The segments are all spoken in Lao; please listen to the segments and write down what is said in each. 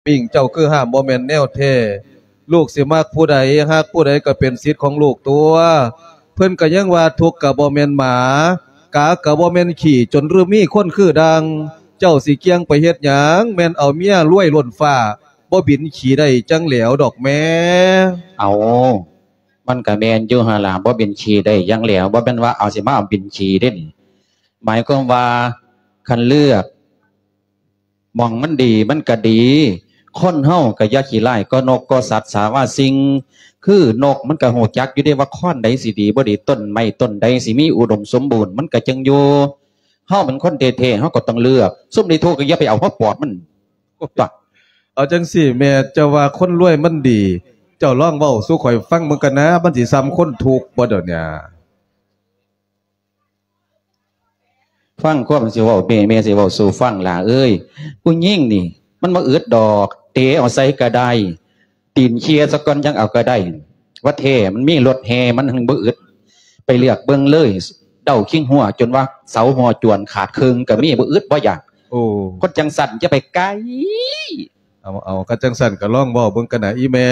ປີ້ງເຈົ້າຄືຫ້າມບໍ່ແມ່ນແນວແທ້. ລູກຊິມັກຜູ້ໃດ ຮັກຜູ້ໃດກໍເປັນສິດຂອງລູກຕົວະ. ເພິ່ນກໍຍັງວ່າທຸກກໍບໍ່ແມ່ນໝາ ກາກໍບໍ່ແມ່ນຂີ້ ຈົນລືມມີຄົນຄືດັ່ງ. ເຈົ້າຊິກ່ຽງໄປເຮັດຫຍັງ ແມ່ນເອົາເມຍລວຍລົ້ນຟ້າ ບໍ່ບິນຂີ້ໄດ້ຈັ່ງແຫຼວດອກແມ່. ເອົາ ມັນກະແມ່ນຢູ່ຫັ້ນລະ ບໍ່ບິນຂີ້ໄດ້ຈັ່ງແຫຼວ ບໍ່ແມ່ນວ່າເອົາ ຊິມາເອົາບິນຂີ້ເດ້ນີ້. ໝາຍຄວາມວ່າ ຄັນເລືອກ ໝ່ອງມັນດີມັນກະດີ ຄົນເຮົາກະຢ່າຂີ້ຮ້າຍກໍນົກກໍສັດສາວາສິ່ງ. ຄືນົກມັນກະຮູ້ຈັກຢູ່ເດ້ວ່າຄອນໃດຊິດີບໍ່ດີ ຕົ້ນໄມ້ຕົ້ນໃດຊິມີອຸດົມສົມບູນ ມັນກະຈຶ່ງຢູ່. ເຮົາເປັນຄົນແທ້ໆ ເຮົາກໍຕ້ອງເລືອກ ຊຸມທີ່ທຸກກໍຢ່າໄປເອົາຫົວປອດມັນ. ເອົາຈັ່ງຊີ້ແມ່ ເຈົ້າວ່າຄົນລວຍມັນດີ ເຈົ້າລອງເວົ້າສູ່ຂ້ອຍຟັງເບິ່ງກັນນາ ມັນຊິສ່ຳຄົນທຸກບໍ່ດຽວນີ້. ຟັງຄວາມຊິເວົ້າແມ່ ແມ່ຊິເວົ້າສູ່ຟັງຫຼ້າເອີຍ. ຜູ້ຍິງນີ້ມັນບໍ່ອຶດດອກ ເຕະເອົາໃສກໍໄດ້ ຕີນເຄຍສາກ່ອນຈັ່ງເອົາກໍໄດ້. ວ່າແທ້ມັນມີລົດແຫ່ ມັນຫຶງບໍ່ອຶດ ໄປເລືອກເບິ່ງເລີຍ. ເດົາຄີງຫົວຈົນວ່າເສົາຫົວຈວນຂາດເຄິ່ງກໍມີ ບໍ່ອຶດບໍ່ຢາກ. ໂອ້ ຄົນຈັ່ງຊັ້ນຢ່າໄປໃກ້. ເອົາ ເອົາ ຄັນຈັ່ງຊັ້ນກໍລອງເວົ້າເບິ່ງກັນນະອີ່ແມ່.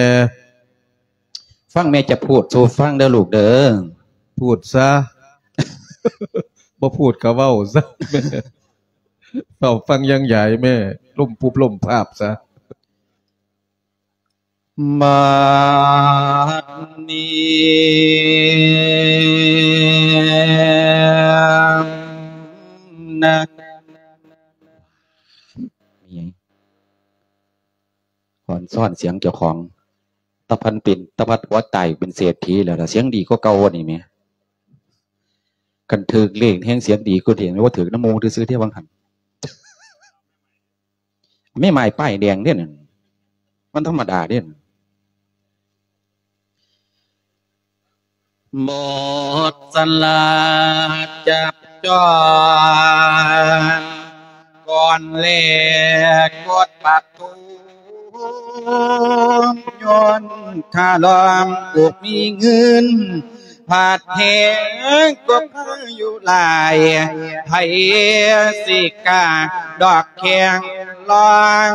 ຟັງແມ່ຈະພູດສູ່ຟັງເດີລູກເດີ. ພູດຊະ ບໍ່ພູດກໍເວົ້າຊະແມ່. ເວົ້າຟັງຍັງຢາຍແມ່ ລົ້ມປຸບລົ້ມພາບຊະ. ບັດນີ້ນະ ມີຫຍັງ? ຄອນຊ້ອນສຽງເຈົ້າຂອງ. ຕາພັນເປັນ ຕາພັນຕົວຕາຍເປັນເສດຖີແລ້ວລະ ສຽງດີກວ່າເກົ່ານີ້ແໝ່. ຄັນຖືກເລກແຮ່ງສຽງດີກວ່ານີ້ ບໍ່ຖືກນຳໝູ່ຊື່ໆເດ້ວ່າຫັ້ນ. ແມ່ໝ້າຍປ້າຍແດງເດ້ນັ້ນ ມັນທຳມະດາເດ້. ໝົດສະຫຼາກຈັບຈອງ ກ່ອນແລກກົດປະຕູ ຍ້ອນຂ້າລອງບໍ່ມີເງິນ ພັດແຮງກໍພາຍຸຫຼາຍ ໃຜຊິກ້າດອກແຂ້ງລອງ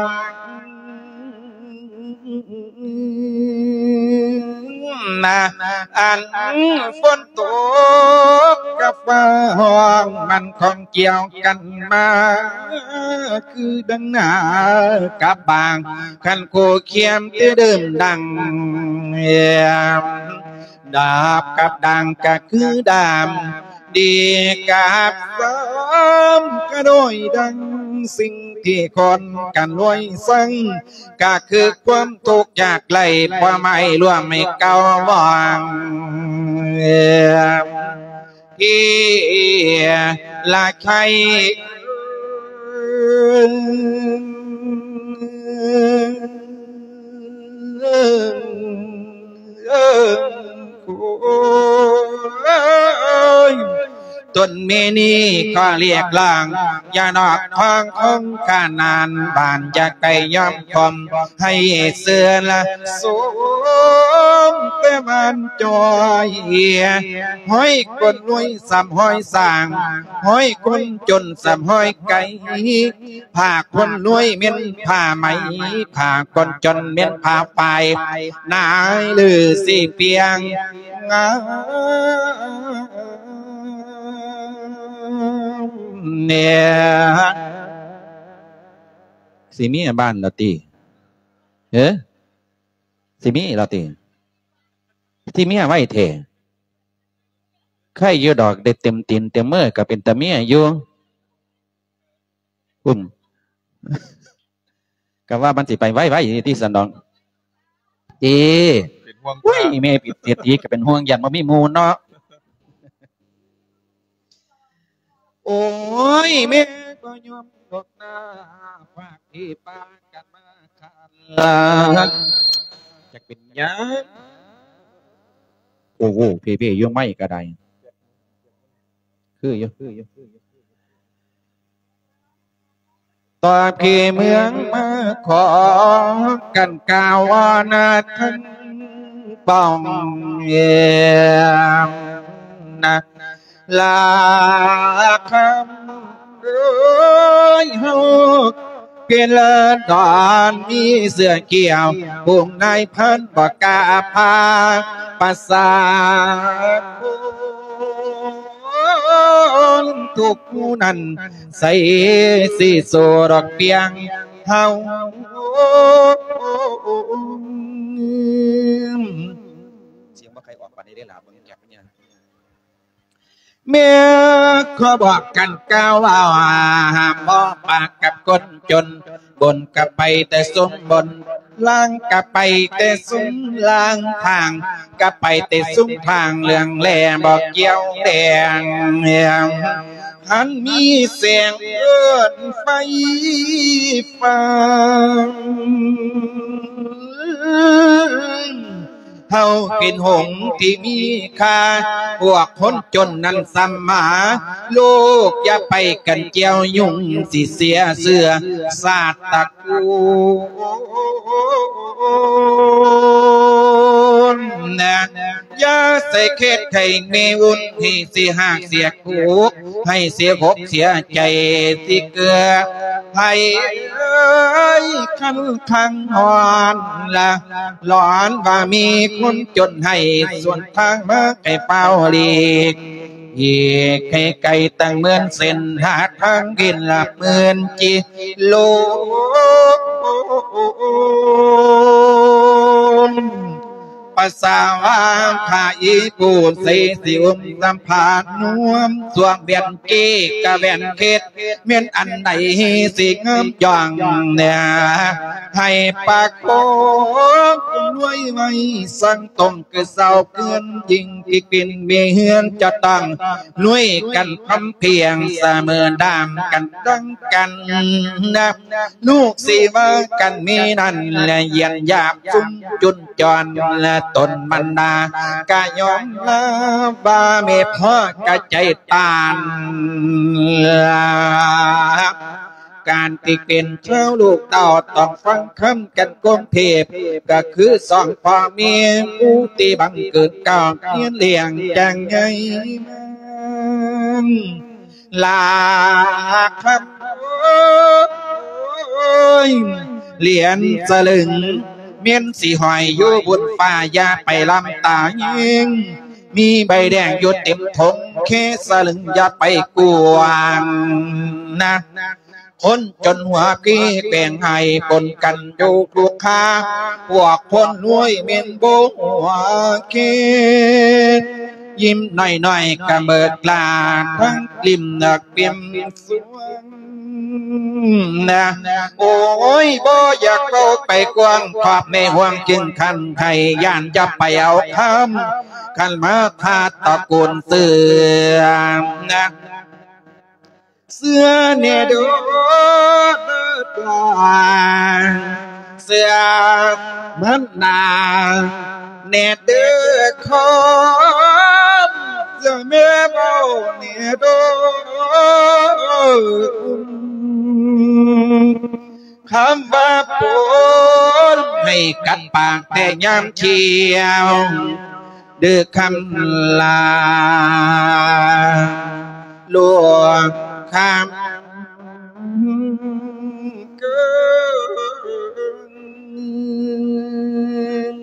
ນະ ອັນຝົນຕົກກະຟ້າຮ້ອງ ມັນຂອງກ່ຽວກັນມາ ຄືດັ່ງນາກັບບາງ ຄັນຄູ່ຄຽມແຕ່ເດີມດັ່ງ ດາບກັບດ່າງກະຄືດາມ ດີກັບເສີມກະໂດຍດັ່ງ ສິ່ງທີ່ຄົນກັນລວຍສັງ ກະຄືຄວາມທຸກຍາກໄຮ້ ຄວາມໄມ້ລວມໃຫ້ເກົ່າວອງ ທີ່ລະໄຄ ໂອ້ຍ ຕົນແມ່ນີ້ຂໍຮຽກຮ້ອງ ຢ່ານອກຫ້ອງຂອງຂ້ານານ ບ້ານຢ່າໄກຍອມຄວາມ ໃຫ້ເຊື່ອລະສົມແຕ່ບ້ານຈອຍ ຮ້ອຍຄົນລວຍສ່ຳຮ້ອຍສ້າງ ຮ້ອຍຄົນຈົນສ່ຳຮ້ອຍໄກ ຜ້າຄົນລວຍແມ່ນຜ້າໄໝ ຜ້າຄົນຈົນແມ່ນຜ້າຝ້າຍ ນາຍລືສີປຽງງາມແດ່. ຊິເມຍບ້ານລະຕິ? ເອີ ຊິເມຍລະຕິ? ຊິເມຍໄວແທ້. ໄຄຢູ່ດອກ ໄດ້ເຕັມຕີນເຕັມມືກໍເປັນຕາເມຍຢູ່. ອືມ ກໍວ່າມັນຊິໄປໄວໆຕິຊັ້ນດອກ. ເອີ ເປັນຫ່ວງ ໂອ້ຍ ແມ່ເປັນເສດຖີກໍເປັນຫ່ວງ ຢ້ານບໍ່ມີໝູ່ເນາະ. ໂອ້ຍ ແມ່ກໍຍອມດອກນາ ພາກທີ່ປາກັນມາຄັນລະ ຈັກເປັນຫຍັງ. ໂອ້ໂຫ ເພໆຢູ່ໄມ້ກໍໄດ້ ຄືຢູ່ ຄືຢູ່ ຄືຢູ່. ຕອນທີ່ເມືອງມາຂໍກັນກ່າວວ່ານາທັງປ່ອງ ນາ ລາຄຳເອີຍ ເຮົາ ເກດລະດອນມີເສື້ອຂຽວ ພວກນາຍພັນບໍ່ກ້າພາ ປະຊາຊົນທຸກຜູ້ນັ້ນ ໃສຊິໂຊດອກປຽງເຮົາ ສຽງບໍ່ຄ່ອຍອອກປານໃດເດ້ລະ ເບິ່ງຈັກເນຍ. ແມ່ຂໍບອກກັນກ່າວວ່າ ຫ້າມບໍ່ປາກກັບຄົນຈົນ, ບົນກໍໄປແຕ່ຊຸມບົນ, ລ່າງກໍໄປແຕ່ຊຸມລ່າງ, ທາງກໍໄປແຕ່ຊຸມທາງ, ເລື່ອງແລບໍ່ກ່ຽວແລງ ຄັນມີແສງເອີ້ນໄຟຟ້າ ເຮົາເປັນຫົງທີ່ມີຄ່າ ພວກຄົນຈົນນັ້ນສຳມາ ລູກຢ່າໄປກັນກ່ຽວຫຍຸ້ງ ຊິເສຍເຊື້ອຊາດຕະກູນນະ ຢ່າໃສ່ເຂດໃຫ້ແມ່ອຸ່ນ ໃຫ້ເສຍຮາກເສຍກູກ ໃຫ້ເສຍອົກເສຍໃຈ ຊິເກືອໃຫ້ເອີຍຄັນຄັງຮ້ອນລະ ຮ້ອນວ່າມີຄົນຈົນໃຫ້ສວນທາງມາໃຫ້ຟ້າວຫຼີກ ອີກໃຫ້ໄກຕັ້ງໝື່ນເສັ້ນ ຫາທາງເວັນລະໝື່ນກິໂລ ປະສາວາພາອີປູໃສຊິອຸມສຳພານນວມ ສວງແວ່ນເກກະແວ່ນເຂດ ແມ່ນອັນໃດຊິງາມຢ່ອງແນ່ ໃຫ້ປາກອງລວຍໄວ້ ສັງຕົງຄືເຊົາເກີນ ຍິ່ງທີ່ເປັນແມ່ເຮືອນ ຈະຕ້ອງລວຍກັນພຳພຽງ ສະເໝີດາມກັນດັ່ງກັນນະ ລູກຊິວ່າກັນມີນັ້ນ ແລະ ຢ້ຽນຢາບຊຸມຈຸນຈອນ ແລະ ຕົນບັນດາ ກະຍອມຮັບວ່າແມ່ພໍ່ກະໃຈຕ່ານ ການທີ່ເປັນຊາວລູກເຕົ້າ ຕ້ອງຟັງຄຳກັນກົງເທບ ກະຄືສອງພໍ່ແມ່ຜູ້ທີ່ບັງເກີດກ້າວ ຮຽນລ້ຽງຢ່າງໃຫຍ່ມາ ລາຄຳ ໂອ້ຍ ຫຼຽນສະລຶງ ແມ່ນຊິຫ້ອຍຢູ່ບົນຟ້າ ຢ່າໄປລຳຕາເຮງ ມີໃບແດງຢູ່ເຕັມຖົງ ເຄສະລຶງຢ່າໄປກວາງນະ ຄົນຈົນຫົວພີແກວ່ງໃຫ້ປົນກັນຢູ່ທຸກຄາ ພວກຄົນລວຍແມ່ນບໍ່ຫົວເຄ ຍິ້ມນ້ອຍໆກະເບີກລາ ທັງກລິ້ມນະກລິ້ມສວງນະ ໂອ້ຍ ບໍ່ຢາກເວົ້າໄປກວ້າງ ຄອບໃນຫ່ວງຈຶ່ງຄັນໄຄ ຢ້ານຈະໄປເອົາຄຳ ຄັນມາທາດຕະກູນເສື່ອມນະ ເຊື່ອແດ່ເດີຫຼານ ເຊື່ອມັນນາແດ່ເດີຄອນ ເຊື່ອແມ່ເວົ້າແດ່ເດີ ຄຳວ່າປົນໃຫ້ກັດປາກແຕ່ຍາມທ່ຽວ ເດີຄຳລາຫຼວງຄຳເກີນ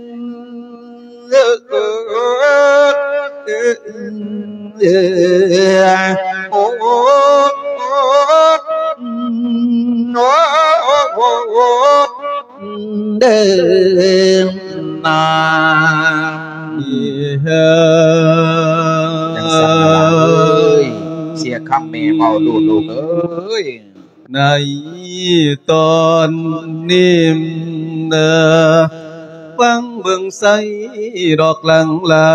ໂອ້ ໂອ້ ໂອ້ ເດີນາ ຈັ່ງຊັ້ນລະຫຼານເອີຍ ເສຍຄຳແມ່ເວົ້າລູກເອີຍ ໃນຕອນນີ້ນະ ຟັງເບິ່ງໃສດອກຫຼັງລາ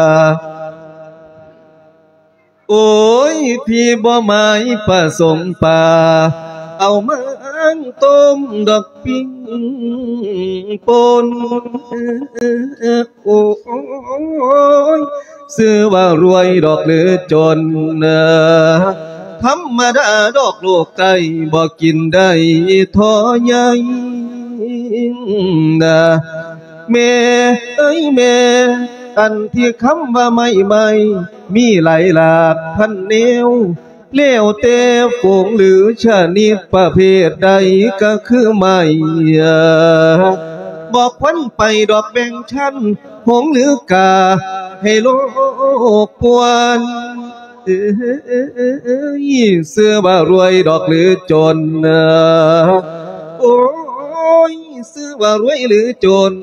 ໂອ້ຍ ພີ່ບໍ່ໝາຍປະສົງປາ ເອົາມາຕົ້ມດອກປິງປົນ ໂອ້ຍ ຊື່ວ່າລວຍດອກຫຼືຈົນ ທຳມະດາດອກໂລກໃຕ້ ບໍ່ກິນໄດ້ທໍ່ໃຫຍ່ນະ ແມ່ເອີຍແມ່ ອັນທີ່ຄຳວ່າໄມ້ ໄມ້ມີຫຼາຍຫຼາກພັນແນວ ແລ້ວແຕ່ຝູງຫຼືຊະນິດປະເພດໃດກໍຄືໄມ້ ບໍ່ຄວນໄປດອກແບ່ງຊັ້ນ ຫົງຫຼືກາໃຫ້ໂລກປ່ວນ ເອີຍ ຊື່ວ່າລວຍດອກຫຼືຈົນ ໂອ້ຍ ຊື່ວ່າລວຍຫຼືຈົນ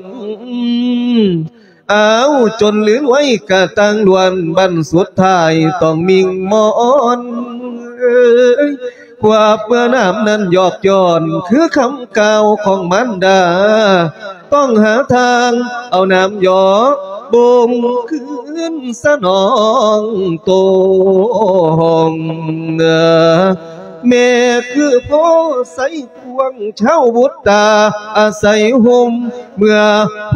ອ້າວ ຈົນຫຼືລວຍກະຕ່າງລ້ວນ ບັ້ນສຸດທ້າຍຕ້ອງມິ່ງມອນ ເອີຍ ຄວາມເມື່ອນາມນັ້ນຢອກຍ້ອນ ຄືຄຳກ່າວຂອງມານດາ ຕ້ອງຫາທາງເອົານາມຢອກ ບົ່ງຄືນສະໜອງໂຕ ແມ່ຄືໂພໄຊ ພວງເຊົາບຸດຕາອາໄສຮົ່ມ ເມື່ອໂພ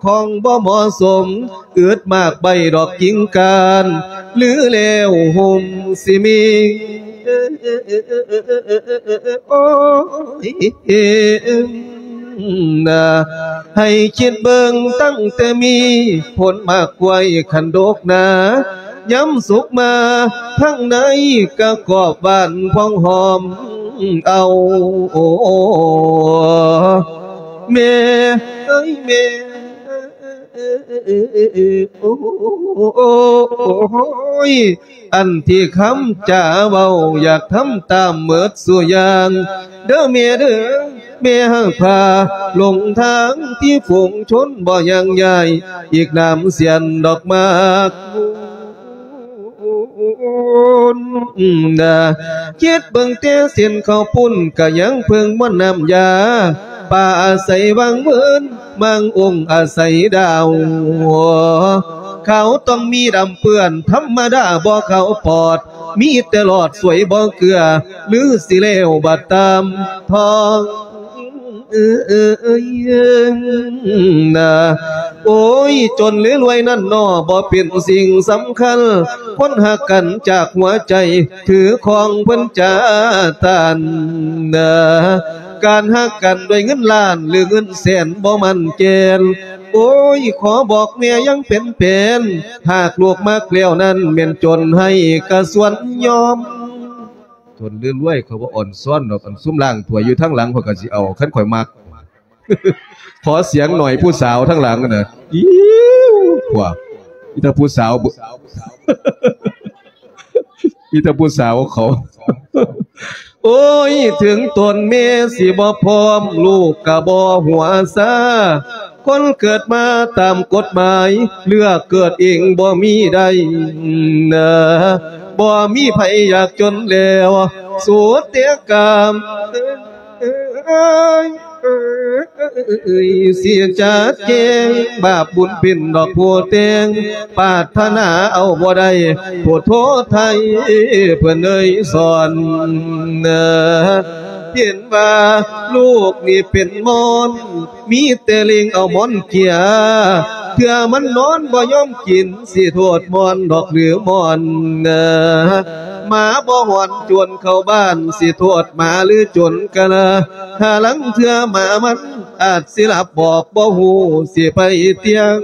ຂອງບໍ່ເໝາະສົມ ອຶດໝາກໃບດອກກິ່ງກ້ານ ຫຼືແລ້ວຮົ່ມຊິມີ ໂອ້ຍ ນາ ໃຫ້ຄິດເບິ່ງຕັ້ງແຕ່ມີ ຜົນໝາກກ້ວຍຄັນດົກໜາ ຍາມສຸກມາທາງໃນກະກອບຫວານພອງຫອມເອົາ ແມ່ເອີຍແມ່ ໂອ້ຍ ອັນທີ່ຄຳຈາເວົ້າ ຢາກທຳຕາມເໝິດສູ່ຢ່າງ ເດີແມ່ເດີ ແມ່ຫາກພາຫຼົງທາງ ທີ່ຝູງຊົນບໍ່ຍັງຢາຍ ອີກນາມສຽນດອກໝາກ ນາ ຄິດເບິ່ງແຕ່ເສັ້ນເຂົ້າປຸ້ນ ກະຍັງເພິ່ງມ່ວນນ້ຳຢາ ປາອາໄສວັງເວີນ ມັງອົງອາໄສດາວ ຂາວຕ້ອງມີດຳເປື້ອນ ທຳມະດາບໍ່ຂາວປອດ ມີແຕ່ຫຼອດສວຍບໍ່ເກືອ ຫຼືຊິແລ້ວບັດຕາມທອງ ເອີຍ ນາ ໂອ້ຍ ຈົນຫຼືລວຍນັ້ນໜໍ ບໍ່ເປັນສິ່ງສຳຄັນ ຄົນຮັກກັນຈາກຫົວໃຈ ຖືຄອງເພິ່ນຈະຕ້ານ ນາ ການຮັກກັນດ້ວຍເງິນລ້ານ ຫຼືເງິນແສນບໍ່ໝັ້ນແກ່ນ ໂອ້ຍ ຂໍບອກແມ່ຍັງເປັນແປນ ຫາກລູກມັກແລ້ວນັ້ນ ແມ່ນຈົນໃຫ້ກະສວນຍອມ ຈົນຫຼືລວຍ ຂ້ອຍບໍ່ອ່ອນຊ້ອນດອກ ອັນຊຸມລ້າງຖ້ວຍຢູ່ທາງຫຼັງ ຂ້ອຍກະຊິເອົາ ຄັນຂ້ອຍມັກ ຂໍສຽງໜ້ອຍຜູ້ສາວທາງຫຼັງນະ ອິ້ວ ພວກ ມີແຕ່ຜູ້ສາວ ມີແຕ່ຜູ້ສາວເຂົາ ໂອ້ຍ ເຖິງຕົນແມ່ຊິບໍ່ພ້ອມ ລູກກະບໍ່ຫົວຊາ ຄົນເກີດມາຕາມກົດໝາຍ ເລືອກເກີດເອງບໍ່ມີໄດ້ ນາ ບໍ່ມີໃຜຢາກຈົນແລ້ວ ສຸດແຕ່ກາມ ເອີຍ ເອີຍ ເອີຍ ເອີຍ ເອີຍ ເອີຍ ເສຍຈາກແຈ້ງ ບາບບຸນເປັນດອກຜູ້ແຕ່ງ ປາດຖະໜາເອົາບໍ່ໄດ້ ໂພດໂທໄທ ເພິ່ນເອີຍສອນ ເຫັນວ່າລູກນີ້ເປັນມອນ ມີແຕ່ເລັ່ງເອົາໝອນເກຍ ເທື່ອມັນນອນບໍ່ຍອມກິນ ຊິໂທດມອນດອກຫຼືມອນ ໝາບໍ່ຫອນຈວນເຂົ້າບ້ານ ຊິໂທດໝາຫຼືຈົນກະລາ ຫາລາງເທື່ອໝາມັນອາດຊິຫຼັບບອກ ບໍ່ຮູ້ຊິໄປຕຽງ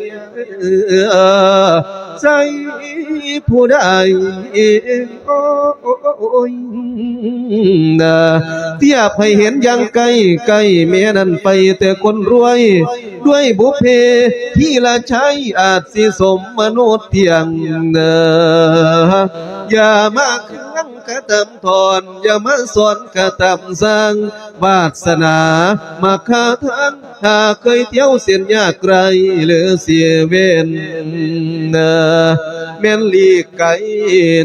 ໃສ່ຜູ້ໃດ ໂອ້ຍ ນາ ທຽບໃຫ້ເຫັນຢ່າງໃກ້ ໃກ້ແມ່ນັ້ນໄປແຕ່ຄົນລວຍ ດ້ວຍບຸບເພທີລະໄຊ ອາດຊິສົມມະນຸດທ່ຽງ ນາ ຢ່າມາເຄືງກະຕຳຖອນ ຢ່າມາສອນກະຕຳສ້າງ ວາດສະໜາມາຄາທາງ ຫາເຄີຍທ່ຽວເສັ້ນຍາກໄກ ຫຼືເສຍເວັນ ແມ່ນຫຼີກໄກ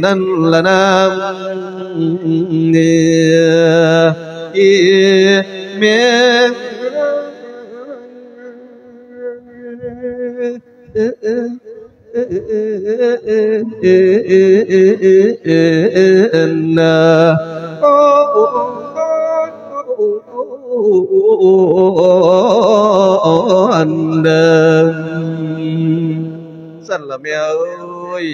ນັ້ນລະນາ ອີແມ່ ຊັ້ນລະແມ່ເອີຍ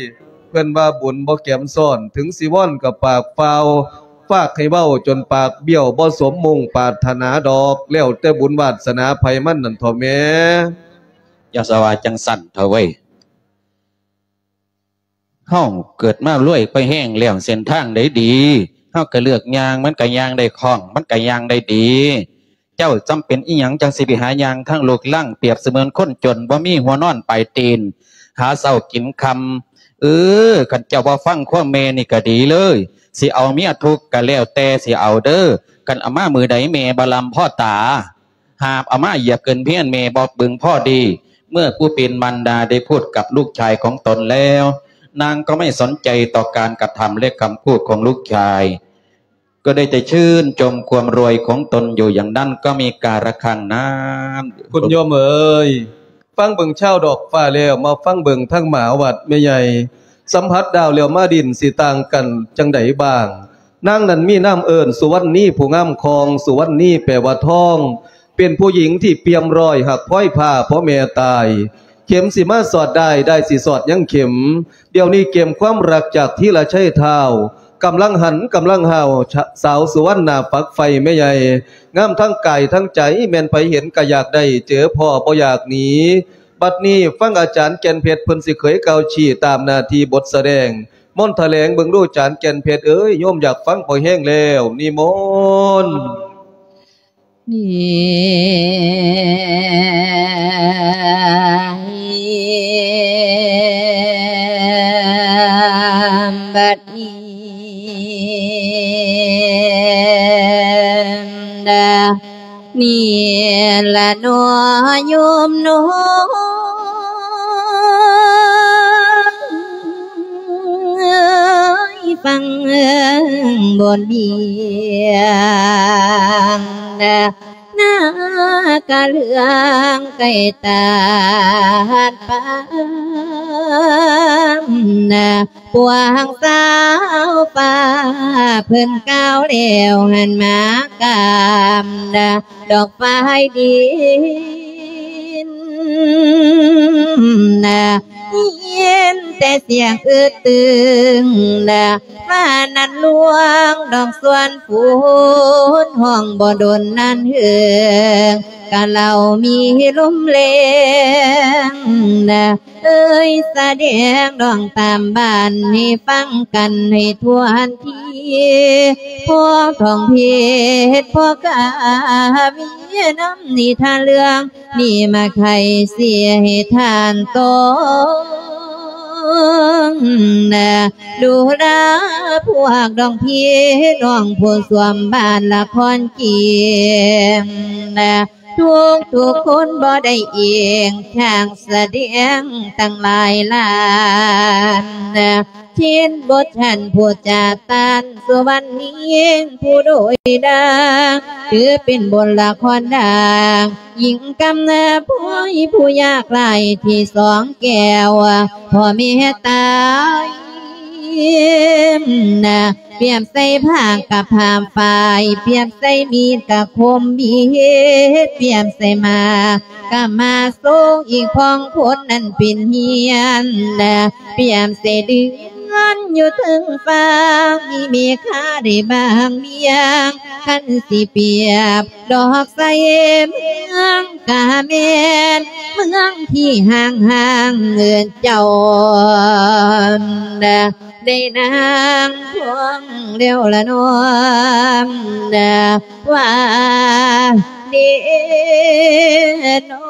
ເພິ່ນວ່າບຸນບໍ່ແກມຊ້ອນ ເຖິງຊິວອນກໍປາກຟ້າວ ຝາກໃຫ້ເວົ້າຈົນປາກບ້ຽວ ບໍ່ສົມມຸ່ງປາດຖະໜາດອກ ແລ້ວແຕ່ບຸນວາດສະໜາໃຜມັນນັ້ນເຖາະແມ່. ຢ່າສະວ່າຈັ່ງຊັ້ນເຖາະເວີຍ. ເຮົາເກີດມາລວຍໄປແຮງແລ້ວ ເສັ້ນທາງໃດດີ ເຮົາກໍເລືອກຍ່າງ ມັນກໍຍ່າງໄດ້ຄ່ອງ ມັນກໍຍ່າງໄດ້ດີ. ເຈົ້າຈຳເປັນອີ່ຫຍັງຈັ່ງຊິໄປຫາຍ່າງທາງລົກລັງ ປຽບສະເໝືອນຄົນຈົນ ບໍ່ມີຫົວນອນປາຍຕີນ ຫາເຊົ້າກິນຄ່ຳ. ເອີ ຄັນເຈົ້າບໍ່ຟັງຄວາມແມ່ນີ້ກໍດີເລີຍ ຊິເອົາເມຍທຸກກໍແລ້ວແຕ່ຊິເອົາເດີ. ຄັນເອົາມາມື້ໃດແມ່ບໍ່ລຳພໍຕາ ຫາບເອົາມາຢຽບຂຶ້ນພຽນແມ່ບໍ່ເບິ່ງພໍດີ. ເມື່ອຜູ້ເປັນມານດາໄດ້ພູດກັບລູກຊາຍຂອງຕົນແລ້ວ ນາງກໍໄມ່ສົນໃຈຕໍ່ການກະທຳ ແລະ ຄຳພູດຂອງລູກຊາຍ ກໍໄດ້ແຕ່ຊື່ນຊົມຄວາມລວຍຂອງຕົນຢູ່ຢ່າງນັ້ນ ກໍມີກາລະຄັ້ງນັ້ນ. ຄຸນໂຍມເອີຍ, ຟັງເບິ່ງຊາວດອກຟ້າແລ້ວ ມາຟັງເບິ່ງທາງໝາວັດແມ່ໃຫຍ່. ສຳຜັດດາວແລ້ວມາດິນ ຊິຕ່າງກັນຈັ່ງໃດບ້າງ? ນາງນັ້ນມີນາມເອີ້ນສຸວັນນີ ຜູ້ງາມຄອງ. ສຸວັນນີແປວ່າທອງ, ເປັນຜູ້ຍິງທີ່ປ່ຽມລອຍ ຮັກພອຍຜ້າພໍແມ່ຕາຍ. ເຂັມຊິມາສອດດ້າຍ, ດ້າຍຊິສອດຍັງເຂັມ. ດຽວນີ້ເກມຄວາມຮັກຈາກທີລະໄຊທ້າວ ກຳລັງຫັນກຳລັງຫ້າວ, ສາວສຸວັນໜ້າຝັກໃຝ່ແມ່ໃຫຍ່ ງາມທັງກາຍທັງໃຈ, ແມ່ນໃຜເຫັນກໍຢາກໄດ້ ເຈີພໍບໍ່ຢາກໜີ. ບັດນີ້ຟັງອາຈານແກ່ນເພັດ ເພິ່ນຊິເຜີຍກ່າວຊີ້ຕາມໜ້າທີ່ບົດສະແດງ. ມົນຖະແຫຼງເບິ່ງດູ ອາຈານແກ່ນເພັດເອີຍ, ໂຍມຢາກຟັງພໍແຮງແລ້ວ, ນິມົນ. ນີ້ ບັດນີ້ ນີ້ລະເນາະໂຍມເນາະ ເອີຍ ຟັງບົດວຽງ ນາກະເຫຼືອງໄກ່ຕາດປາມ ນາ ພວກສາວຟ້າເພິ່ນກ່າວແລ້ວ ຫັນມາກາມ ນາ ດອກຝາຍດິນ ນາ ຍິນແຕ່ສຽງອຶດຕຶງ ນາ ຟ້ານັ້ນລວງດອກສວນຝົນ ຮ້ອງບໍ່ດົນນານເຫິງ ກະເລົ່າມີລົມແລງນະ ເອີຍ ສະແດງດອງຕາມບ້ານໃຫ້ຟັງກັນໃຫ້ທົ່ວທີ ພໍ່ທອງເພັດ ພໍ່ກາມີນຳນິທານເລື່ອງ ນີ້ມາໄຂສຽໃຫ້ທ່ານຕ້ອງນະ ດູລາພວກດອງພີ່ນ້ອງຜູ້ສວມບ້ານລະຄອນຈີນນະ ທຸກໆຄົນບໍ່ໄດ້ເອງ ຊ່າງສະແດງຕັ້ງຫຼາຍລ້ານນະ ເຊັ່ນບົດຊັ້ນຜູ້ຈາຕານ ສຸວັນນີງຜູ້ໂດຍດາງ ຖືເປັນບົດລະຄອນດາງ ຍິງກຳນາພອຍຜູ້ຍາກໄຮ້ທີ່ສອງແກ້ວ ພໍ່ແມ່ຕາຍນະ ປຽບໃສ່ຜ້າກັບຜ້າຝ້າຍ ປຽບໃສ່ມີດກະຄົມມີດ ປຽບໃສ່ໝາກກະມາຊົງ ອີກພ້ອງຄົນນັ້ນເປັນຮຽນນະ ປຽບໃສ່ເດືອນຢູ່ເທິງຟ້າ ມີເມຄາໄດ້ບາງບຽງ ຄັນຊິປຽບ ດອກໃສເມືອງກະແມ່ນເມືອງທີ່ຫ່າງໆເອີ້ນເຈົ້ານະ ໄດ້ນາງພວງແລ້ວລະນ້ອມນະ ວ່າເດນອ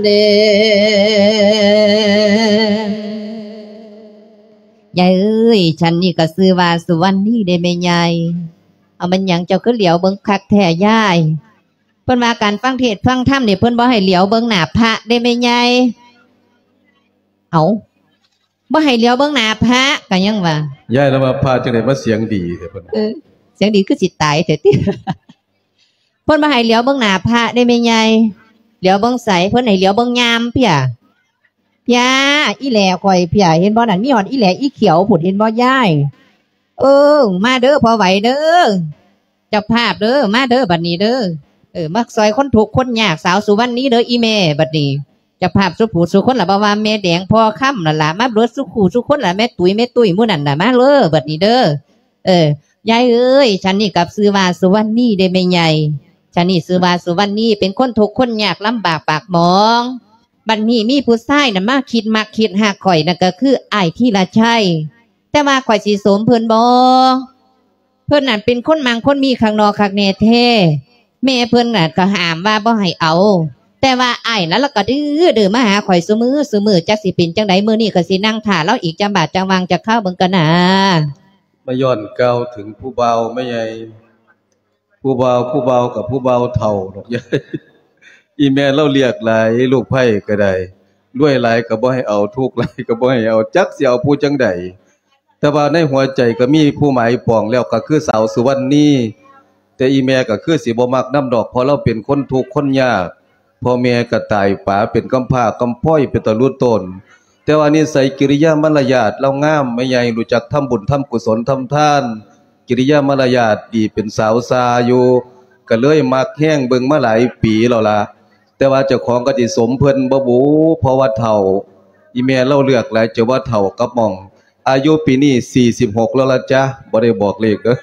ເດີ ຍາຍເອີຍ ສັນນີ້ກໍຊື່ວ່າສຸວັນນີເດ້ແມ່ຍາຍ. ເອົາ ແມ່ນຫຍັງເຈົ້າຄືຫຼຽວເບິ່ງຄັກແທ້ຍາຍ? ເພິ່ນວ່າການຟັງເທດຟັງທຳນີ້ ເພິ່ນບໍ່ໃຫ້ຫຼຽວເບິ່ງໜ້າພະເດ້ແມ່ຍາຍ. ເອົາ ບໍ່ໃຫ້ຫຼຽວເບິ່ງໜ້າພະ ກໍຍັງວ່າ ຍາຍລະວ່າພະຈັ່ງໃດມາສຽງດີແທ້ ເພິ່ນ ເອີ ສຽງດີຄືຊິຕາຍແທ້ຕິ. ເພິ່ນບໍ່ໃຫ້ຫຼຽວເບິ່ງໜ້າພະເດ້ແມ່ໃຫຍ່. ຫຼຽວເບິ່ງໃສ? ເພິ່ນໃຫ້ຫຼຽວເບິ່ງຍາມເພຍ. ພຽ ອີແຫຼຂ້ອຍ ເພຍ ເຫັນບໍ່ນັ້ນ ມີຮອດອີແຫຼອີຂຽວພຸ້ນ ເຫັນບໍ່ຍາຍ? ເອີ ມາເດີພໍ່ໄຫວເດີ ເຈົ້າພາບເດີ ມາເດີບັດນີ້ເດີ. ເອີ ມາຊ່ອຍຄົນທຸກຄົນຍາກ ສາວສຸວັນນີເດີອີແມ່. ບັດນີ້ເຈົ້າພາບສູ່ຜູ້ສູ່ຄົນລະ ບໍ່ວ່າແມ່ແດງພໍ່ຄຳນັ້ນລະ ມາເບິດສູ່ຄູ່ສູ່ຄົນລະ ແມ່ຕຸ້ຍ ແມ່ຕຸ້ຍ ໝູ່ນັ້ນລະ ມາເດີບັດນີ້ເດີ. ເອີ ຍາຍເອີຍ ຊະນີ້ກໍຊື່ວ່າສຸວັນນີເດ້ແມ່ໃຫຍ່. ຊະນີ້ຊື່ວ່າສຸວັນນີ ເປັນຄົນທຸກຄົນຍາກ ລຳບາກປາກໝອງ. ບັດນີ້ມີຜູ້ຊາຍນະມາຄິດມັກຄິດຮັກຂ້ອຍ ນັ້ນກໍຄືອ້າຍທີລະໄຊ. ແຕ່ວ່າຂ້ອຍຊິສົມເພິ່ນບໍ່? ເພິ່ນນັ້ນເປັນຄົນມັ່ງຄົນມີຄັກໜໍ່ຄັກແນ່ແທ້. ແມ່ເພິ່ນນັ້ນກໍຫ້າມວ່າບໍ່ໃຫ້ເອົາ, ແຕ່ວ່າອ້າຍນັ້ນລະກໍດື້ໆມາຫາຂ້ອຍຊຸມື້ຊຸມື້. ຈັກຊິເປັນຈັ່ງໃດ, ມື້ນີ້ຂ້ອຍຊິນັ່ງຖ້າລາວອີກຈັກບາດຈັກຫວ່າງຈັກຄາວເບິ່ງກ່ອນນາ. ມາຍ້ອນກ່າວເຖິງຜູ້ບ່າວແມ່ໃຫຍ່. ຜູ້ບ່າວ ຜູ້ບ່າວກໍຜູ້ບ່າວເຖົ້າດອກຍາຍ. ອີແມ່ລາວລຽກຫຼາຍ ລູກໃພ້ກໍໄດ້ ລວຍຫຼາຍກໍບໍ່ໃຫ້ເອົາ ທຸກຫຼາຍກໍບໍ່ໃຫ້ເອົາ ຈັກຊິເອົາຜູ້ຈັ່ງໃດ. ແຕ່ວ່າໃນຫົວໃຈກໍມີຜູ້ໝາຍປອງແລ້ວ ກໍຄືສາວສຸວັນນີ. ແຕ່ອີແມ່ກໍຄືຊິບໍ່ມັກນຳດອກ ເພາະລາວເປັນຄົນທຸກຄົນຍາກ. ພໍ່ແມ່ກໍຕາຍປາເປັນກຳພ້າກຳພ້ອຍເປັນຕາລຸຕົນ, ແຕ່ວ່ານິໄສກິລິຍາມາລະຍາດລາວງາມ ແມ່ໃຫຍ່ຮູ້ຈັກທຳບຸນທຳກຸສົນທຳທານ, ກິລິຍາມາລະຍາດດີເປັນສາວຊາຢູ່ ກໍເລີຍມັກແຮງເບິ່ງມາຫຼາຍປີແລ້ວລະ. ແຕ່ວ່າເຈົ້າຂອງກໍຊິສົມເພິ່ນບໍ່ບຸ ເພາະວ່າເຖົ້າ. ອີແມ່ລາວເລືອກຫຼາຍ ເຈົ້າວ່າເຖົ້າກັບໝ່ອງ. ອາຍຸປີນີ້ສີ່ສິບຫົກແລ້ວລະຈ້າ, ບໍ່ໄດ້ບອກເລກເດີ້.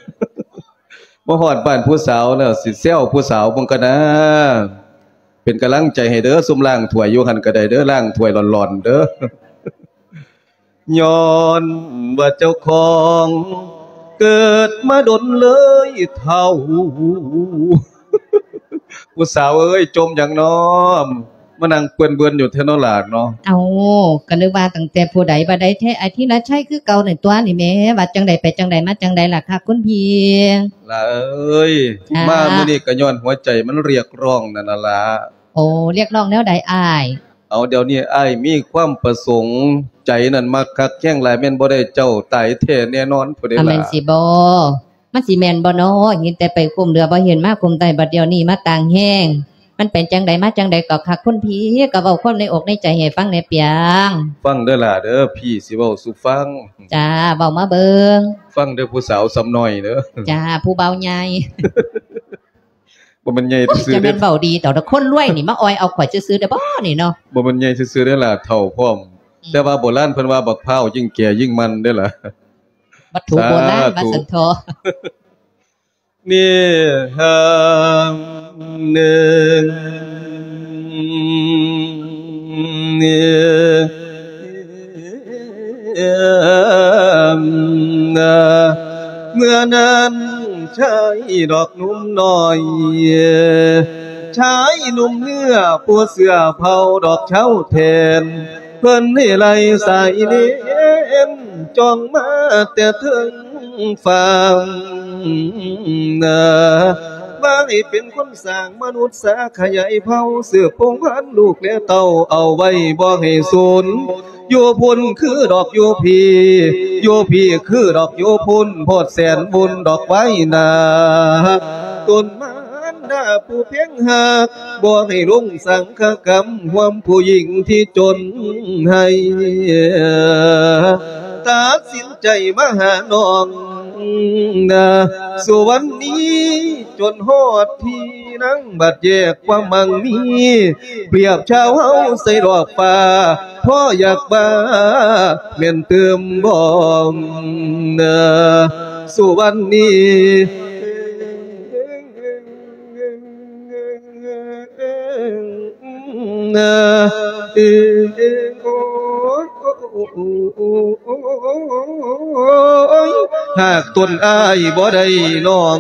ມາຮອດບ້ານຜູ້ສາວແລ້ວ ຊິແຊວຜູ້ສາວເບິ່ງກ່ອນນາ. ເປັນກຳລັງໃຈໃຫ້ເດີ້, ຊຸມລ້າງຖ້ວຍຢູ່ຫັ້ນກໍໄດ້ເດີ້, ລ້າງຖ້ວຍຫຼອນໆເດີ້. ຍ້ອນວ່າເຈົ້າຂອງເກີດມາດົນເລີຍເຖົ້າ. ຜູ້ສາວເອີຍ ຈົ່ມຫຍັງນໍ? ມານັ່ງເປື້ອນເບິ່ນຢູ່ແທ້ນໍຫຼານນໍ. ເອົ້າ ກໍນຶກວ່າຕັ້ງແຕ່ຜູ້ໃດ ບັດໃດແທ້ ອາທິລະໄຊຄືເກົ່ານັ້ນຕົວະນີ້ແໝ່. ວ່າຈັ່ງໃດໄປຈັ່ງໃດມາຈັ່ງໃດລະຄະຄຸນພີ່? ຫຼາເອີຍ ມາມື້ນີ້ກໍຍ້ອນຫົວໃຈມັນຮຽກຮ້ອງນັ້ນລະ. ໂອ້ ຮຽກຮ້ອງແນວໃດອ້າຍ? ເອົາ ດຽວນີ້ອ້າຍມີຄວາມປະສົງ ໃຈນັ້ນມັກຄັກແຮງຫຼາຍ ແມ່ນບໍ່ໄດ້ເຈົ້າຕາຍແທ້ແນ່ນອນພຸ້ນເດ້. ແມ່ນຊິບໍ່? ມັນຊິແມ່ນບໍ່ນໍ? ເຫັນແຕ່ໄປຄຸ້ມເຫຼືອບໍ່ເຫັນມາຄຸ້ມໄຕ ບັດດຽວນີ້ມາຕ່າງແຮງ. ມັນເປັນຈັ່ງໃດມາຈັ່ງໃດກໍຄັກ ຄຸນພີ່ກໍເວົ້າຄວາມໃນອົກໃນໃຈໃຫ້ຟັງແດ່ປຽງ. ຟັງເດີ້ຫຼ້າເດີ້ ພີ່ຊິເວົ້າສູ່ຟັງ. ຈ້າ ເວົ້າມາເບິ່ງ. ຟັງເດີ້ຜູ້ສາວສ່ຳນ້ອຍເດີ້. ຈ້າ ຜູ້ບ່າວໃຫຍ່. ບໍ່ແມ່ນໃຫຍ່ຊື່ໆເດ້. ເຈົ້າແມ່ນເວົ້າດີດອກ ຄົນລວຍນີ້ມາອ່ອຍເອົາຂ້ອຍຊື່ໆເດ້ບໍ່ນີ້ເນາະ. ບໍ່ແມ່ນໃຫຍ່ຊື່ໆເດ້ລະ ເຖົ້າພ້ອມ. ອືມ ແຕ່ວ່າໂບລານເພິ່ນວ່າບັກພ້າວຍິ່ງແກ່ຍິ່ງມັນເດ້ລະ. ວັດຖຸໂບລານ ສາທຸ ວ່າຊັ້ນເຖາະ. ນີ້ ເອີ ເອີ ເມື່ອນັ້ນຊາຍດອກໜຸ່ມນ້ອຍ ຊາຍໜຸ່ມເໜືອຜູ້ເສື້ອເຜົ່າດອກເຊົາແທນ ເພິ່ນໃຫ້ໄລ່ສາຍເນນ ຈ່ອງມາແຕ່ເທິງຟ້າ ວ່າໃຫ້ເປັນຄົນ ສ້າງມະນຸດສາຂະຫຍາຍເຜົ່າ ສືບພົງພັນລູກແລະເຕົ້າເອົາໄວ້ບໍ່ໃຫ້ສູນ ຢູ່ພຸ້ນຄືດອກຢູ່ພີ້ ຢູ່ພີ້ຄືດອກຢູ່ພຸ້ນ ໂພດແສນບຸນດອກໄວ້ໜ້າ ຕົນມານດາຜູ້ເພັງຮັກ ບໍ່ໃຫ້ລົງສັງຄະກຳຮ່ວມຜູ້ຍິງທີ່ຈົນໃຫ້ ຕັດສິນໃຈມາຫານ້ອງ ນາ ສຸວັນນີ ຈົນຮອດທີ່ນາງ ບັດແຍກຄວາມໝັ້ງມີ ປຽບຊາວເຮົາໃສ່ດອກຟ້າ ພໍຢາກວ່າແມ່ນຕື່ມບໍ່ ນາ ສຸວັນນີ. ຫາກຕົນອ້າຍບໍ່ໄດ້ນ້ອງ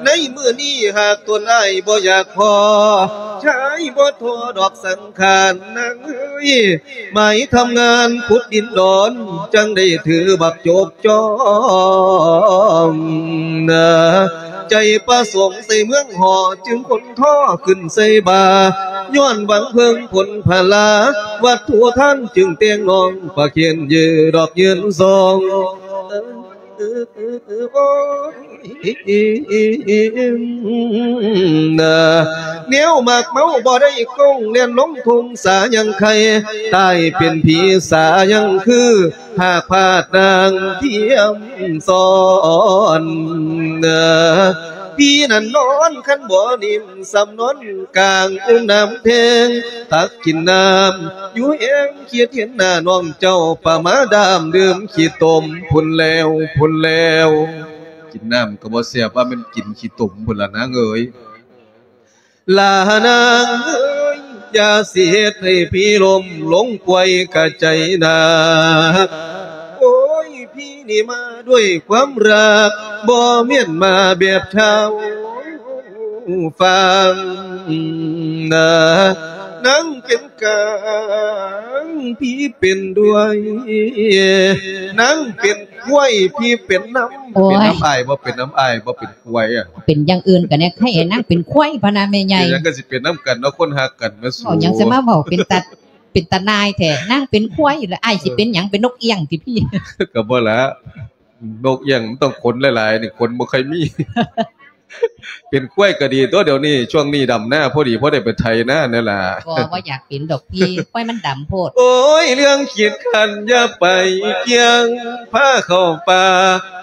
ໃນມື້ນີ້ຫາກຕົນອ້າຍບໍ່ຢາກພໍ ຊາຍບໍ່ທໍ້ດອກສັງຂານນາງເອີຍ ໝາຍທຳງານຂຸດດິນດອນ ຈັ່ງໄດ້ຖືບັກຈົກຈອງ ໃຈປະສົງໃສ່ເມືອງຫໍ ຈຶ່ງຂົນທໍ້ຂຶ້ນໃສ່ບ່າ ຍ້ອນຫວັງເພິ່ງຜົນພະລາ ວັດຖຸທານຈຶ່ງແຕ່ງນ້ອງ ປະເຄນເຢີດອກຍືນສອງ ເອີ ໂອ້ຍ ນາ ແນວໝາກເມົາບໍ່ໄດ້ກົງ ແລ່ນລົງທົ່ງສາຍັງໄຄ ຕາຍເປັນຜີສາຍັງຄື ຫາກພາດນາງທຽມຊ້ອນ ນາ ຜີນັ້ນນອນຄັນບໍ່ນິ້ມ ສ່ຳນອນກາງອຸ້ມນ້ຳແທງ ຕັກກິນນ້ຳຢູ່ແຮງ ຄິດເຫັນໜ້ານ້ອງເຈົ້າ ປະມາດາມດື່ມຂີ້ຕົມພຸ້ນແລ້ວ ພຸ້ນແລ້ວ ກິນນ້ຳກໍບໍ່ແຊບ ວ່າແມ່ນກິນຂີ້ຕົມພຸ້ນລະນາງເອີຍ ລານາງເອີຍ ຢ່າຊິເຮັດໃຫ້ຜີລົ້ມລົງປ່ວຍກະໃຈໜັກ ໂອ້ຍ ຜີນີ້ມາດ້ວຍຄວາມຮັກ ບໍ່ແມ່ນມາແບບທ້າວຝາງນາ ນາງເປັນກາງ ຜີເປັນດ້ວຍ ນາງເປັນຄວາຍ ຜີເປັນນຳ ໂອ້ຍ ເປັນນຳອ້າຍບໍ່ ເປັນນຳອ້າຍບໍ່ ເປັນຄວາຍອະ ເປັນຢ່າງອື່ນກະແນ່ ໃຫ້ນາງເປັນຄວາຍພະນາແມ່ໃຫຍ່ ເປັນຫຍັງກະຊິເປັນນຳກັນເນາະ ຄົນຮັກກັນແມ່ສູ ເວົ້າຫຍັງຊະມາເວົ້າ ເປັນຕາ ເປັນຕານາຍແທ້ ນາງເປັນຄວາຍ ແລ້ວອ້າຍຊິເປັນຫຍັງ ເປັນນົກອຽງຕິພີ່ ກະບໍ່ລະ ນົກອຽງມັນຕ້ອງຂົນຫຼາຍໆ ນີ້ຂົນບໍ່ຄ່ອຍມີ ເປັນຄວາຍກະດີຕົວະ ດຽວນີ້ ຊ່ວງນີ້ດຳນາ ພໍດີພໍໄດ້ໄປໄຖນາແນ່ລະ ບໍ່ ບໍ່ຢາກເປັນດອກພີ່ ຄວາຍມັນດຳໂພດ ໂອ້ຍ ເລື່ອງຄິດຄັນຢ່າໄປກ່ຽງ ພາເຂົ້າປ່າ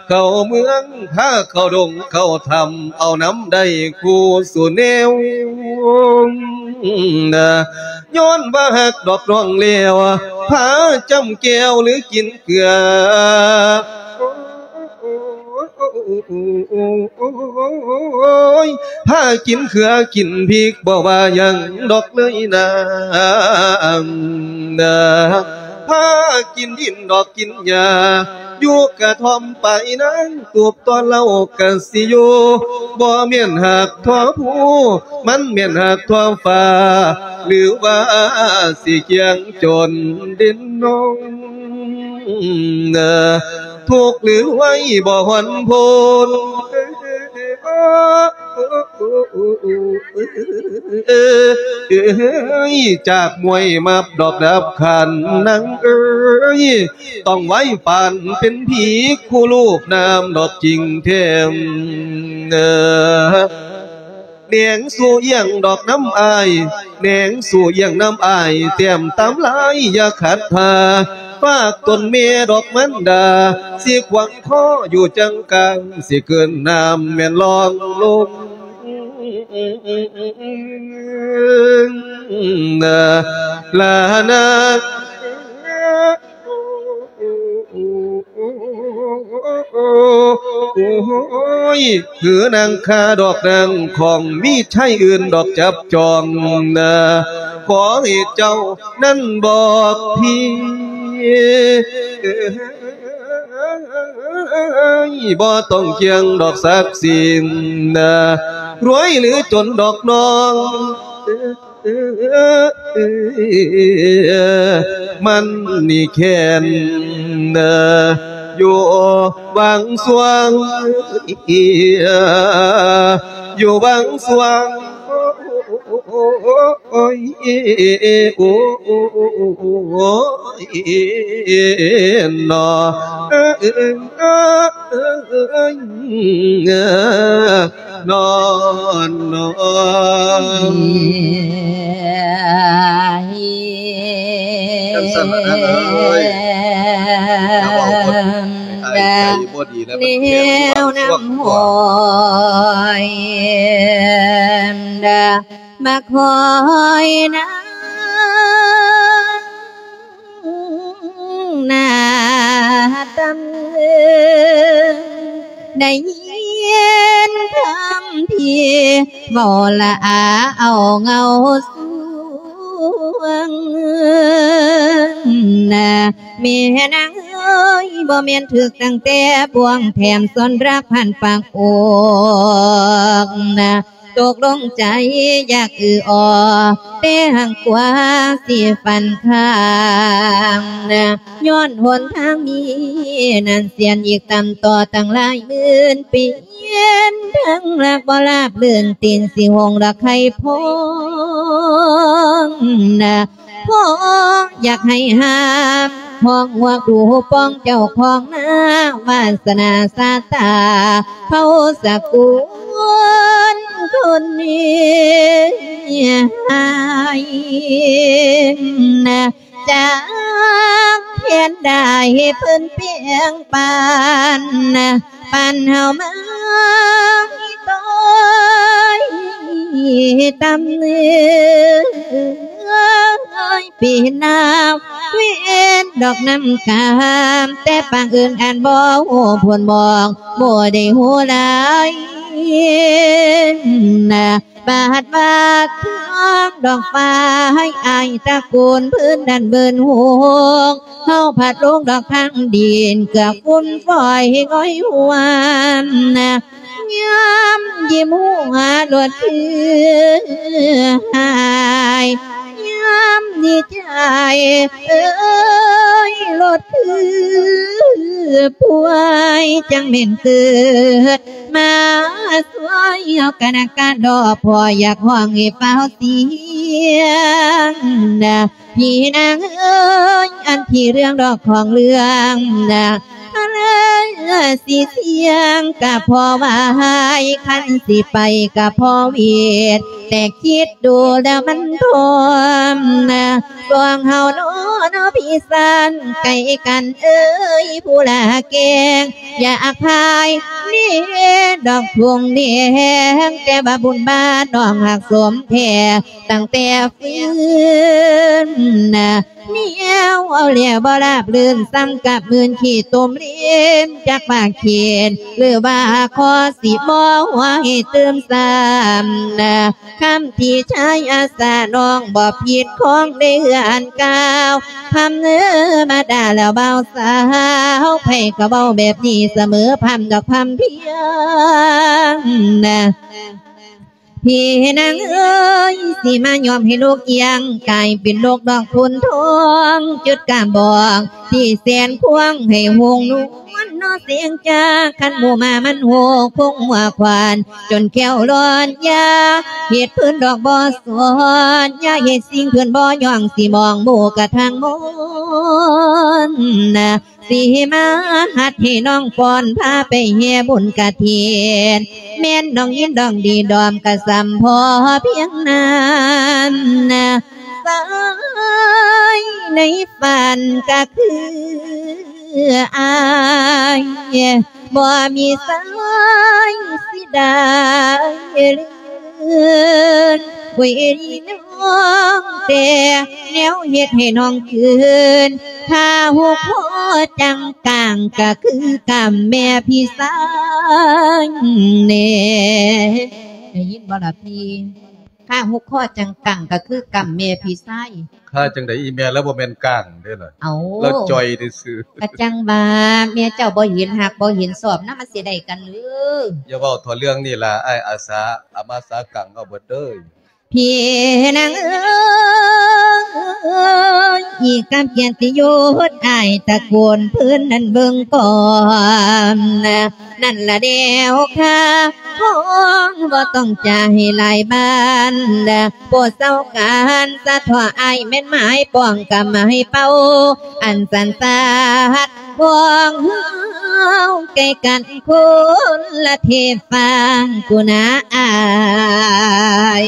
ເຂົ້າເມືອງ ພາເຂົ້າດົງເຂົ້າຖ້ຳ ເອົານຳໄດ້ຄູ່ສູ່ແນວ ຍ້ອນວ່າຮັກດອກນ້ອງແລ້ວ ພາຈ້ຳແກ້ວຫຼືກິນເກືອ ໂອ້ຍ ພາກິນເຂືອກິນພິກ ບໍ່ວ່າຫຍັງດອກເລີຍນາ ພາກິນດິນດອກກິນຫຍ້າ ຢູ່ກະທ່ອມປາຍນາງ ຕູບຕໍ່ເຫຼົ້າກະຊິຢູ່ ບໍ່ແມ່ນຮັກທົ່ວພູ ມັນແມ່ນຮັກທົ່ວຟ້າ ຫຼືວ່າຊິກ່ຽງຈົນດິນນົງ ທຸກຫຼືໄວບໍ່ຫວັ່ນພົ້ນ ຈາກມວຍມັບດອກດັບຂັນນາງເອີຍ ຕ້ອງໄວປານເປັນຜີ ຄູ່ລູບນ້ຳດອກຈິງແທ້ ແນງສູ່ອຽງດອກນຳອ້າຍ ແນງສູ່ອຽງນຳອ້າຍ ແຕ້ມຕາມລາຍຢ່າຂັດທ່າ ຝາກຕົນແມ່ດອກມັນດາ ຊິຂວາງຄໍຢູ່ຈັງກາງ ຊິເກີນນ້ຳແມ່ນລ່ອງລົງ ລານາ ໂອ້ຍ ຄືນາງຂ້າດອກນາງຂອງ ມີຊາຍອື່ນດອກຈັບຈອງນາ ຂໍໃຫ້ເຈົ້ານັ້ນບອກພີ ບໍ່ຕ້ອງກ່ຽງດອກສັກສີນາ ລວຍຫຼືຈົນດອກນ້ອງ ມັນນີ້ແຄ້ນ ຢູ່ຫວ່າງຊ່ວງ ຢູ່ຫວ່າງຊ່ວງ ໂອ້ຍ ໂອ້ຍ ນອ ນອນ ນອນ ຈັ່ງຊັ້ນລະນາງເອີຍ ຢ່າເວົ້າບໍ່ ອ້າຍໃຈບໍ່ດີແລ້ວ ມັນແຂງຢູ່ຫວ່າງຊ່ວງ ມາຄອຍນາ ໜ້າຕຳເອີງ ໄດ້ຍິນຄຳທີ່ເວົ້າລະອາເອົາເງົາສວງນະ ແມ່ນາງເອີຍ ບໍ່ແມ່ນຖືກຕັ້ງແຕ່ບ່ວງ ແຖມສອນລັກພັນປາກອອກນະ ຕົກລົງໃຈຢາກອືອອ ແຕ່ຫາກກວ່າຊິຝັນຄ້າງນະ ຍ້ອນຫົນທາງນີ້ນັ້ນ ສຽນອີກຕ່ຳຕໍ່ຕັ້ງຫຼາຍໝື່ນປີ ເຫັນທັງລັກບໍ່ລາບລື່ນ ຕີນຊິຫົງດອກໄຂ່ພອງນະ ພໍຢາກໃຫ້ຫ້າມ ຮ້ອງຮວກດູປອງເຈົ້າຂອງນາ ວາສະໜາຊາຕາເຜົ່າສະກຸນຄົນມີໃຫ້ນະ ຈັກພຽນໄດ້ເພິ່ນແປງປັນນະ ປັນເຮົາມາຕ້ອຍຕຳເນີຍ ເປັນນາວເວນດອກນ້ຳຄຳ ແຕ່ປາງອື່ນອັນບໍ່ຮູ້ຜົນມອງ ບໍ່ໄດ້ຮູ້ຫຼາຍນະ ບາດວ່າທາງດອກຟ້າໃຫ້ອາຍຕະໂກນ ພື້ນນັ້ນເບິ່ນໂຮງ ເຮົາພັດລົງດອກທາງດິນ ເກືອຝຸ່ນຝອຍງ່ອຍຫວນນະ ຍາມຍິ້ມຫົວໂລດຄືຫາຍ ຍາມດີໃຈເອີຍໂລດຄືປ່ວຍ ຈັ່ງແມ່ນເກີດມາຊ່ວຍເຮົາກະນະກະດອກ ພໍ່ຢາກຮ້ອງໃຫ້ຟ້າວສຽງນະ ພີ່ນາງເອີຍ ອັນທີ່ເລື່ອງດອກຂອງເລື່ອງນະ ເລີຍຊິສຽງກະພໍວາຍ ຄັນຊິໄປກະພໍເວດ ແຕ່ຄິດດູແລ້ວມັນພ້ອມນະ ສອງເຮົາເນາະ ເນາະພີ່ຊານ ໃກ້ກັນເອີຍ ຜູ້ລະແກງ ຢາກພາຍນີ້ດອກທົ່ງແດງ ແຕ່ວ່າບຸນບາດນ້ອງຮັກສົມແທ້ຕັ້ງແຕ່ຟື້ນນະ ແນວເວົ້າແລ້ວບໍ່ລາບລື່ນ ສ່ຳກັບມື່ນຂີ້ຕົມເລນ ຈັກວ່າເຂດ ຫຼືວ່າຂໍຊິບໍ່ຫົວໃຫ້ຕື່ມຊ້ຳນະ ຄຳທີ່ຊາຍອາສາ ນ້ອງບໍ່ຜິດຂອງໃນເຮືອນກ່າວ ພຳເນີມາດ່າແລ້ວບ່າວສາວ ໃຜກໍເວົ້າແບບນີ້ສະເໝີ ພຳດອກພຳພຽງນະ ພີ່ນາງເອີຍ ຊິມາຍອມໃຫ້ໂລກອຽງ ກາຍເປັນໂລກດອກໂພນທອງ ຈຸດກາບອກທີ່ແສນພວງ ໃຫ້ຫົງນວນເນາະ ສຽງຈາກຄັນໝູ່ໝາມັນໂຫ ຄົງຫົວຂວານ ຈົນແຂ້ວລ້ອນຢາ ເຮັດເພິ່ນດອກບໍ່ສອນ ຢ່າເຮັດສິ່ງເພິ່ນບໍ່ຍ້ອງ ຊິມອງໝູ່ກະທາງມນນະ ຊິມາຮັດໃຫ້ນ້ອງຟ້ອນ ພາໄປແຫ່ບຸນກະຖິນ ແມ່ນນ້ອງຍິນດອງດີດອມກະສ່ຳພໍພຽງນັ້ນນະ ສາຍໃນຝັນກະຄືອາຍ ບໍ່ມີສາຍຊິໄດ້ເລີນ ເວຍນ້ອງແຕ່ແນວເຮັດໃຫ້ນ້ອງເກີນ ຖ້າຫົກຄໍຈັ່ງກາງກະຄືກຳແມ່ພີ່ຊາຍແນ່ ໄດ້ຍິນບໍ່ລະພີ່? ຂ້າຫຸກຂໍ້ຈັງກັງກະຄືກຳແມ່ພີ່ຊາຍ. ຂ້າຈັ່ງໃດອີ່ແມ່ ລາວບໍ່ແມ່ນກ້າງເດ້ລະ. ເອົາ ລາວຈ່ອຍຊື່ໆ. ກະຈັ່ງວ່າແມ່ເຈົ້າບໍ່ເຫັນຮັກບໍ່ເຫັນຊອບນຳ ມັນຊິໄດ້ກັນຫຼື? ຢ່າເວົ້າເຖາະເລື່ອງນີ້ລະ ອ້າຍອາສາອາມາສາກັງເອົາເບິດເດີ. ພີ່ນາງເອີຍ ກັບກຽດຕິຍົດ ອ້າຍຕະໂກນພື້ນນັ້ນເບິ່ງກ່ອນ. ນັ້ນລະແນວຂ້າຂອງບໍ່ຕ້ອງຈາໃຫ້ຫຼາຍບານ ບໍ່ເຊົາການສະເທາະອ້າຍແມ່ນໝາຍປ້ອງກຳໃຫ້ເປົ່າ ອັນສັນສາດຂອງເຮົາໃກ້ກັນຄົນລະເທຟາງກຸນາອ້າຍ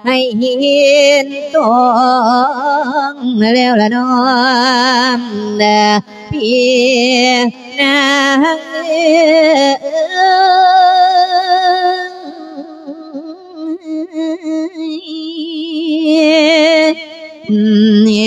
ໃຫ້ເຫັນຕ້ອງແລ້ວລະນ້ອງ ພີ່ນາງເອີຍ.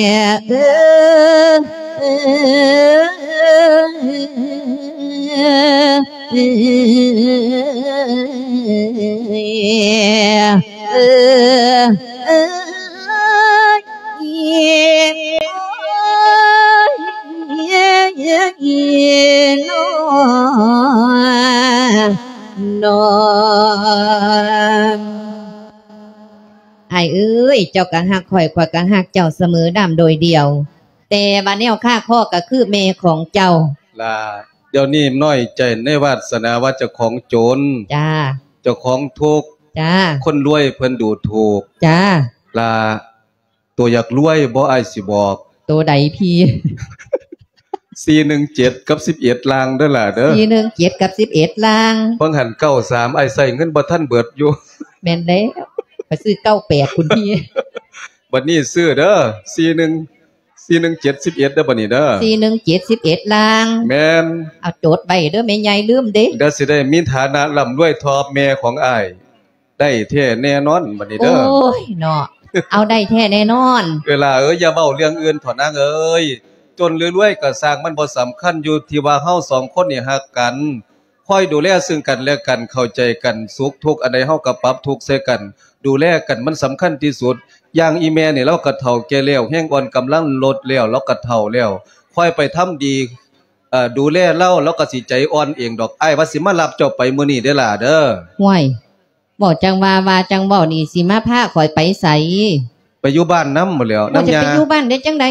ອ້າຍເອີຍ ເຈົ້າກໍຮັກຂ້ອຍ ຂ້ອຍກໍຮັກເຈົ້າສະເໝີດຳໂດຍດຽວ ແຕ່ວ່າແນວຄາຄໍກໍຄືແມ່ຂອງເຈົ້າ. ລາ ດຽວນີ້ນ້ອຍໃຈໃນວາດສະໜາວ່າເຈົ້າຂອງຈົນ. ຈ້າ. ເຈົ້າຂອງທຸກ. ຈ້າ. ຄົນລວຍເພິ່ນດູຖູກ. ຈ້າ. ລາ ໂຕຢາກລວຍບໍ່? ອ້າຍຊິບອກ ໂຕໃດພີ່? ສີ່ໜຶ່ງເຈັດ ກັບ ສິບເອັດ ລ່າງເດີຫຼ້າເດີ. ສີ່ໜຶ່ງເຈັດ ກັບ ສິບເອັດ ລ່າງ. ເບິ່ງຫັ້ນ ເກົ້າສາມ ອ້າຍໃຊ້ເງິນບໍ່ທັນເບິດຢູ່. ແມ່ນແລ້ວ ໄປຊື້ ເກົ້າແປດ ພຸ້ນພີ່. ບັດນີ້ຊື້ເດີ ສີ່ໜຶ່ງ ສີ່ໜຶ່ງເຈັດ ສິບເອັດ ເດີ ບັດນີ້ເດີ. ສີ່ໜຶ່ງເຈັດ ສິບເອັດ ລ່າງ. ແມ່ນ. ເອົາ ຈົດໄວ້ເດີແມ່ໃຫຍ່ ລືມເດ້. ດຽວຊິໄດ້ມີຖານະລ່ຳລວຍທໍ່ແມ່ຂອງອ້າຍ. ໄດ້ແທ້ແນ່ນອນບັດນີ້ເດີ. ໂອ້ຍເນາະ ເອົາໄດ້ແທ້ແນ່ນອນ. ເອີ ຫຼ້າເອີຍ ຢ່າເວົ້າເລື່ອງອື່ນເຖາະນາງເອີຍ. ຈົນຫຼືລວຍກໍຊ່າງ ມັນບໍ່ສຳຄັນ ຢູ່ທີ່ວ່າເຮົາສອງຄົນນີ້ຮັກກັນ ຄອຍດູແລເຊິ່ງກັນແລະກັນ ເຂົ້າໃຈກັນ ສຸກທຸກອັນໃດເຮົາກໍປັບທຸກໃສ່ກັນ ດູແລກັນ ມັນສຳຄັນທີ່ສຸດ. ຢ່າງອີ່ແມ່ນີ້ ລາວກໍເຖົ້າແກ່ແລ້ວ ແຮງອ່ອນກຳລັງລົດແລ້ວ ລາວກໍເຖົ້າແລ້ວ ຄອຍໄປທຳດີ ເອີ ດູແລລາວ ລາວກໍຊິໃຈອ່ອນເອງດອກ. ອ້າຍວ່າຊິມາຮັບເຈົ້າໄປມື້ນີ້ເດີຫຼ້າເດີ. ຫ້ວຍ ເວົ້າຈັ່ງວ່າ ວ່າຈັ່ງເວົ້ານີ້ ຊິມາພາຂ້ອຍໄປໃສ? ໄປຢູ່ບ້ານນຳໝົດແລ້ວ ໂອ້ຍ ນຳ ຈະໄປ ຍ່າ ຢູ່ບ້ານໄດ້ຈັ່ງໃດ?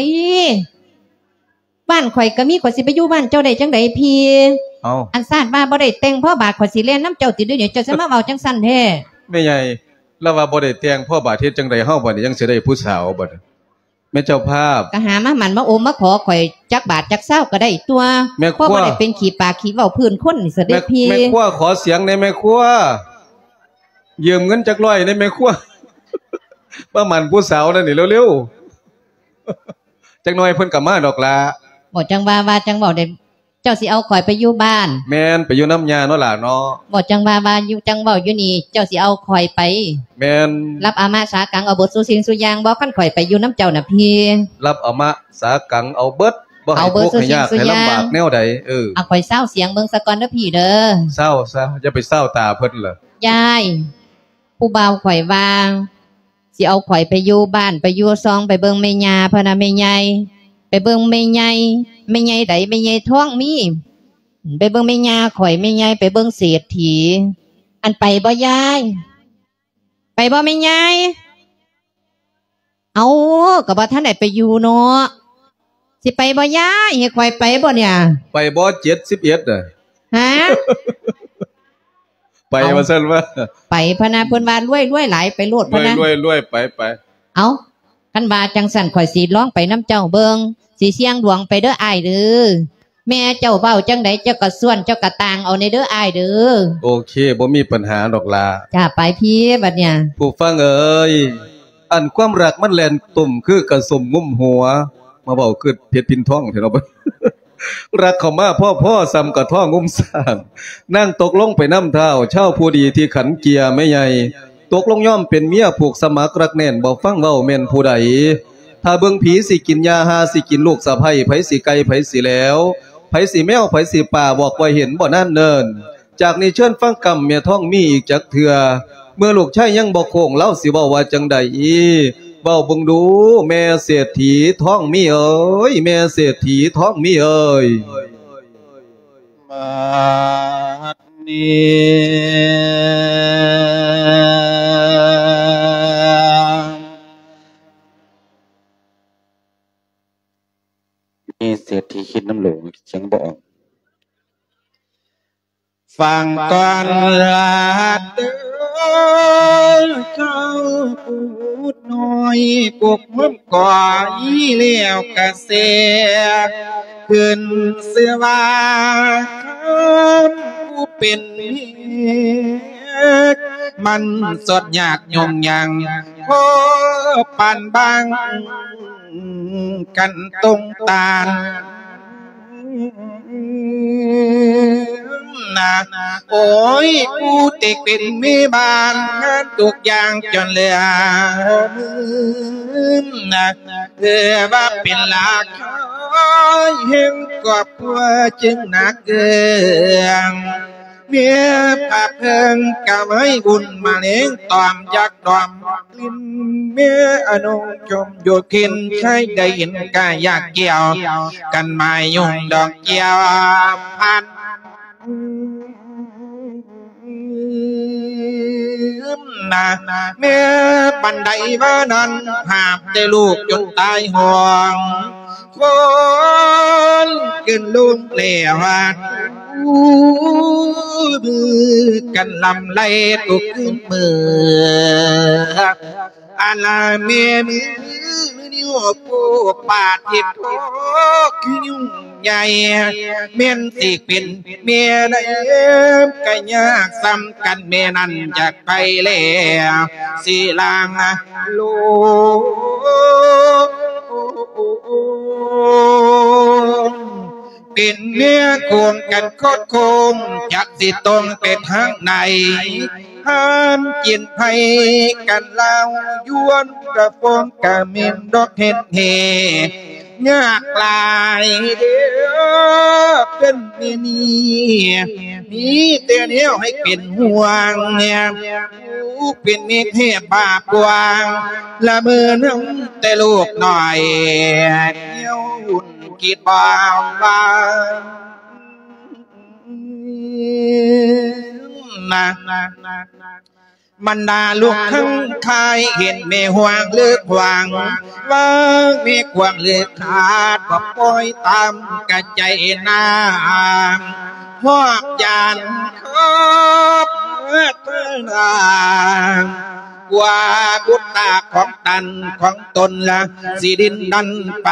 ບ້ານຂ້ອຍກໍມີ ຂ້ອຍຊິໄປຢູ່ບ້ານເຈົ້າໄດ້ຈັ່ງໃດພີ່? ເອົ້າ ອັນຊາດວ່າບໍ່ໄດ້ແຕ່ງພໍບາດ ຂ້ອຍຊິແລ່ນນຳເຈົ້າຕິດຽວນີ້ ເຈົ້າຊິມາເວົ້າຈັ່ງຊັ້ນແທ້? ແມ່ໃຫຍ່ ລາວວ່າບໍ່ໄດ້ແຕ່ງພໍບາດ ເຮັດຈັ່ງໃດເຮົາບັດນີ້ ຍັງຊິໄດ້ຜູ້ສາວບັດນີ້? ແມ່ເຈົ້າພາບ ກໍຫາມາໝັ້ນມາອົມມາຂໍຂ້ອຍຈັກບາດຈັກຊາວກໍໄດ້ຕົວະ. ແມ່ຄົວ ພໍບໍ່ໄດ້ເປັນຂີ້ປາກຂີ້ເວົ້າພື້ນຄົນນີ້ສະເດັດພີ່. ແມ່ຄົວ ຂໍສຽງແດ່ແມ່ຄົວ ຢືມເງິນຈັກຮ້ອຍແດ່ແມ່ຄົວ ມາໝັ້ນຜູ້ສາວນັ້ນນີ້ເລັວໆ ຈັກໜ້ອຍເພິ່ນກໍມາດອກລະ. ບໍ່ ຈັ່ງວ່າ ວ່າຈັ່ງເວົ້າໄດ້ ເຈົ້າຊິເອົາຂ້ອຍໄປຢູ່ບ້ານ? ແມ່ນ ໄປຢູ່ນຳຍ່າເນາະຫຼ້າເນາະ. ບໍ່ ຈັ່ງວ່າ ວ່າຢູ່ ຈັ່ງເວົ້າຢູ່ນີ້ ເຈົ້າຊິເອົາຂ້ອຍໄປ? ແມ່ນ. ຮັບອາມະສາກັງເອົາເບິດສູ່ສິ່ງສູ່ຢ່າງບໍ່ ຄັນຂ້ອຍໄປຢູ່ນຳເຈົ້ານະພີ່? ຮັບອາມະສາກັງເອົາເບິດ ບໍ່ໃຫ້ທຸກໃຫ້ຍາກໃຫ້ລຳບາກແນວໃດ. ເອີ ເອົາຂ້ອຍຊາວສຽງເບິ່ງສາກ່ອນເດີພີ່ເດີ. ຊາວຊະ ຢ່າໄປຊາວຕາເພິ່ນເລີຍ. ຍາຍ ຜູ້ບ່າວຂ້ອຍວ່າ ຊິເອົາຂ້ອຍໄປຢູ່ບ້ານ ໄປຢູ່ຊ່ອງ ໄປເບິ່ງແມ່ຍ່າ ພະນະແມ່ໃຫຍ່ ໄປເບິ່ງແມ່ໃຫຍ່. ແມ່ໃຫຍ່ໃດ? ແມ່ໃຫຍ່ທອງມີ. ໄປເບິ່ງແມ່ຍ່າຂ້ອຍ ແມ່ໃຫຍ່ໄປເບິ່ງເສດຖີ. ອັນ ໄປບໍ່ຍາຍ? ໄປບໍ່ແມ່ໃຫຍ່? ເອົ້າ ກໍບໍ່ທັນໄດ້ໄປຢູ່ເນາະ. ຊິໄປບໍ່ຍາຍ? ໃຫ້ຂ້ອຍໄປບໍ່ເນຍ? ໄປບໍ່ ເຈັດສິບເອັດນະ? ຮະ? ໄປ ເອົ້າ ວ່າຊັ້ນວ່າ ໄປພະນະ ເພິ່ນວ່າລວຍ ລວຍຫຼາຍ ໄປໂລດພະນະ ລວຍ ລວຍ ໄປ ໄປ. ເອົ້າ ຄັນວ່າຈັ່ງຊັ້ນ ຂ້ອຍຊິລອງໄປນຳເຈົ້າເບິ່ງ ຊິສ່ຽງດວງໄປເດີອ້າຍເດີ. ແມ່ເຈົ້າເວົ້າຈັ່ງໃດ ເຈົ້າກໍສ່ວນ ເຈົ້າກໍຕ່າງເອົາແດ່ເດີອ້າຍເດີ. ໂອເຄ ບໍ່ມີປັນຫາດອກຫຼ້າ. ຈ້າ ໄປພີ້ບັດເນີ້ຍ. ຜູ້ຟັງເອີຍ ອັນຄວາມຮັກມັນແລ່ນຕຸ່ມຄືກະສົມງຸ້ມຫົວ ມາເວົ້າຄືເພັດພິນທອງແທ້ເນາະ. ຮັກເຂົ້າມາພໍໆ ສ່ຳກະທ້ອງງຸ້ມສ້າງ ນາງຕົກລົງໄປນຳທ້າວ ຊາວຜູ້ດີທີ່ຂັນເກຍແມ່ໃຫຍ່ ຕົກລົງຍອມເປັນເມຍ ຜູກສະໝັກຮັກແໜ້ນ ບໍ່ຟັງເວົ້າແມ່ນຜູ້ໃດ. ຖ້າເບິ່ງຜີຊິກິນຫຍ້າ ຫ່າຊິກິນລູກສະໃພ້ ໃຜຊິໄກ່ ໃຜຊິແຫຼວ ໃຜຊິແມວ ໃຜຊິປາ ບອກວ່າເຫັນບໍ່ນານເນີນ. ຈາກນີ້ເຊີນຟັງກຳແມ່ທອງມີອີກຈັກເທື່ອ ເມື່ອລູກຊາຍຍັງບໍ່ໂຄ້ງ ລາວຊິເວົ້າວ່າຈັ່ງໃດ? ເວົ້າເບິ່ງດູ ແມ່ເສດຖີທອງມີເອີຍ ແມ່ເສດຖີທອງມີເອີຍ. ບາດນີ້ ມີເສດຖີຄິດນຳໂຫຼ ສຽງບໍ່ອອກ. ຟັງກ່ອນລາດເດີ ເຈົ້າປູດນ້ອຍ ປົກຫົວ ກໍອີແລ້ວກະເສກ ຂຶ້ນຊື່ວ່າຄຳຜູ້ເປັນເມຍ ມັນສອດຍາກຫຍຸ້ງຍາງ ພໍປານບາງກັນຕົງຕານນະ. ໂອ້ຍ ຜູ້ທີ່ເປັນແມ່ບ້ານ ທຸກຢ່າງຈົນເຫຼືອນະ ເອີ ວ່າເປັນລາຄາແຫ່ງຄອບຄົວຈຶ່ງໜັກເອີງ ເມຍພາເພິ່ງກະໄວ້ບຸນມະເລັງ ຕອມຢາກດອມກິ່ນ ເມຍອະນຸຊົມຢູ່ກິນ ໃຜໄດ້ເຫັນກະຢາກກ່ຽວ ກັນໝາຍຍົງດອກກ່ຽວພັນ ນະ ແມ່ປານໃດວ່ານັ້ນ ຫາບແຕ່ລູກຈົນຕາຍຫ້ອງ ຄົນຂຶ້ນລູກແລ້ວ ມື້ກັນລຳໄລທຸກຄືນມື້ ອັນລະແມ່ມືນິ້ວໂປ້ປາດເຮັດໂທຄືຫຍຸ້ງໃຫຍ່ ແມ່ນຊິເປັນແມ່ໃດກະຍາກສ່ຳກັນ ແມ່ນັ້ນຈາກໄປແລ້ວ ຊິລາງໂລກ ເປັນເນື້ອໂຄງກັນຄອດໂຄ້ງ ຈັກຊິຕົງໄປທາງໃດ ຫ້າມກິນໄຜກັນລາວ ຢວນກະຟອງກະເໝັນດອກເຫັດເຫ ຍາກຫຼາຍເດີ້ເພິ່ນແມ່ນີ້ ມີແຕ່ແນວໃຫ້ເປັນຫ່ວງ ຜູ້ເປັນແມ່ແທ້ບາບກວ້າງ ລະເມີນຳແຕ່ລູກນ້ອຍ ແນວຫຸ່ນຄິດບໍ່ວ່າ ບັນດາລູກທັງຫຼາຍ ເຫັນແມ່ຫວງເລີກຫວັງ ວ່າແມ່ກວາງເລີກຂາດ ກໍປ່ອຍຕາມກະໃຈນາງ ຮອບຢານຄອບເທນາ ກວ່າບຸດຕາຂອງຕັນຂອງຕົນລະ ຊິດິນດັນໄປ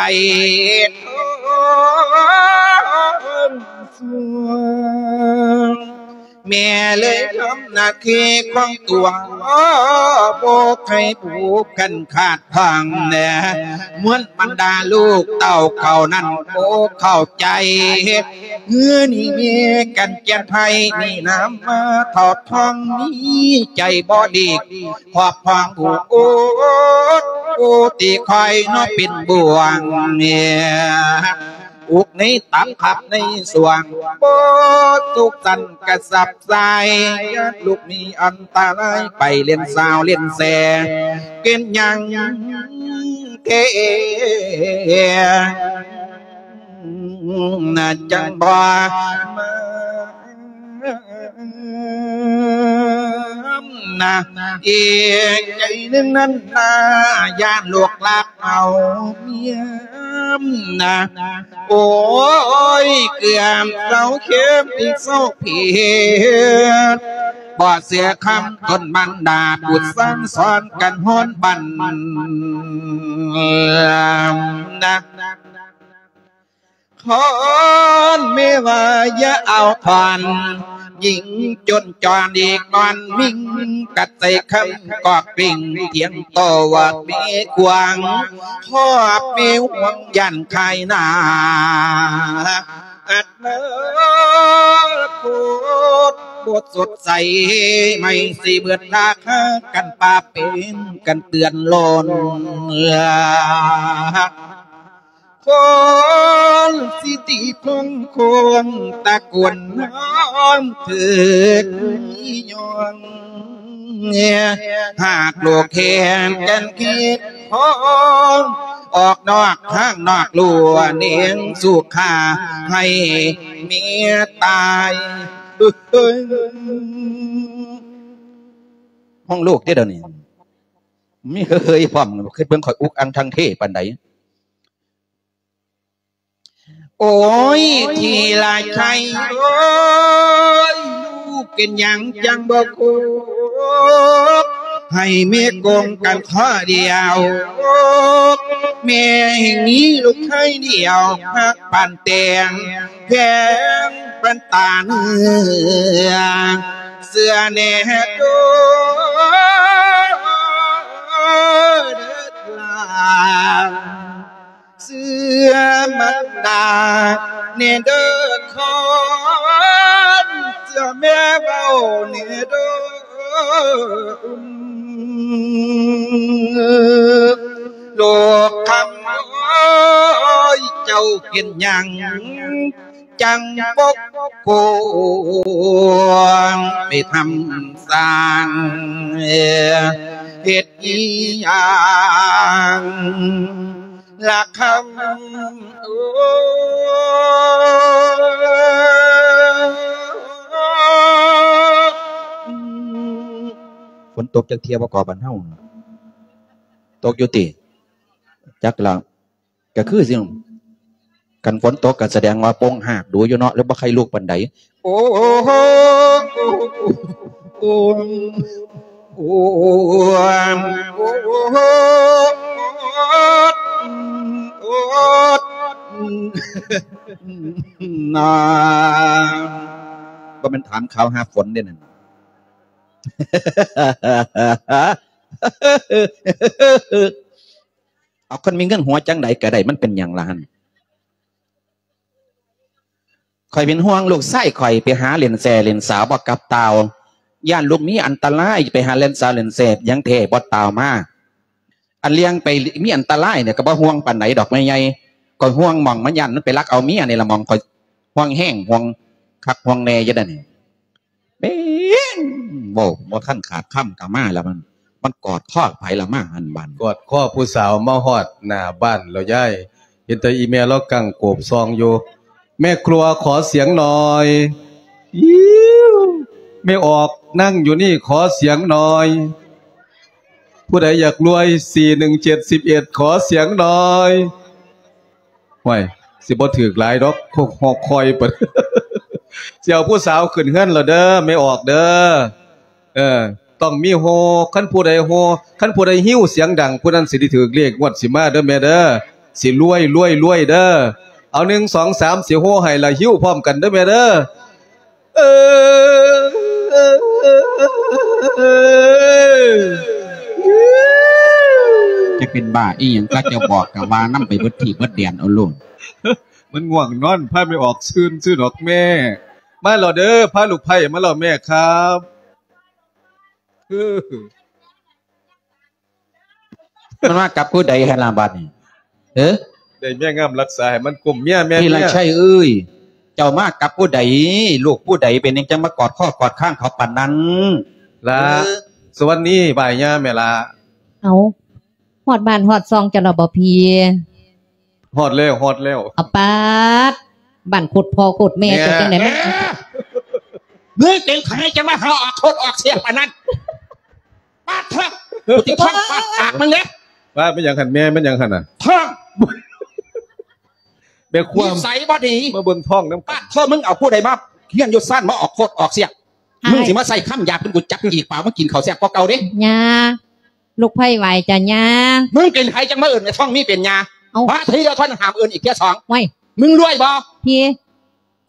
ແມ່ເລີຍທຳໜ້າທີ່ຂອງຕົວ ບໍ່ໃຫ້ຜູ້ຄັນຂາດພັງແລ ມວນບັນດາລູກເຕົ້າເຂົານັ້ນບໍ່ເຂົ້າໃຈ ເຮືອນີ້ມີກັນແກ່ນໄພ ມີນາມມາເທົ່າທອງ ມີໃຈບໍ່ດີ ຄອບຄອງຜູ້ອົດ ຜູ້ທີ່ຄອຍເນາະເປັນບ່ວງ ອຸກໃນຕັບຂັບໃນສວງ ບໍ່ສຸກສັນກະສັບສາຍ ຢ້ານລູກມີອັນຕະລາຍ ໄປເຫຼັ້ນສາວເຫຼັ້ນແສ ເປັນຫຍັງແທ້ ນະ ຈັ່ງບໍ່ມານະ ອີກໃຈໜຶ່ງນັ້ນນາ ຢ້ານລູກລັກເອົາເມຍນະ ໂອ້ຍ ເກືອບເຊົາເຂັ້ມອີກເຊົາເພັດ ບໍ່ເຊື່ອຄຳຕົນບັນດາ ບຸດສັ່ງສອນກັນຮອນບັນນະ ຄອນແມ່ວ່າຢ່າເອົາຜ່ອນ ຍິງຈົນຈອນອີກນອນມິງ ກັດໃສ່ຄຳກອກປິງ ພຽງຕໍ່ວ່າແມ່ກວາງ ຄອບແມ່ຫວງຢ້ານຂາຍໜ້າ ອັດນາຄົດບໍ່ສົດໃສ ໄມ້ຊິເບິດລາຄາກັນ ປາເປັນກັນເຕືອນລ້ອນ ຄົນຊິຕິຄົງຄົງຕະໂກນຮ້ອງເຖິງມີຍ້ອງ ຫາກໂລກແຫ່ງກັນຄິດພ້ອງ ອອກນອກທາງນອກລົວເນງສຸຂາ ໃຫ້ເມດຕາຍ ຫ້ອງໂລກເດ້ດຽວນີ້ ມີເຮີຍໆພ້ອມ ຄິດເບິ່ງຂ້ອຍອຸກອັງທັງເທປານໃດ. ໂອ້ຍ ທີ່ລາໄຊ ໂອ້ຍ ລູກເປັນຫຍັງຈັ່ງບໍ່ຄຸກ ໃຫ້ແມ່ກົງກັນຂໍ້ດຽວ ແມ່ແຫ່ງມີລູກຊາຍດຽວ ຮັກປານແຕງ ແພງປານຕາເນື້ອ ເຊື່ອແນ່ເດີຫຼານ ເຊື່ອມັນດາແນ່ເດີຄອນ ເຊື່ອແມ່ເວົ້າແນ່ເດີ ລູກຄຳເອີຍ ເຈົ້າເປັນຫຍັງ ຈັ່ງປົກໂກງໄປທຳສ້າງ ເຮັດອີຫຍັງລະຄຳ ໂອ້ຍ ຝົນຕົກຈັກເທື່ອບໍ່ກໍບ້ານເຮົາ ຕົກຢູ່ຕິ ຈັກລະ ກໍຄືຊິ ຄັນຝົນຕົກກໍສະແດງວ່າປົ່ງຮາກດູຢູ່ເນາະ ຫຼືບໍ່ໃຄ່ລຸກປານໃດ. ໂອ້ ໂອ້ ໂອ້ ໂອ້ ນາ ບໍ່ແມ່ນຖາມຂ່າວຫາຝົນເດ້ນັ້ນ. ເອົາ ຄົນມີເງິນຫົວຈັ່ງໃດກໍໄດ້ ມັນເປັນຫຍັງລະຫັ້ນ? ຂ້ອຍເປັນຫ່ວງລູກຊາຍຂ້ອຍ ໄປຫາຫຼິ້ນແຊຫຼິ້ນສາວບໍ່ກັບຕ່າວ ຢ້ານລູກມີອັນຕະລາຍ ໄປຫາຫຼິ້ນສາວຫຼິ້ນແຊຫຍັງແທ້ບໍ່ຕ່າວມາ. ອັນເລື່ອງໄປມີອັນຕະລາຍນີ້ກໍບໍ່ຫ່ວງປານໃດດອກແມ່ໃຫຍ່ ຂ້ອຍຫ່ວງໝ່ອງມັນ ຢ້ານມັນໄປລັກເອົາເມຍນີ້ລະ ໝ່ອງຂ້ອຍຫ່ວງແຮງ ຫ່ວງຄັກຫ່ວງແນ່ຢູ່ເດ້ນີ້. ແມ່ນ ເວົ້າບໍ່ທັນຂາດຄຳກໍມາແລ້ວ ມັນ ມັນກອດຄໍໃຜລະມາຫັ້ນບາດນີ້ ກອດຄໍຜູ້ສາວມາຮອດໜ້າບ້ານແລ້ວຍາຍ ເຫັນແຕ່ອີ່ແມ່ລາວກັ້ງໂກບສ່ອງຢູ່. ແມ່ครัวขอเสียงหน่อย แม่ออกนั่งอยู่นี่ขอเสียงหน่อย ผู้ใดอยากรวย สี่หนึ่งเจ็ดสิบเอ็ด ขอเสียงหน่อย ห้วย สิบ่ถืกหลายดอก คอก ฮอกคอยเปิด สิเอาผู้สาวขึ้นเฮือนแล้วเด้อ แม่ออกเด้อ เออ ต้องมีโฮ คันผู้ใดโฮ คันผู้ใดหิ้วเสียงดัง ผู้นั้นสิได้ถืกเลขงวดสิมาเด้อแม่เด้อ สิรวย รวย รวยเด้อ เอา หนึ่ง สอง สาม สิโฮให้ละหิ้วพร้อมกันเด้อแม่เด้อ ເອີ ຈັກເປັນບ້າອີ່ຫຍັງ ກະເຈົ້າບອກກະວ່ານຳໄປເບິດທີ່ເບິດແດນເອົາໂລດ. ມັນງ່ວງນອນ ພາແມ່ອອກຊື່ນ ຊື່ນດອກແມ່. ມາແລ້ວເດີ ພາລູກໃພ້ມາແລ້ວແມ່ຄັບ. ມັນມາກັບຜູ້ໃດຫັ້ນລະບາດນີ້? ເອີ ໄດ້ແມ່ງາມລັກສາໃຫ້ມັນກົມເມຍ ແມ່ນເມຍ. ທີລະໄຊເອີຍ ເຈົ້າມາກັບຜູ້ໃດ? ລູກຜູ້ໃດ? ເປັນຫຍັງຈັ່ງມາກອດຄໍກອດຄາງເຂົາປານນັ້ນ? ລະ ເອີ ສະຫວັດດີ ບາຍຍາແມ່ລະ. ເອົາ ຮອດບ້ານຮອດຊ່ອງເຈົ້າແລ້ວບໍ່ພີ່? ຮອດແລ້ວ ຮອດແລ້ວ. ອາປາດ ບ້ານໂຄດພໍ່ໂຄດແມ່ເຈົ້າຈັ່ງໃດ? ແມ່ ມຶງເປັນໃຜຈັ່ງມາຫາອອກໂຄດອອກສຽງປານນັ້ນ? ປາດເຖາະ ກູຊິທ້ອງປາດປາກມຶງເດ້. ວ່າແມ່ນຫຍັງຫັ້ນແມ່? ແມ່ນຫຍັງຫັ້ນນະ? ທ້ອງ ແມ່ຄວາມ ນິໄສບໍ່ດີ ມາເບິ່ງທ້ອງນຳກັນ. ປາດເຖາະ ມຶງເອົາຜູ້ໃດມາຮຽນຢູ່ຊັ້ນມາອອກໂຄດອອກສຽງ? ອ້າຍ ມຶງຊິມາໃສ່ຄຳຫຍາບຈົນກູຈັບຈີກປາກມາກິນເຂົ້າແຊບກວ່າເກົ່າເດ້. ຍ່າ ລູກໃພ້ໄຫວ້ຈ້າຍ່າ. ມຶງເປັນໃຜຈັ່ງມາເອີ້ນແມ່ທ້ອງມີເປັນຍ່າ? ເອົ້າ ມາທີດຽວເທົ່ານັ້ນຫ້າມເອີ້ນອີກເທື່ອສອງ. ໂອ້ຍ ມຶງລວຍບໍ່? ພີ່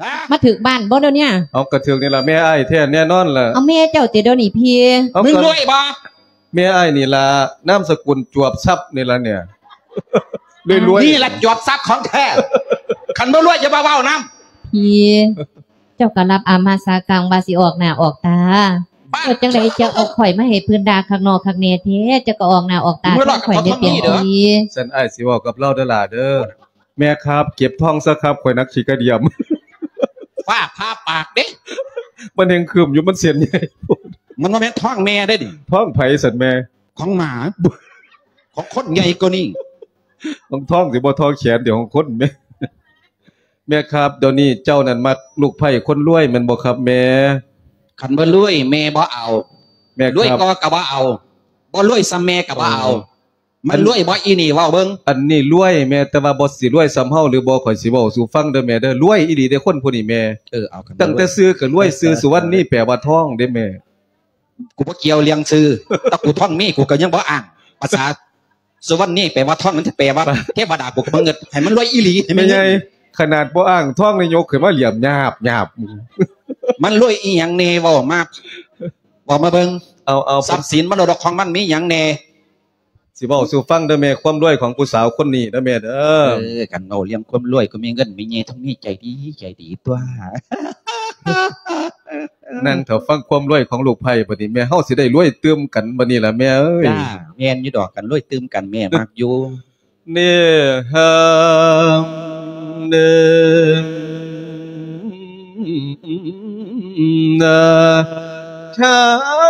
ຮະ? ມາຖືກບ້ານບໍ່ດຽວນີ້? ເອົາ ກະຖືກນີ້ລະ ແມ່ອ້າຍແທ້ແນ່ນອນລະ. ເອົາ ແມ່ເຈົ້າຕິດຽວນີ້ພີ່? ເອົາ ມຶງລວຍບໍ່? ແມ່ອ້າຍນີ້ລະ ນາມສະກຸນຈວບຊັບນີ້ລະເນຍ ລວຍໆ ນີ້ລະຈວບຊັບຂອງແທ້. ຄັນບໍ່ລວຍຢ່າມາເວົ້ານຳ. ພີ່ ເຈົ້າກໍລັບອາມາສາກັງວ່າຊິອອກໜ້າອອກຕາ ເຮັດຈັ່ງໃດເຈົ້າເອົາຂ້ອຍມາໃຫ້ເພິ່ນດ່າຄັກນໍຄັກແນ່ແທ້ ເຈົ້າກໍອອກໜ້າອອກຕາແທນຂ້ອຍແດ່ເປັນດີ. ຊັ້ນອ້າຍຊິເວົ້າກັບລາວເດີຫຼ້າເດີ. ແມ່ຄັບ ເກັບທ້ອງຊະຄັບ ຂ້ອຍໜັກຂີ້ກະດຽມ. ຟ້າຜ່າປາກເດ້. ມັນແຮ່ງຄຶມຢູ່ ມັນເສັ້ນໃຫຍ່ໂພດ. ມັນບໍ່ແມ່ນທ້ອງແມ່ເດ້ນີ້. ທ້ອງໃຜຊັ້ນແມ່? ຂອງໝາ ຂອງຄົນໃຫຍ່ກວ່ານີ້. ຂອງທ້ອງຊິບໍ່ທໍ່ແຂນດຽວຂອງຄົນແມ່. ແມ່ຄັບ ດຽວນີ້ເຈົ້ານັ້ນມັກລູກໃພ້ຄົນລວຍແມ່ນບໍ່ຄັບແມ່? ຄັນບໍ່ລວຍແມ່ບໍ່ເອົາ. ແມ່ ລວຍກໍ ກໍບໍ່ເອົາ ບໍ່ລວຍສ່ຳແມ່ກໍບໍ່ເອົາ. ມັນລວຍບໍ່ອີ່ນີ້ ເວົ້າເບິ່ງ. ອັນນີ້ລວຍແມ່ ແຕ່ວ່າບໍ່ ຊິລວຍສ່ຳເຮົາຫຼືບໍ່ ຂ້ອຍຊິເວົ້າສູ່ຟັງເດີແມ່ເດີ. ລວຍອີ່ຫຼີເດ້ຄົນຜູ້ນີ້ແມ່. ເອີ ເອົາ ຕັ້ງແຕ່ຊື່ກໍລວຍ ຊື່ສຸວັນນີແປວ່າທ້ອງເດ້ແມ່. ກູບໍ່ກ່ຽວເລື່ອງຊື່ ແຕ່ກູທ້ອງມີ ກູກໍຍັງບໍ່ອ້າງ. ພາສາສຸວັນນີແປວ່າທ້ອງ ມັນຈະແປວ່າເທວະດາ ກູກໍບໍ່ເງິດ. ໃຫ້ມັນລວຍອີ່ຫຼີ ໃຫ້ມັນ ແມ່ໃຫຍ່ ຂະໜາດບໍ່ອ້າງທ້ອງນີ້ ຍົກຂຶ້ນມາຫຼຽມຫຍາບໆ. ມັນລວຍອີ່ຫຍັງແນ່ ເວົ້າມາ ເວົ້າມາເບິ່ງ. ເອົາ ເອົາ ຊັບສິນມໍລະດົກຂອງມັນມີຫຍັງແນ່? ຊິເວົ້າສູ່ຟັງເດີແມ່ ຄວາມລວຍຂອງຜູ້ສາວຄົນນີ້ເດີແມ່ເດີ. ເອີ ຄັນເວົ້າເລື່ອງຄວາມລວຍ ກໍມີເງິນມີເຍ ຕ້ອງມີໃຈດີ ໃຈດີຕົວະ. ນັ່ງຖ້າຟັງຄວາມລວຍຂອງລູກໃພ້ບັດນີ້ ແມ່ເຮົາຊິໄດ້ລວຍຕື່ມກັນບັດນີ້ລະແມ່ເອີຍ. ຈ້າ ແມ່ນຢູ່ດອກ ຄັນລວຍຕື່ມກັນແມ່ມັກຢູ່. ເນ ເນ ນາ ຊາ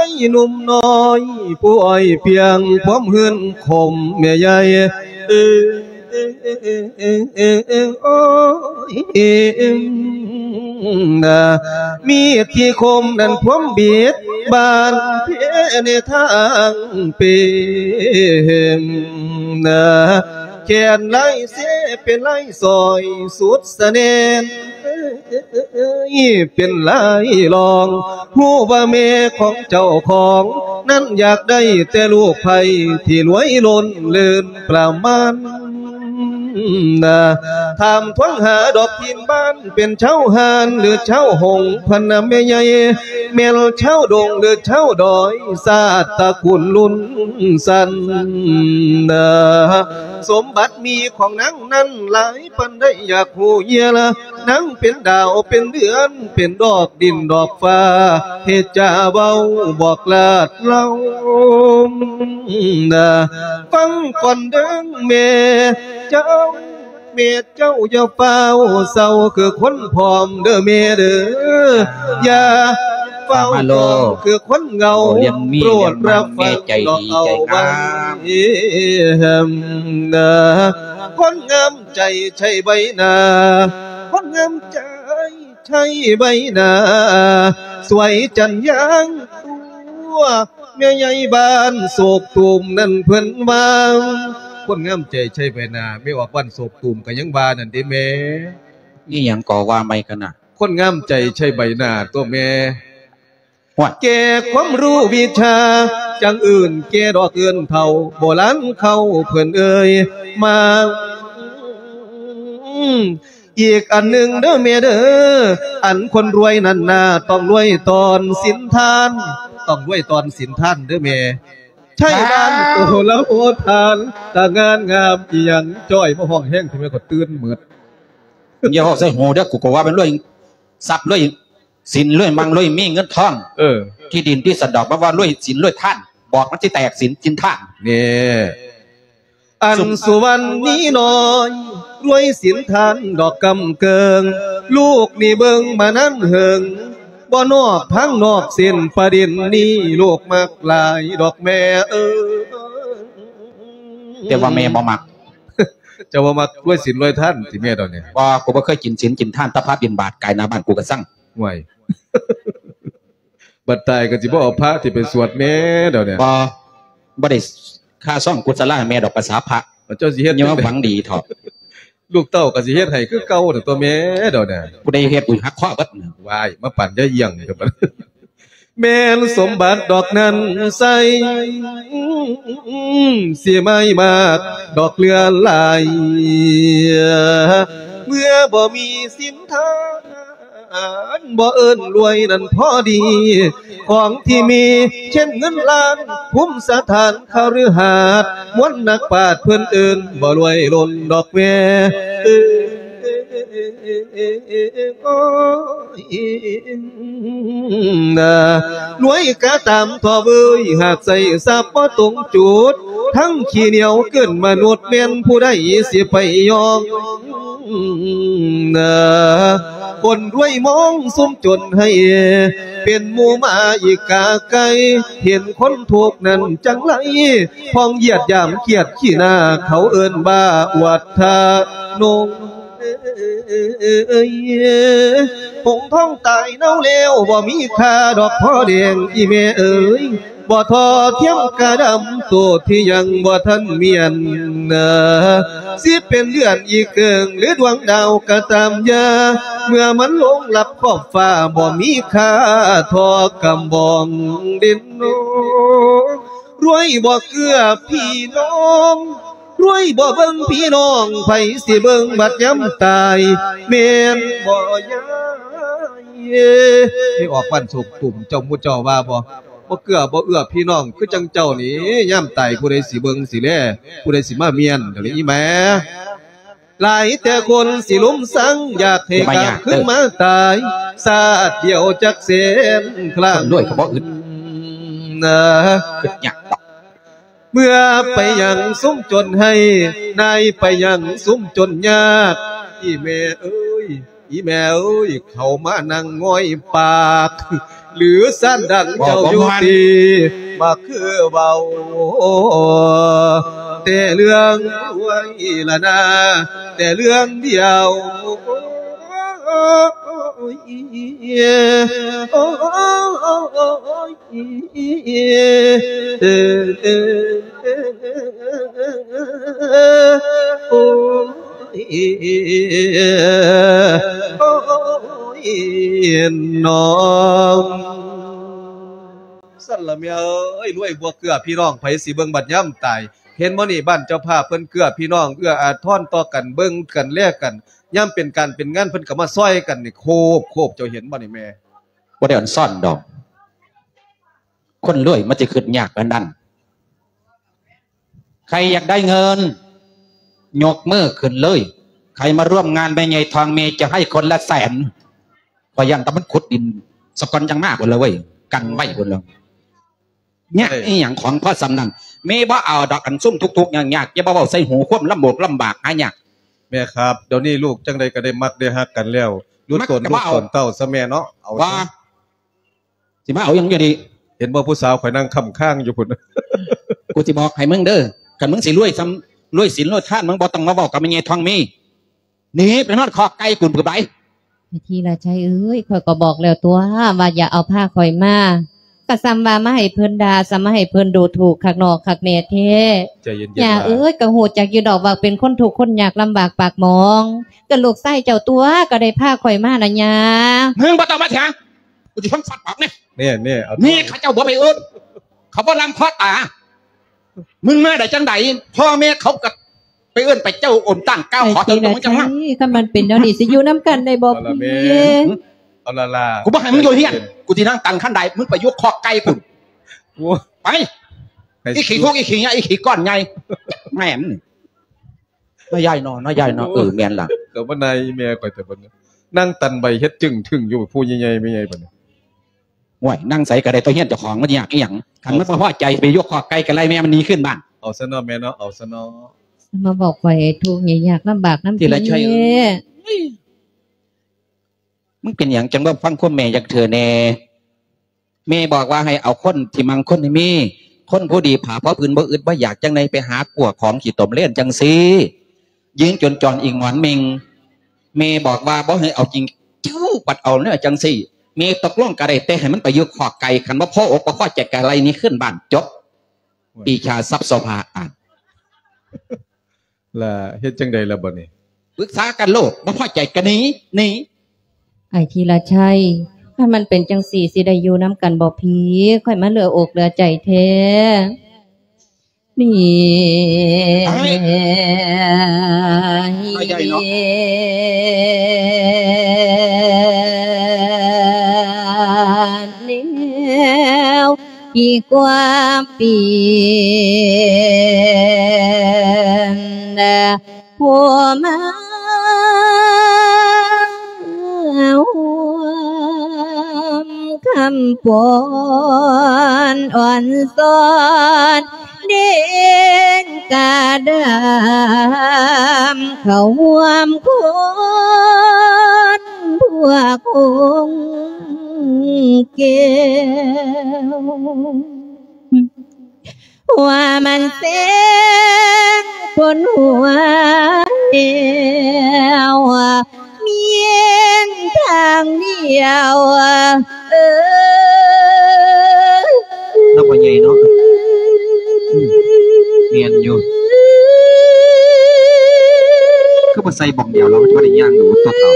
ຍໜຸ່ມນ້ອຍ ຜູ້ອ້ອຍພຽງຄວາມຮືນຂົມແມ່ໃຫຍ່ ເອີ ໂອ້ຍ ນາ ມີດທີ່ຄົມນັ້ນພວມບິດບານເພໃນທາງເປັນ ນາ ແຂນລາຍເຊເປັນລາຍສ້ອຍສຸດສະແໜ່ນ ເປັນລາຍລອງ ຮູ້ວ່າແມ່ຂອງເຈົ້າຂອງນັ້ນ ຢາກໄດ້ແຕ່ລູກໃພ້ທີ່ລວຍລົ້ນເລີນປະມານນາ. ຖາມທວງຫາດອກຖິ່ນບ້ານ ເປັນຊາວຮ້ານ ຫຼື ຊາວຫົງ ພັນນະແມ່ໃຫຍ່ ແມ່ນຊາວດົງ ຫຼື ຊາວດອຍ ຊາດຕະກູນລຸ້ນຊັ້ນນາ. ສົມບັດມີຂອງນາງນັ້ນຫຼາຍປານໃດ ຢາກຮູ້ເຫຍື່ອລະ ນາງເປັນດາວເປັນເດືອນ ເປັນດອກດິນດອກຟ້າ ເຮັດຈາເວົ້າບອກລາດເລົ່ານາ. ຟັງກ່ອນເດີ້ແມ່ເຈົ້າ ແມ່ເຈົ້າຢ່າຟ້າວເສົ້າ ຄືຄົນພ້ອມເດີ້ແມ່ເດີ້ ຢ່າຟ້າວພ້ອມຄືຄົນເຫງົາ ໂປດຮັບຟັງດອກເອົາໄວ້ນາ. ຄົນງາມໃຈໃຊ້ໃບໜ້າ ຄົນງາມໃຈໃຊ້ໃບໜ້າ ສວຍຈັນຍາງຕົວ ແມ່ໃຫຍ່ບ້ານໂສກຕູມນັ້ນເພິ່ນວ່າ ຄົນງາມໃຈໃຊ້ໃບໜ້າ ແມ່ອອກບ້ານໂສກຕູມກໍຍັງວ່ານັ້ນເດ້ແມ່. ອີ່ຫຍັງກໍວ່າໃໝ່ກັນນະ ຄົນງາມໃຈໃຊ້ໃບໜ້າຕົວະແມ່. ໂອ້ຍ ແກ່ຄວາມຮູ້ວິຊາ ຈັ່ງເອີ້ນແກ່ດອກເອີ້ນເຖົ້າ ໂບລານເຂົາເພິ່ນເອີຍມາ. ອີກອັນໜຶ່ງເດີ້ແມ່ເດີ້ ອັນຄົນລວຍນັ້ນນາ ຕ້ອງລວຍຕອນສິນທານ ຕ້ອງລວຍຕອນສິນທານເດີ້ແມ່. ໃຊ້ບ້ານໂອລະໂອທານ ຕາງານງາມອີ່ຫຍັງ ຈ້ອຍມາຮ້ອງແຮງ ທີ່ແມ່ກໍຕື່ນໝົດ. ຢ່າເວົ້າໃສ່ຫູເດີ້ ກູກໍວ່າແມ່ນລວຍຊັບລວຍສິນ ລວຍມັ່ງລວຍມີເງິນທອງ ເອີ ທີ່ດິນທີ່ສັນດອກ ມາວ່າລວຍສິນລວຍທານ ບອກມັນຊິແຕກສິນກິນທານ. ນີ້ ອັນສຸວັນນີ້ນ້ອຍ ລວຍສິນທານດອກກຳເກີງ ລູກນີ້ເບິ່ງມານານເຫິງ ບໍ່ນອກທາງນອກເສັ້ນປະເດັນນີ້ ລູກມັກຫຼາຍດອກແມ່ເອີຍ. ແຕ່ວ່າແມ່ບໍ່ມັກ. ເຈົ້າບໍ່ມັກລວຍສິນລວຍທານຕິແມ່ດອກນີ້? ບໍ່ ກູບໍ່ເຄີຍກິນສິນກິນທານ ແຕ່ພະບິນບາດກາຍໜ້າບ້ານກູກໍຊັງ. ໂອ້ຍ ບັດຕາຍກໍຊິບໍ່ເອົາພະທີ່ໄປສວດແມ່ດອກນີ້? ບໍ່ ບໍ່ໄດ້ຄ່າຊອງກຸສະລາໃຫ້ແມ່ດອກ ພາສາພະ ເຈົ້າຊິເຮັດ ຢ່າມາຫວັງດີເຖາະ. ລູກເຕົ້າກໍຊິເຮັດໃຫ້ຄືເກົ່ານັ້ນຕົວະແມ່ດອກນະ. ຜູ້ໃດເຮັດ ອຸ້ຍ ຫັກຄໍເບິດ. ວ້າຍ ມາປານຍາຍອຽງນີ້ ແມ່ນສົມບັດດອກນັ້ນໃສ ຊິໄມ່ມາກດອກເຫຼືອຫຼາຍ ເມື່ອບໍ່ມີສິນທານ ບໍ່ເອີ້ນລວຍນັ້ນພໍດີ ຂອງທີ່ມີເຊັ່ນເງິນລ້ານ ພູມສະຖານຄະລືຫາດ ມວນນັກປາດເພິ່ນເອີ້ນບໍ່ລວຍລົ້ນດອກແມ່ເອີຍ. ລວຍກະຕາມທໍ່ເວີຍ ຫາກໃຊ້ຊັບບໍ່ຕົງຈຸດ ທັງຂີ້ໜຽວເກີນມະນຸດ ແມ່ນຜູ້ໃດຊິໄປຍອມ ຄົນລວຍມອງຊຸມຈົນໃຫ້ເປັນໝູ່ໝາອີກາໄກ່ ເຫັນຄົນທຸກນັ້ນຈັ່ງໄລ ພ້ອງຢຽດຢາມກຽດຂີ້ໜ້າ ເຂົາເອີ້ນວ່າອວດທະນົງ. ຫົງທອງຕາຍເນົ່າແລ້ວ ບໍ່ມີຄ່າດອກພໍ່ແດງ ອີ່ແມ່ເອີຍ ບໍ່ທໍ່ທຽມກະດຳ ໂຕທີ່ຍັງບໍ່ທັນມຽນນາ ຊິເປັນເດືອນອີເກີງ ຫຼືດວງດາວກໍຕາມຢ່າ ເມື່ອມັນລົງລັບຂອບຟ້າ ບໍ່ມີຄ່າທໍ່ກຳບອງດິນໂນ. ລວຍບໍ່ເກືອພີ່ນ້ອງ ລວຍບໍ່ເບິ່ງພີ່ນ້ອງ ໃຜຊິເບິ່ງບັດຍາມຕາຍ ແມ່ນບໍ່ຍາຍ? ໄດ້ອອກບ້ານໂສກຕຸ່ມ ເຈົ້າໝູ່ເຈົ້າວ່າບໍ່? ບໍ່ເກືອບໍ່ເອື້ອພີ່ນ້ອງ ຄືຈັ່ງເຈົ້ານີ້ ຍາມຕາຍຜູ້ໃດຊິເບິ່ງຊິແລ ຜູ້ໃດຊິມາມ້ຽນ ດຽວນີ້ອີ່ແມ່. ຫຼາຍແຕ່ຄົນຊິລຸມຊັງ ຢາກໃຫ້ກັບຄືນມາຕາຍ ຊາດດຽວຈັກແສນຄັ້ງ ຄົນລວຍກໍບໍ່ອຶດນະ ຄຶດຍາກດອກ ເມື່ອໄປຍັງຊຸມຈົນໃຫ້ ນາຍໄປຍັງຊຸມຈົນຍາກ ອີ່ແມ່ເອີຍ ອີ່ແມ່ເອີຍ ເຂົາມານັ່ງງອຍປາກ ຫຼືຊານດັງເຈົ້າຢູ່ຕິ ມາຄືເວົ້າແຕ່ເລື່ອງລວຍລະນາ ແຕ່ເລື່ອງດຽວ. ໂອ້ຍ ໂອ້ຍ ນ້ອງ ຊັ້ນລະແມ່ເອີຍ ລວຍບໍ່ເກື້ອພີ່ນ້ອງ ໃຜຊິເບິ່ງບັດຍາມຕາຍ. ເຫັນບໍ່ນີ້ ບ້ານເຈົ້າພາບເພິ່ນເກື້ອພີ່ນ້ອງ ເອື້ອອາທອນຕໍ່ກັນ ເບິ່ງກັນແລກັນ ຍາມເປັນການເປັນງານ ເພິ່ນກໍມາຊ່ອຍກັນນີ້ ໂຄບ ໂຄບ ເຈົ້າເຫັນບໍ່ນີ້ແມ່? ບໍ່ໄດ້ອອນຊອນດອກ ຄົນລວຍມັນຊິຄິດຍາກປານນັ້ນ. ໃຄຢາກໄດ້ເງິນ ຍົກມືຂຶ້ນເລີຍ. ໃຄມາຮ່ວມງານແມ່ໃຫຍ່ທອງ ແມ່ຈະໃຫ້ຄົນລະແສນ. ຂ້ອຍຢ້ານແຕ່ມັນຂຸດດິນສະກ່ອນຈັ່ງມາພຸ້ນລະເວີຍ ກັນໄວ້ພຸ້ນລະ. ຍາກອີ່ຫຍັງຂອງພໍສ່ຳນັ້ນ ແມ່ບໍ່ເອົາດອກ ອັນຊຸມທຸກໆຍາກໆ ຢ່າມາເວົ້າໃສ່ຫູ ຄວາມລຳບົກລຳບາກຫາຍາກ. ແມ່ຄັບ ດຽວນີ້ລູກຈັ່ງໃດກໍໄດ້ມັກໄດ້ຮັກກັນແລ້ວ ຫຼຸດຕົນ ມັກກໍບໍ່ເອົາ ລູກຕົນເຕົ້າຊະແມ່ເນາະ ເອົາ ວ່າ ຊະ ຊິມາເອົາຫຍັງຢູ່ນີ້? ເຫັນບໍ່ ຜູ້ສາວຂ້ອຍນັ່ງຄ້ຳຄາງຢູ່ພຸ້ນ. ກູຊິບອກໃຫ້ມຶງເດີ ຄັນມຶງຊິລວຍສ່ຳ ລວຍສິນລວຍທານ ມຶງບໍ່ຕ້ອງມາເວົ້າກັບແມ່ໃຫຍ່ທອງມີ. ໜີໄປນອນຄອກໄກ່ພຸ້ນ ປຶບໃດ. ແມ່ທີລະໄຊເອີຍ ຂ້ອຍກໍບອກແລ້ວຕົວະ ວ່າຢ່າເອົາພາຂ້ອຍມາ ກໍສ່ຳວ່າມາໃຫ້ເພິ່ນດ່າ ສ່ຳມາໃຫ້ເພິ່ນດູຖູກຄັກນ້ອງຄັກແນ່ແທ້. ໃຈເຢັນໆ ຍ່າເອີຍ ກໍຮູ້ຈັກຢູ່ດອກວ່າເປັນຄົນທຸກຄົນຍາກລຳບາກປາກໝອງ ກໍລູກຊາຍເຈົ້າຕົວະ ກໍໄດ້ພາຂ້ອຍມານະຍ່າ. ມຶງບໍ່ຕ້ອງມາຖຽງ ກູຊິຟັງສັດປາກນີ້. ແນ່ໆ ເອົາ ນີ້ເຂົາເຈົ້າບໍ່ໄປເອີ້ນ ເຂົາບໍ່ລັງພໍຕາ ມຶງມາໄດ້ຈັ່ງໃດ? ພໍ່ແມ່ເຂົາກໍໄປເອີ້ນໄປເຈົ້າໂອນຕັ້ງກ້າວຂໍເຕີມກັບມຶງຈັ່ງມາ. ຄັນມັນເປັນແນວນີ້ ຊິຢູ່ນຳກັນໄດ້ບໍ່ພີ່? ເອົາລະແມ່ ເອົາລະລາ ກູບໍ່ໃຫ້ມຶງຢູ່ເຮືອນ ເຢັນໆ ກູຊິນັ່ງຕັນຄັນໄດ ມຶງໄປຢູ່ຄອກໄກ່ພຸ້ນ. ໂອ້ຍ ໄປ ໃຫ້ ອີຂີ້ທຸກ ອີຂີ້ຍາ ອີຂີ້ກ້ອນໃຫຍ່ ແມ່ນ. ນ້ອຍໃຫຍ່ເນາະ ນ້ອຍໃຫຍ່ເນາະ. ໂອ້ຍ ເອີ ແມ່ນລະ ກໍມານາຍແມ່ຂ້ອຍແຕ່ບັດນີ້ ນັ່ງຕັນໃບເຮັດຈຶ່ງທຶ່ງຢູ່ ຜູ້ໃຫຍ່ໆ ແມ່ໃຫຍ່ບັດນີ້. ໂອ້ຍ ນັ່ງໃສກໍໄດ້ ຕົວະເຮືອນເຈົ້າຂອງ ມັນຍາກອີ່ຫຍັງ? ຄັນມັນບໍ່ພໍໃຈ ໄປຢູ່ຄອກໄກ່ກໍໄລ່ແມ່ມັນໜີຂຶ້ນບ້ານ. ເອົາຊະເນາະແມ່ເນາະ ເອົາຊະເນາະ. ມາບອກຂ້ອຍທຸກຍາກລຳບາກນຳຕິ. ທີລະໄຊເອີຍ ມຶງເປັນຫຍັງຈັ່ງບໍ່ຟັງຄວາມແມ່ຈັກເທື່ອແດ່? ແມ່ບອກວ່າໃຫ້ເອົາຄົນທີ່ມັກຄົນໃຫ້ມີ ຄົນຜູ້ດີຜ້າພໍຜືນ ບໍ່ອຶດບໍ່ຢາກ ຈັ່ງໃດໄປຫາກວດຂອງຂີ້ຕົມເລນຈັ່ງຊີ້ ຢືນຈົນຈອນອີ່ງໝອນເມັ່ງ. ແມ່ບອກວ່າບໍ່ໃຫ້ເອົາຈິງ ເຈົ້າບັດເອົາແນວຈັ່ງຊີ້. ແມ່ຕົກລົງກໍໄດ້ ແຕ່ໃຫ້ມັນໄປຢູ່ຄອກໄກ່ ຄັນບໍ່ພໍອົກບໍ່ພໍໃຈກໍໄລ່ໜີຂຶ້ນບ້ານ ຈົບ. ໂອ້ຍ ປີຊາຊັບໂສພາອາດ ລະເຮັດຈັ່ງໃດລະບັດນີ້? ປຶກສາກັນໂລດ ບໍ່ພໍໃຈກໍໜີ ໜີ. ອ້າຍທີລະໄຊ ຖ້າມັນເປັນຈັ່ງຊີ້ ຊິໄດ້ຢູ່ນຳກັນບໍ່ພີ່? ຂ້ອຍມາເຫຼືອອົກເຫຼືອໃຈແທ້. ນີ້ ອ້າຍ ອ້າຍໃຫຍ່ເນາະ ແນວທີ່ກວ່າປ່ຽນ ຜູ້ມາຮ່ວມຄຳຟ້ອນອ່ອນຊອນ ເດງກາດຳເຂົ້າຮ່ວມຄົນພວກຄົງແກ້ວ. ຫົວມັນເສັງປົນຫົວແລ້ວ ມີທາງດຽວ ເອີຍ ເນາະ ພໍ່ໃຫຍ່ເນາະ. ອືມ ແມ່ນຢູ່ ຄືບໍ່ໃສ່ບ່ອນດຽວ ລາວກໍຈະບໍ່ໄດ້ຍ່າງດູຕົວເຂົາ.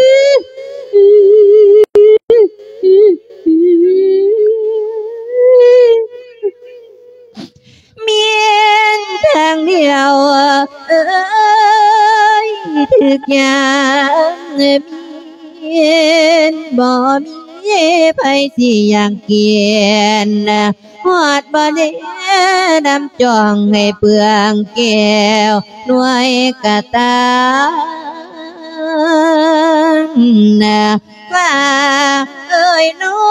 ມີທາງດຽວເອີຍ ຖືກຢ່າງມີ ບໍ່ມີໃຜຊິຢ່າງກິນ ຮອດບໍ່ແລນຳຈ່ອງໃຫ້ເປືອງແກ້ວ ໜ່ວຍກະຕາມ ຟ້າເອີຍ ນ້ອ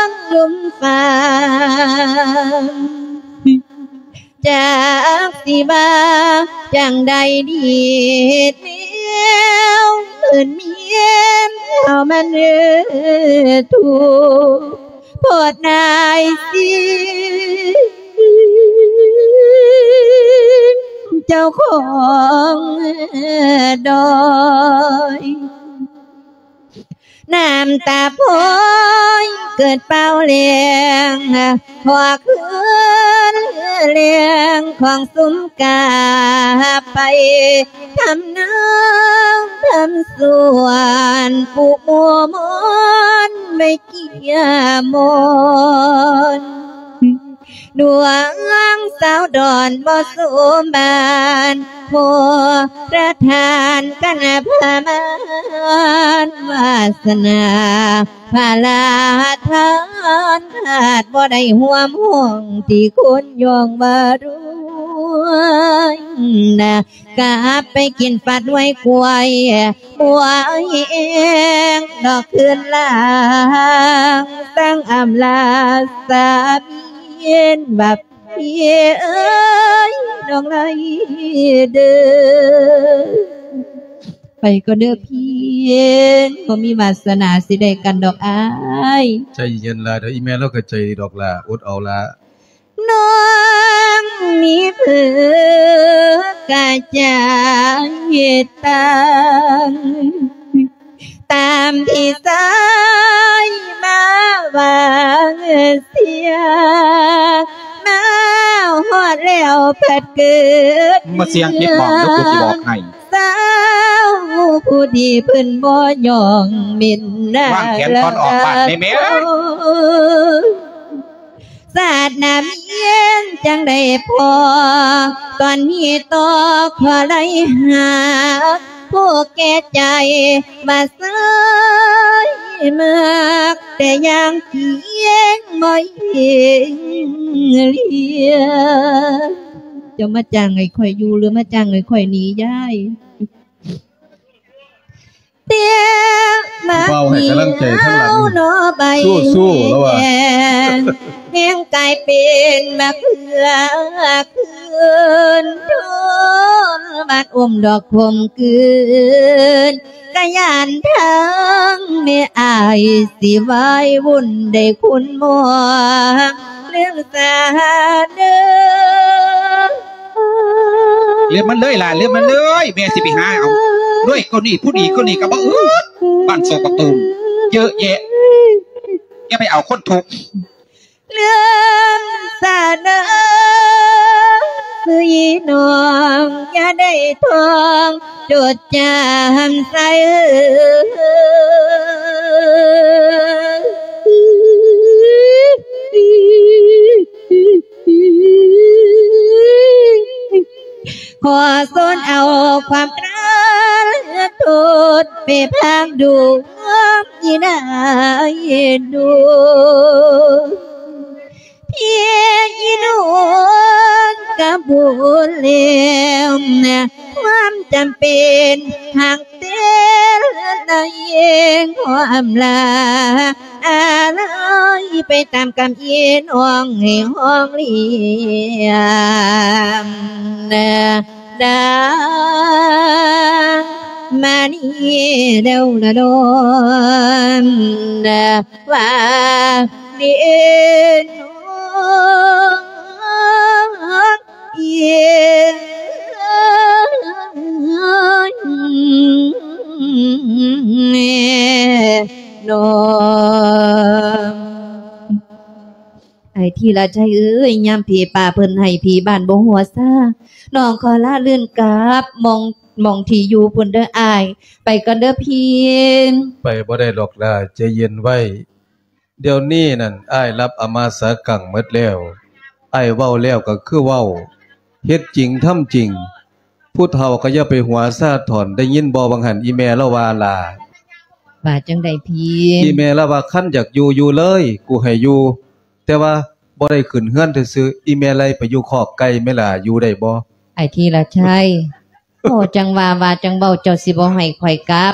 ງລຸ່ມຟ້າ ຈັກຊິວ່າຈັ່ງໃດດີ ແນວເພິ່ນມີເຮົາມັນເອີ ທຸກໂພດນາຍສິ ເຈົ້າຂອງດອຍ. ນ້ຳຕາພອຍເກີດເປົ່າແລ້ງ ພວກເອີ ແລງຂອງສຸມກາໄປ ທຳນາທຳສວນ ປູກໝູ່ມົນໄວ້ເກຍມົນ ດວງສາວດອນບໍ່ສົມບານ ຂໍປະທານກັນພະມານ ວາສະໜາພະລາທານ ຫາກບໍ່ໄດ້ຮ່ວມຫ້ອງທີ່ຄົນຍ້ອງວ່າລວຍນະ ກັບໄປກິນຟັດໄວກວຍ ບົວແຮງດອກຄືນຫຼັງ ຕັ້ງອຳລາສາມີນ ວ່າພີ່ເອີຍ ນ້ອງໄລເດີ ໄປກ່ອນເດີພີ່ ບໍ່ມີວາສະໜາຊິໄດ້ກັນດອກອ້າຍ. ໃຈເຢັນລະເດີ ອີ່ແມ່ລາວກໍໃຈດີດອກລະ ອົດເອົາລະ. ນ້ອງມີເພີກະຈາຍຕັງ ຕາມທີ່ຊາຍມາວາງເສຍ ມາຮອດແລ້ວພັດເກີດ ມາສຽງປິດໝອງເດີ ກູຊິບອກໃຫ້ ສາວຜູ້ທີ່ເພິ່ນບໍ່ຍ້ອງເມັນນາ ວາງແຂນກ່ອນອອກບ້ານແມ່ ແມ່ເອີຍ. ຊາດໜ້າເມນຈັ່ງໄດ້ພໍ ຕອນນີ້ຕໍ່ຂໍໄລ່ຫາ ຜູ້ແກ່ໃຈວ່າຊາຍມັກ ແຕ່ຢ່າງຈິງບໍ່ເຫັນເຫຼືອ. ເຈົ້າມາຈ້າງໃຫ້ຂ້ອຍຢູ່ ຫຼືມາຈ້າງໃຫ້ຂ້ອຍໜີຍາຍ? ເຕະໝາກ ເວົ້າໃຫ້ກຳລັງໃຈທາງຫຼັງ ເນາະ ໃບ ສູ້ໆ ລະວ່າ ແດງ ແດງກາຍເປັນໝາກເຂືອຄືນ ໂດນບາດອົມດອກຂົມກືນ ກະຢ້ານທາງແມ່ອ້າຍຊິວາຍວຸ່ນ ໄດ້ຄຸນໝໍ ເລື່ອງສາເດີ ເລັບມັນເລີຍຫຼານ ເລັບມັນເລີຍ ແມ່ຊິໄປຫາເອົາ ດ້ວຍຄົນນີ້ຜູ້ດີຄົນນີ້ກໍບໍ່ອຶດ ບ້ານໂສກະຕູມເຍອະແຍະ ຢ່າໄປເອົາຄົນທຸກ ເລື່ອງສາເດີ ຊື່ອີນ້ອງຢ່າໄດ້ທ່ອງ ຈົດຈຳໃສ່ ຂໍສອນເອົາຄວາມກະທານໂທດ ໄປພາກດວງອີນາຍດູ ພີ່ອີນວນກະບຸນແລ້ວນະ ຄວາມຈຳເປັນຫາກເຕັນໃນຄວາມລາ ອາໄລໄປຕາມກຳອີນຫ້ອງໃຫ້ຫ້ອງລ້ຽງນະ ດາມານີເດວລະດອນນະ ວ່າເດນເອ ນ້ອງ ອ້າຍທີລະໄຊເອີຍ ຍາມຜີປ່າເພິ່ນໃຫ້ຜີບ້ານບໍ່ຫົວຊາ ນ້ອງຂໍລາລື່ນກັບໝ່ອງ ໝ່ອງທີ່ຢູ່ພຸ້ນເດີອ້າຍ ໄປກ່ອນເດີພີ່. ໄປບໍ່ໄດ້ດອກຫຼ້າ ໃຈເຢັນໄວ້. ດຽວນີ້ນັ້ນ ອ້າຍລັບອາມາສາກັງໝົດແລ້ວ. ອ້າຍເວົ້າແລ້ວກໍຄືເວົ້າ, ເຮັດຈິງທຳຈິງ. ຜູ້ເຖົ້າກໍຢ່າໄປຫົວຊາຖອນ, ໄດ້ຍິນບໍ່ຫວ່າງຫັ້ນ ອີ່ແມ່ລາວວ່າຫຼ້າ? ວ່າຈັ່ງໃດພີ່? ອີ່ແມ່ລາວວ່າ ຄັນຢາກຢູ່ ຢູ່ເລີຍ, ກູໃຫ້ຢູ່, ແຕ່ວ່າບໍ່ໄດ້ຂຶ້ນເຮືອນຊື່ໆ. ອີ່ແມ່ໄລ່ໄປຢູ່ຄອກໄກ່ແມ່ຫຼ້າ, ຢູ່ໄດ້ບໍ່? ອ້າຍທີລະໄຊ. ໂອ້ ຈັ່ງວ່າ ວ່າຈັ່ງເວົ້າ ເຈົ້າຊິບໍ່ໃຫ້ຂ້ອຍກັບ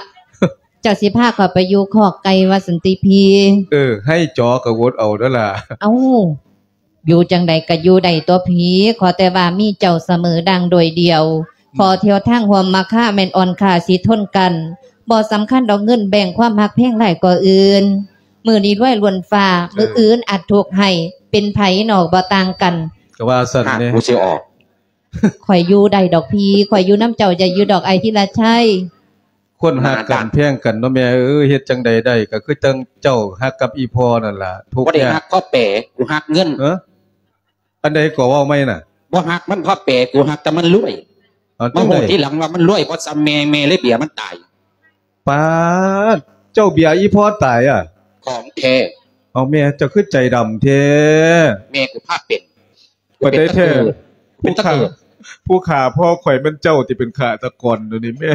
ເຈົ້າຊິພາຂ້ອຍໄປຢູ່ຄອກໄກ່ວ່າຊັ້ນຕິພີ່? ເອີ ໃຫ້ຈໍກໍອົດເອົາເດີຫຼ້າ. ເອົ້າ ຢູ່ຈັ່ງໃດກໍຢູ່ໄດ້ຕົວະພີ່ ຂໍແຕ່ວ່າມີເຈົ້າສະເໝີດັ່ງໂດຍດຽວ. ອືມ ຂໍທ່ຽວທາງຮ່ວມມາຄາແມ່ນອ່ອນຄ່າຊິທົນກັນ ບໍ່ສຳຄັນດອກເງິນແບ່ງຄວາມຮັກແພງຫຼາຍກວ່າອື່ນ. ມື້ນີ້ລວຍລ້ວນຟ້າ ເອີ ມື້ອື່ນອາດທຸກໃຫ້ ເປັນໃຜນອກບໍ່ຕ່າງກັນ. ກໍວ່າຊັ້ນເດ້ ຫາກກູຊິອອກ. ຂ້ອຍຢູ່ໄດ້ດອກພີ່ ຂ້ອຍຢູ່ນຳເຈົ້າໄດ້ຢູ່ດອກ ອ້າຍທີລະໄຊ. ຄົນຮັກກັນແພງກັນເນາະແມ່ເອີຍ ເຮັດຈັ່ງໃດໄດ້ ກໍຄືຈັ່ງເຈົ້າຮັກກັບອີ່ພໍ່ນັ້ນລະ ທຸກຍາກ. ບໍ່ໄດ້ຮັກຄອບແປ ກູຮັກເງິນ. ເອີ? ອັນໃດກໍເວົ້າໃໝ່ນະ? ບໍ່ຮັກມັນພໍແປ ກູຮັກແຕ່ມັນລວຍ. ເອົາ ມາຮູ້ ຈັ່ງໃດ? ທີຫຼັງວ່າມັນລວຍບໍ່ສ່ຳແມ່ ແມ່ເລີຍເບຍມັນຕາຍ. ປາດ ເຈົ້າເບຍອີ່ພໍ່ຕາຍອະ? ຂອງແທ້. ເອົາ ແມ່ເຈົ້າຄືໃຈດຳແທ້? ແມ່ກູພາເປັນ. ປານໃດແທ້? ເປັນຕະເກີດ ຜູ້ຂ້າ ຜູ້ຂ້າພໍ່ຂ້ອຍແມ່ນເຈົ້າທີ່ເປັນຄາຕະກອນ ດຽວນີ້ແມ່.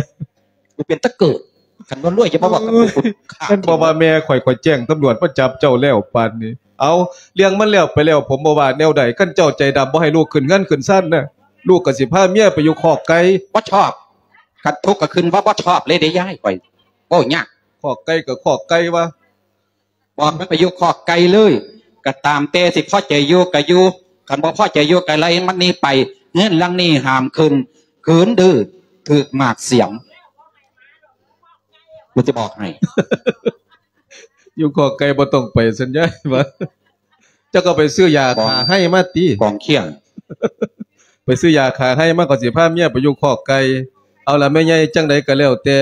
ກູເປັນຕະເກີດ. ຄັນບໍ່ລວຍຈະມາເວົ້າກັບກູ ກູຂ້າ. ຄັນບໍ່ວ່າແມ່ຂ້ອຍ ຂ້ອຍແຈ້ງຕຳຫຼວດມາຈັບເຈົ້າແລ້ວປານນີ້. ເອົາ ເລື່ອງມັນແລ້ວໄປແລ້ວ ຜົມບໍ່ວ່າແນວໃດ. ຄັນເຈົ້າໃຈດຳບໍ່ໃຫ້ລູກຂຶ້ນເຮືອນຂຶ້ນຊານນະ ລູກກໍຊິພາເມຍໄປຢູ່ຄອກໄກ່. ບໍ່ຊອບ. ຄັນທຸກກໍຂຶ້ນວ່າບໍ່ຊອບເລີຍເດ້ຍາຍ ຂ້ອຍເວົ້າຍາກ. ຄອກໄກ່ກໍຄອກໄກ່ວະ. ບອກມັນໄປຢູ່ຄອກໄກ່ເລີຍ ກໍຕາມແຕ່ ຊິພໍໃຈຢູ່ກໍຢູ່ ຄັນບໍ່ພໍໃຈຢູ່ກໍໄລ່ມັນໜີໄປ. ເຮືອນຫຼັງນີ້ຫ້າມຂຶ້ນ ຄືນດື້ຖືກໝາກສຽມ ກູຈະບອກໃຫ້. ຢູ່ຄອກໄກ່ບໍ່ຕ້ອງໄປ ສັນຍາຍວ່າ. ເຈົ້າກໍໄປຊື້ຢາຂ້າໄຮ້ມາຕິ ກອງຄຽງ ໄປຊື້ຢາຂ້າໄຮ້ມາ ກໍຊິພາເມຍໄປຢູ່ຄອກໄກ່. ເອົາລະແມ່ໃຫຍ່ ຈັ່ງໃດກໍແລ້ວແຕ່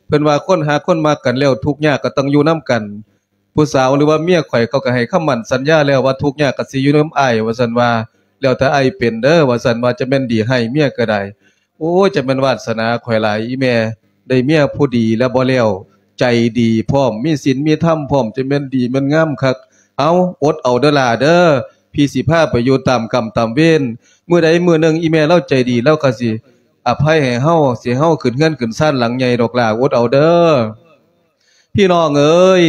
ເພິ່ນວ່າຄົນຫາກຄົນມັກກັນແລ້ວ ທຸກຍາກກໍຕ້ອງຢູ່ນຳກັນ. ຜູ້ສາວ ຫຼືວ່າເມຍຂ້ອຍ ເຂົາກໍໃຫ້ຄຳໝັ້ນສັນຍາແລ້ວວ່າ ທຸກຍາກກໍຊິຢູ່ນຳອ້າຍ ວ່າຊັ້ນວ່າ. ແລ້ວແຕ່ອ້າຍເປັນເດີ ວ່າຊັ້ນວ່າ. ຈະແມ່ນດີຮ້າຍເມຍກໍໄດ້. ໂອ້ຍ ຈະແມ່ນວາດສະໜາຂ້ອຍຫຼາຍ ອີ່ແມ່ ໄດ້ເມຍຜູ້ດີແລ້ວບໍ່ແລ້ວ ໃຈດີພ້ອມ ມີສິນມີທຳພ້ອມ ຈະແມ່ນດີແມ່ນງາມຄັກ. ເອົາ ອົດເອົາເດີຫຼ້າເດີ ພີ່ຊິພາໄປຢູ່ຕາມກຳຕາມເວນ. ມື້ໃດມື້ໜຶ່ງ ອີ່ແມ່ລາວໃຈດີ ລາວກໍຊິອະໄພໃຫ້ເຮົາ ຊິເຮົາຂຶ້ນເຮືອນຂຶ້ນຊານຫຼັງໃຫຍ່ດອກຫຼ້າ ອົດເອົາເດີ. ພີ່ນ້ອງເອີຍ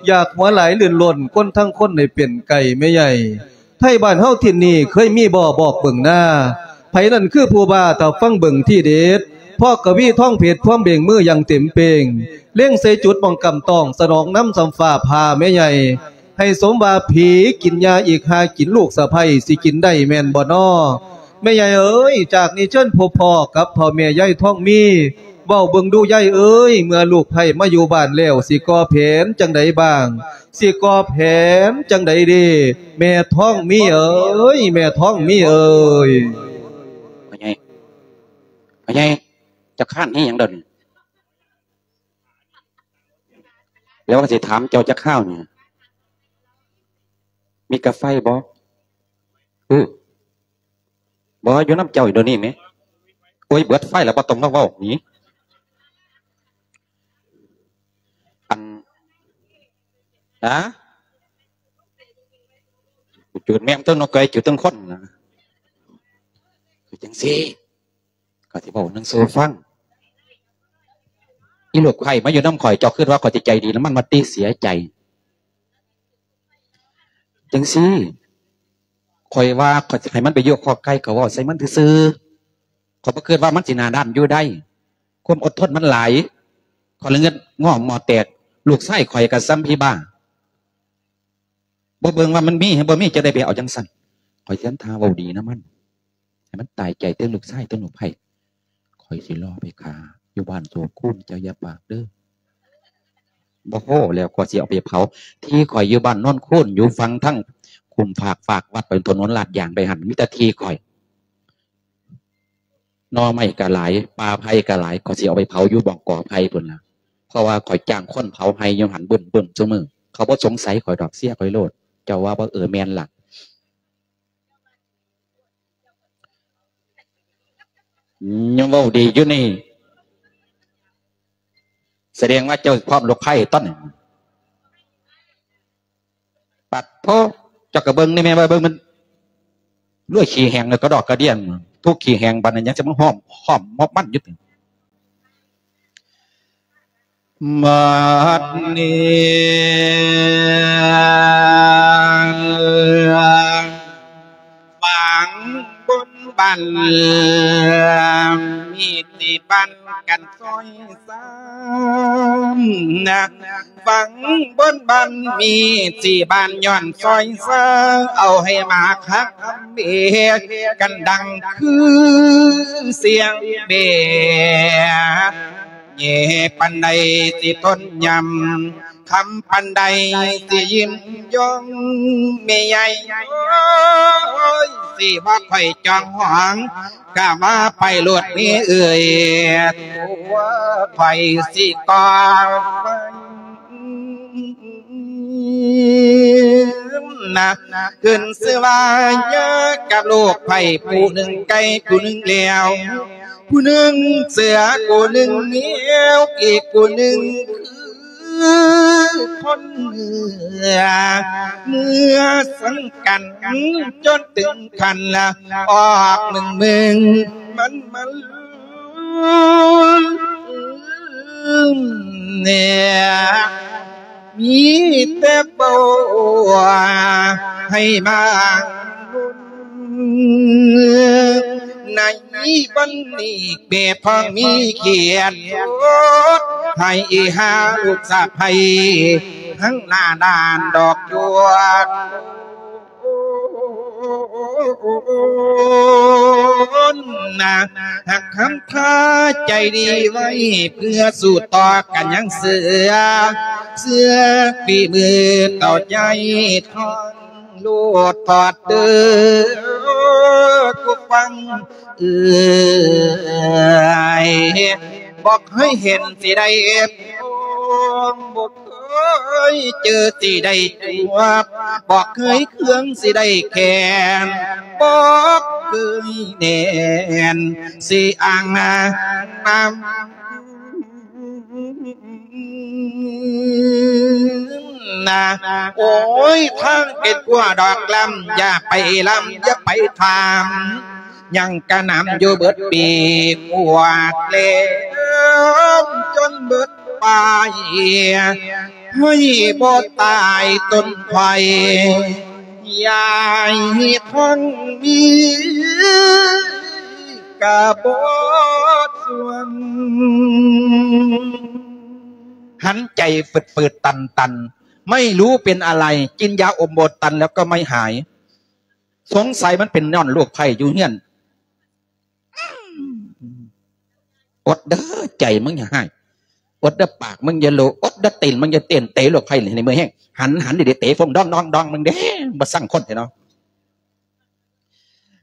ຢາກຫົວຫຼາຍລື່ນລົ້ນ ຄົນທັງຄົນໃຫ້ເປັນໄກ່ແມ່ໃຫຍ່. ໄທບ້ານເຮົາຖິ່ນນີ້ ເຄີຍມີບໍ່ບອກເບິ່ງນາ ໃຜນັ້ນຄືຜູ້ບ້າ ຖ້າຟັງເບິ່ງທີເດັດ. ເພາະກະວີທອງເພັດ ພວມເບັງມືຢ່າງເຕັມເປ່ງ ເລັງໃສ່ຈຸດໝ່ອງກຳຕ້ອງ ສະໜອງນຳສ່ຳຟ້າຜ່າແມ່ໃຫຍ່. ໃຫ້ສົມວ່າຜີກິນຫຍ້າອີກ ຫາກິນລູກສະໃພ້ ຊິກິນໄດ້ແມ່ນບໍ່ນໍ? ແມ່ໃຫຍ່ເອີຍ ຈາກນີ້ເຊີນພົບພໍ້ກັບພໍ່ແມ່ຍາຍທອງມີ. ເວົ້າເບິ່ງດູຍາຍເອີຍ ເມື່ອລູກໃພ້ມາຢູ່ບ້ານແລ້ວ ຊິກໍ່ແຜນຈັ່ງໃດບ້າງ? ຊິກໍ່ແຜນຈັ່ງໃດເດ ແມ່ທອງມີເອີຍ ແມ່ທອງມີເອີຍ. ພໍ່ໃຫຍ່ ພໍ່ໃຫຍ່ ເຈົ້າຄ້ານເຮັດຫຍັງດຽວນີ້? ແລ້ວວ່າຊິຖາມເຈົ້າຈັກຄາວນີ້ ມີກາໄຟບໍ່? ອື ບໍ່ ຢູ່ນຳເຈົ້າດຽວນີ້ແມ. ໂອ້ຍ ເບິດໄຟແລ້ວ ບໍ່ຕ້ອງມາເວົ້ານີ້. ອັນ ຮະ? ຈູດແມ່ງເຖິງນົກໄກ່ ຈູດເຖິງຄົນນະ. ຄືຈັ່ງຊີ້ ຂ້ອຍຊິເວົ້າໜຶ່ງສູ່ຟັງ. ອີລູກໃພ້ມາຢູ່ນຳຂ້ອຍ ເຈົ້າຄິດວ່າຂ້ອຍຊິໃຈດີນຳມັນ ມາຕິເສຍໃຈ. ຈັ່ງຊີ້ ຂ້ອຍວ່າຂ້ອຍຊິໃຫ້ມັນໄປຢູ່ຄອກໄກ່ ກໍເວົ້າໃສ່ມັນຊື່ໆ. ຂ້ອຍບໍ່ຄິດວ່າມັນຊິໜ້າດ້ານຢູ່ໄດ້. ຄວາມອົດທົນມັນຫຼາຍ. ຂ້ອຍລະເງິດງໍ້ໝໍ້ແຕກ. ລູກຊາຍຂ້ອຍກໍສ່ຳຜີບ້າ. ບໍ່ເບິ່ງວ່າມັນມີ ບໍ່ມີ ຈະໄດ້ໄປເອົາຈັ່ງຊັ້ນ. ຂ້ອຍຊິທຳທ່າເວົ້າດີນຳມັນ. ໃຫ້ມັນຕາຍໃຈເຖິງລູກຊາຍເຖິງລູກໃພ້. ຂ້ອຍຊິລໍໄປຂ້າຢູ່ບ້ານໂສຄູນ ເຈົ້າຢ່າປາກເດີ. ບໍ່ພໍແລ້ວ ຂ້ອຍຊິເອົາໄປເຜົາ. ທີ່ຂ້ອຍຢູ່ບ້ານໂນນຄູນ ຢູ່ຝັ່ງທາງຄຸ້ມຟາກ ຟາກວັດໄປ ຖະໜົນລາດຢາງໄປຫັ້ນ ມີແຕ່ທີ່ຂ້ອຍ. ໜໍ່ໄມ້ກໍຫຼາຍ ປ່າໄຜ່ກໍຫຼາຍ ຂ້ອຍຊິເອົາໄປເຜົາຢູ່ບ່ອນກອໄຜ່ພຸ້ນລະ. ເພາະວ່າຂ້ອຍຈ້າງຄົນເຜົາໄຮ່ຢູ່ຫັ້ນບຶ້ມໆ ຊຸມື້. ເຂົາບໍ່ສົງໄສຂ້ອຍດອກ ເສຍຂ້ອຍໂລດ. ເຈົ້າວ່າບໍ່? ເອີ ແມ່ນລະ. ຍັງເວົ້າດີຢູ່ນີ້ ສະແດງວ່າເຈົ້າພ້ອມລູກໃພ້ຕອນນີ້. ປັດໂທ ເຈົ້າກໍເບິ່ງນີ້ແມ່ນວ່າເບິ່ງມັນລວຍຂີ້ແຫ້ງ ແລ້ວກະດອກກະດຽງ ທຸກຂີ້ແຫ້ງ ບັດນີ້ຍັງຈະມາຫ້ອມ ຫ້ອມມອບມັນຢູ່ຕິ. ບັດນີ້ຝັ່ງບົນບ້ານ ມີທີ່ບ້ານກັນຊອຍຊ້ຳນະ ຝັ່ງບົນບ້ານ ມີທີ່ບ້ານຍ້ອນຊອຍຊ້ຳ ເອົາໃຫ້ມາຄັກເບກັນ ດັງຄືສຽງເບ. ແຍ່ປານໃດຊິທົນຍຳ ຄຳປານໃດຊິຍິນຍອມ ແມ່ໃຫຍ່ເອີຍ ຊິວ່າຂ້ອຍຈອງຫອງ ກະວ່າໄປໂລດແມ່ເອີຍ ຕົວຂ້ອຍຊິກອງໄວ້. ນະ ຂຶ້ນຊື່ວ່າຍາກັບໂລກໄພ ຜູ້ໜຶ່ງໄກ່ຜູ້ໜຶ່ງແລວ ຜູ້ໜຶ່ງເສືອຜູ້ໜຶ່ງແມວ ອີກຜູ້ໜຶ່ງຄືຄົນເມື່ອ ເມື່ອສັງກັນຈົນເຖິງຂັ້ນລະອອກເມືອງໆ ມັນມາ ແນ່ ມີແຕ່ເວົ້າໃຫ້ມາລຸນ ໃນວັນນີ້ແມ່ທ້ອງມີຂຽນ ໂອດໃຫ້ຫາລູກສະໃພ້ ທັງໜ້າດ້ານດອກດວງ ນະ ຮັກຄຳຄາໃຈດີໄວ້ ເພື່ອສູ້ຕໍ່ກັນຍັງເສືອ ເສືອຝີມືເຂົ້າໃຈທອງ ໂລດທອດເດີ ຜູ້ຟັງເອີຍ ບໍ່ເຄີຍເຫັນຊິໄດ້ ບໍ່ເຄີຍເຈີຊິໄດ້ຈວບ ບໍ່ເຄີຍເຄືອງຊິໄດ້ແຂນ ບໍ່ເຄີຍແໜ້ນຊິອ້າງນານຳ ນະ ໂອ້ຍ ທາງເປັນຂົວດອກລຳ ຢ່າໄປລຳ ຢ່າໄປຖາມ ຍັງກະນຳຢູ່ເບິດປີກວາດແລ້ວ ຈົນເບິດປາຍ ໃຫ້ບໍ່ຕາຍຕົ້ນໄຜ່ ຍາຍທອງມີ ກະບໍ່ສ່ວນ ຫັນໃຈຝືດໆຕັນໆ ໄມ່ຮູ້ເປັນອະໄລ ກິນຢາອົມໂບຕັນແລ້ວກໍໄມ່ຫາຍ ສົງໄສມັນເປັນຍ້ອນໂລກໄພຢູ່ເຮືອນ ອົດເດີ ໃຈມຶງຢ່າຮ້າຍ ອົດເດີ ປາກມຶງຢ່າໂລ ອົດເດີ ຕີນມຶງຢ່າເຕັ້ນ ເຕະໂລກໄພໃຫ້ເມື່ອຍແຮງ ຫັນ ຫັນດີໆ ເຕະຟົງດອງໆ ມຶງເດ້ ບໍ່ຊັງຄົນແທ້ເນາະ.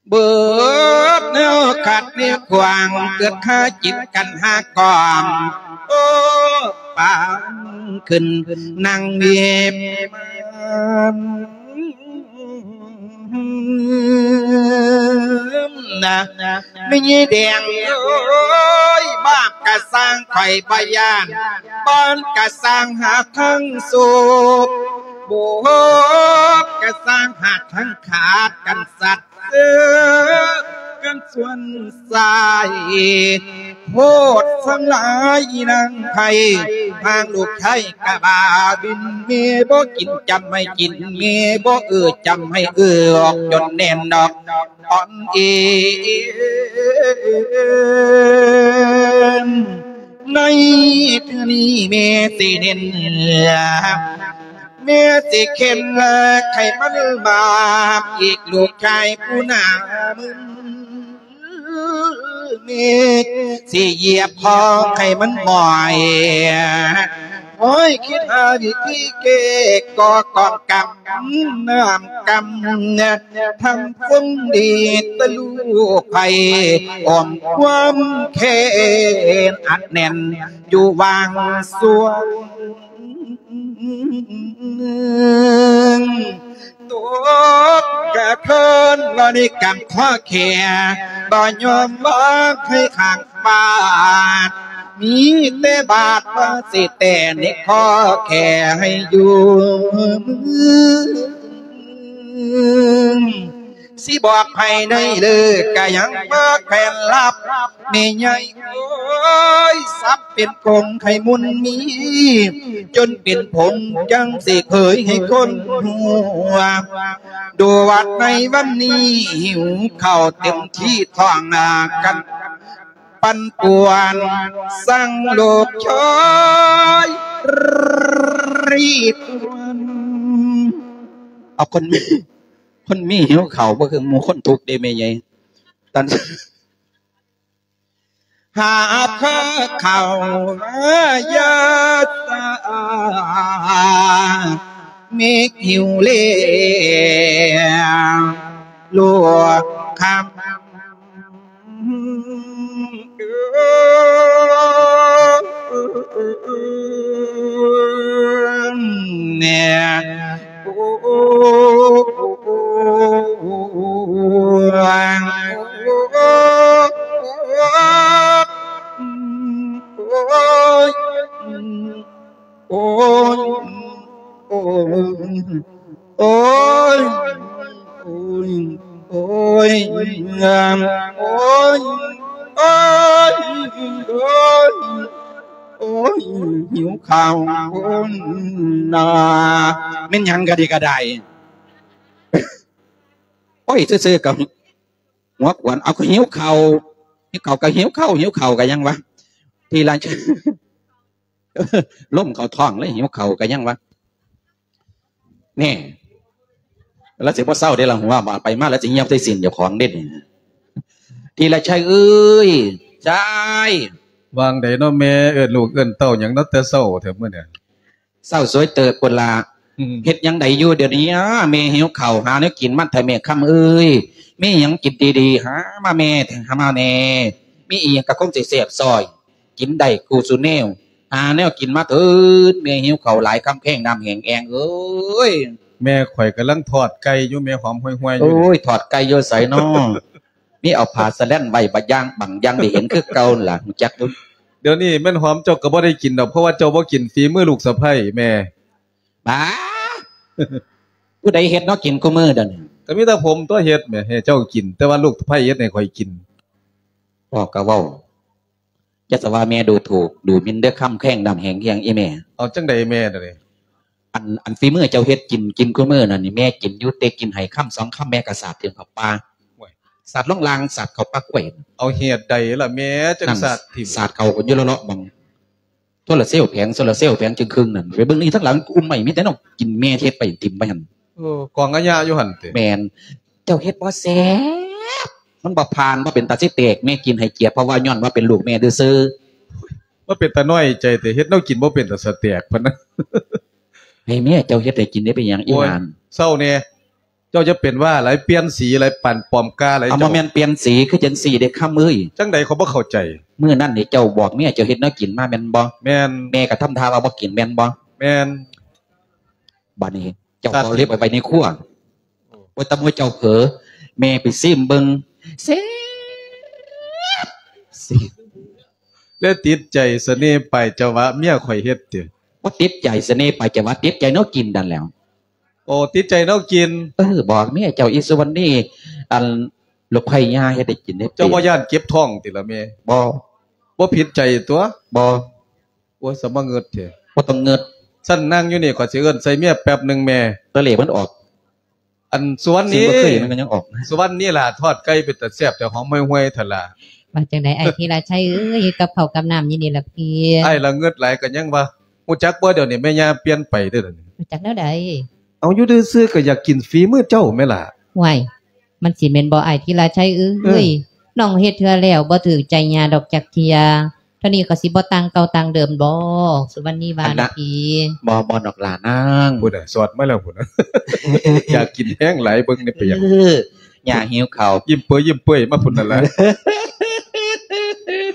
ເບີດແນວຂັດແນວຂວາງ ເກີດຄາຈິດກັນຫາກອມ ໂອ້ ປານຂຶ້ນນັ່ງເວບມານ ນະ ແມ່ໃຫຍ່ແດງເອີຍ ບາບກະສ້າງຂ້ອຍບໍ່ຢ້ານ ບອນກະສ້າງຫາທັງໂສກ ບວກກະສ້າງຫາທັງຂາດກັນສັດ ເອີ ກັນສ່ວນຊາຍ ໂພດສັງຫຼາຍອີນາງໄພ ທາງລູກໄທກະບາບິນ ແມ່ບໍ່ກິນຈຳໃຫ້ກິນ ແມ່ບໍ່ເອື້ອຈຳໃຫ້ເອື້ອ ອອກຈົນແໜ້ນດອກ ອ່ອນເອນ ໃນເທື່ອນີ້ແມ່ຊິເນັ້ນ ແມ່ຊິເຂັນໃຫ້ມັນບາບ ອີກລູກຊາຍຜູ້ໜ້າມຶນ ແມ່ຊິຢຽບຄອໃຫ້ມັນໝອຍ ໂອ້ຍ ຄິດຫາວິທີແກ້ກໍກອງກຳ ນ້ຳກຳ ທຳຄົນດີແຕ່ລູກໄພ ອ້ອມຄວາມແຄ້ນອັດແໜ້ນຢູ່ຫວ່າງຊ່ວງ ຕົກກະເທີນລະນິກຳຂໍ້ແຂ ບໍ່ຍອມບອກໃຫ້ຂ້າງບາດ ມີແຕ່ບາດວ່າຊິແຕ່ໃນຂໍ້ແຂໃຫ້ຢູ່ເມືອງ ຊິບອກໃຫ້ໃນເລີກກະຍັງບໍ່ແຂນລັບ ແມ່ໃຫຍ່ເອີຍ ສັບເປັນກົງໄຂ່ມຸນມີ ຈົນເປັນຜົງຈັ່ງຊິເຜີຍໃຫ້ຄົນຮູ້ ດູວັດໃນວັນນີ້ຫິວເຂົ້າເຕັມທີ່ທ້ອງໜ້າກັນ ປັ່ນປ່ວນສັງໂລກຊອຍ ຣີບ ເອົາຄົນມີ ຄົນມີຫິວເຂົ້າບໍ່ຄືໝູ່ຄົນທຸກເດ້ແມ່ໃຫຍ່ ຕອນ ຫາບເຂົ້າມາຢາດສາ ເມກຫິວແລ້ວ ລວກຄຳ ແນ່ ໂອ້ ໂອ້ຍ ໂອ້ຍ ໂອ້ຍ ຫິວເຂົ້ານາ. ແມ່ນຫຍັງກະດີກະໄດ້? ໂອ້ຍ ຊື່ໆ ກະຫົວຂວັນ ເອົາ ກະຫິວເຂົ້າ ຫິວເຂົ້າກະຫິວເຂົ້າ ຫິວເຂົ້າກະຫຍັງວະ? ທີລະ ລົມເຂົ້າທ້ອງເລີຍ ຫິວເຂົ້າກະຫຍັງວະ? ແນ່ ລາວຊິບໍ່ເຊົາເດ້ລະ ຫົວບາດໄປມາລາວຊິຫຍັບໃສ່ຊີ້ນເຈົ້າຂອງເດ້. ທີລະໄຊເອີຍ ໄຊ ວ່າງໃດເນາະແມ່ ເອີ້ນລູກເອີ້ນເຕົ້າຫຍັງເນາະແຕ່ເຊົ້າແທ້ມື້ນີ້? ເຊົ້າສວຍເຕີບພຸ້ນລະ. ອືມ ເຮັດຫຍັງໄດ້ຢູ່ດຽວນີ້? ແມ່ຫິວເຂົ້າ ຫາແນວກິນມາເຖາະແມ່ຄຳເອີຍ. ມີຫຍັງກິນດີໆ ຫາມາແມ່ ຫາມາແນ່. ມີອີ່ຫຍັງກະຄົງຊິແຊບຊອຍ ກິນໄດ້ຄູ່ສູ່ແນວ. ຫາແນວກິນມາເຖີ້ນ ແມ່ຫິວເຂົ້າຫຼາຍ ຄຳແພງນ້ຳແຫ້ງແອງເອີຍ. ແມ່ຂ້ອຍກຳລັງທອດໄກ່ຢູ່ ແມ່ຫອມຫ່ວຍໆຢູ່. ໂອ້ຍ ທອດໄກ່ຢູ່ໃສນໍ? ມີເອົາຜ້າສະແລນໄວ້ບາດຢ່າງ ບາງຢ່າງໄດ້ເຫັນຄືເກົ່າຫັ້ນລະ ຮູ້ຈັກຢູ່. ດຽວນີ້ແມ່ນຫອມເຈົ້າກະບໍ່ໄດ້ກິນດອກ ເພາະວ່າເຈົ້າບໍ່ກິນຝີມືລູກສະໃພ້ແມ່. ບາ ຜູ້ໃດເຮັດເນາະກິນຄູ່ມື້ດຽວນີ້? ກະມີແຕ່ຜົມຕົວະເຮັດແໝ ໃຫ້ເຈົ້າກິນ ແຕ່ວ່າລູກສະໃພ້ເຮັດໃຫ້ຂ້ອຍກິນ. ເວົ້າກະເວົ້າ ຢ່າສະວ່າແມ່ດູຖູກດູໝິ່ນເດີ ຄຳແພງນ້ຳແຫ້ງແອງອີແມ່. ເອົາ ຈັ່ງໃດແມ່ດຽວນີ້? ອັນ ອັນຝີມືເຈົ້າເຮັດກິນ ກິນຄູ່ມື້ນັ້ນນີ້ ແມ່ກິນຢູ່ ແຕ່ກິນໃຫ້ຄຳສອງຄຳ ແມ່ກະສາດຖິ້ມເຂົ້າປາ. ໂອ້ຍ ສາດລົງລ່າງ ສາດເຂົ້າປາກກ້ວຍ. ເອົາ ເຫດໃດລະແມ່ ຈັ່ງສາດຖິ້ມ? ສາດເຂົ້າຢູ່ເລາະໆ ໝ່ອງໂຊລາເຊວແຜງ ໂຊລາເຊວແຜງຈຶ່ງຄຶ່ງນັ້ນ ໄປເບິ່ງນີ້ທາງຫຼັງ ອຸ້ມໄມ້ມີແຕ່ແນວກິນ ແມ່ເຮັດໄປຖິ້ມໄປຫັ້ນ. ເອີ ກອງອາຍະຢູ່ຫັ້ນຕິ? ແມ່ນ. ເຈົ້າເຮັດບໍ່ແຊບ ມັນບໍ່ຜ່ານ ບໍ່ເປັນຕາຊິແຕກ ແມ່ກິນໃຫ້ກຽດ ເພາະວ່າຍ້ອນວ່າເປັນລູກແມ່ຊື່ໆ. ມາເປັນຕານ້ອຍໃຈແທ້ ເຮັດແນວກິນບໍ່ເປັນຕາຊິແຕກ ເພິ່ນນະ. ໃຫ້ແມ່ເຈົ້າເຮັດໃຫ້ກິນໄດ້ ເປັນຫຍັງອີ່ຫຼານ? ໂອ້ຍ ເຊົາແດ່ ເຈົ້າຢ່າເປັນຫວັດຫຼາຍ ປ່ຽນສີຫຼາຍ ປານປອມກ້າຫຼາຍ. ເອົາ ເຈົ້າ ບໍ່ແມ່ນປ່ຽນສີ ຄືຈັ່ງຊີ້ເດ້ຄຳເອີຍ. ຈັ່ງໃດ ຂ້ອຍບໍ່ເຂົ້າໃຈ. ມື້ນັ້ນນີ້ເຈົ້າບອກເມຍເຈົ້າເຮັດແນວກິນມາແມ່ນບໍ່? ແມ່ນ. ແມ່ກະທຳທ່າວ່າບໍ່ກິນແມ່ນບໍ່? ແມ່ນ. ບາດນີ້ ເຈົ້າເອົາເກັບໄວ້ໃນຄົວ ໂອ້ ແຕ່ເມື່ອເຈົ້າເຜີ ແມ່ໄປຊີມເບິ່ງ ແຊບ ແລ້ວຕິດໃຈສະເໜ່ປາຍຈະຫວະເມຍຂ້ອຍເຮັດຕິ? ບໍ່ຕິດໃຈສະເໜ່ປາຍຈະຫວະ ຕິດໃຈແນວກິນນັ້ນແຫຼ້ວ. ໂອ້ ຕິດໃຈແນວກິນ. ເອີ ບອກເມຍເຈົ້າ ອີສຸວັນນີ ອັນ ລູກໄຜ່ຍ່າເຮັດໃຫ້ກິນເດ້. ເຈົ້າບໍ່ຢ້ານເຈັບທ້ອງຕິລະແມ່? ບໍ່. ບໍ່ຜິດໃຈຕົວະ? ບໍ່. ໂອ້ຍ ສະມາງຶດແທ້. ບໍ່ຕ້ອງງຶດ. ຊັ້ນນັ່ງຢູ່ນີ້ ຂ້ອຍຊິເອີ້ນໃສ່ເມຍແປັບໜຶ່ງແມ່. ຕະເຫຼມັນອອກ. ອັນ ສຸວັນນີ ຊິບໍ່ເຄີຍ ມັນກະຍັງອອກ. ສຸວັນນີຫຼ້າ ທອດໄກ່ເປັນຕາແຊບແທ້ ຫອມຫ່ວຍໆ ທະລະ. ວ່າຈັ່ງໃດອ້າຍທີລະໄຊເອີຍ? ກັບເຂົ້າກັບນ້ຳຢູ່ນີ້ລະພີ່. ອ້າຍລະງຶດຫຼາຍກະຍັງວ່າ ຮູ້ຈັກບໍ່ ດຽວນີ້ແມ່ຍ່າປ່ຽນໄປເດີ້. ຮູ້ຈັກແນວໃດ? ເອົາ ຢູ່ຊື່ໆ ກະຢາກກິນຝີມືເຈົ້າແມ່ລະ. ຫ້ວຍ ມັນຊິແມ່ນບໍ່ອ້າຍທີລະໄຊເອີຍ? ເອີ ນ້ອງເຮັດເທື່ອແລ້ວບໍ່ຖືກໃຈຍ່າດອກຈັກເທື່ອ. ເທົ່ານີ້ກະຊິບໍ່ຕ່າງເກົ່າຕ່າງເດີມບໍ່? ສຸວັນນີວ່ານະພີ່. ບໍ່ ບໍ່ດອກຫຼ້ານາງ. ພຸ້ນນະ ສອດມາແລ້ວພຸ້ນນະ. ຢາກກິນແຮງຫຼາຍ ເບິ່ງແນ່ເປັນຫຍັງ. ເອີ ຍ່າຫິວເຂົ້າ. ຍິ້ມເປີຍຍິ້ມເປີຍມາພຸ້ນນັ້ນລະ.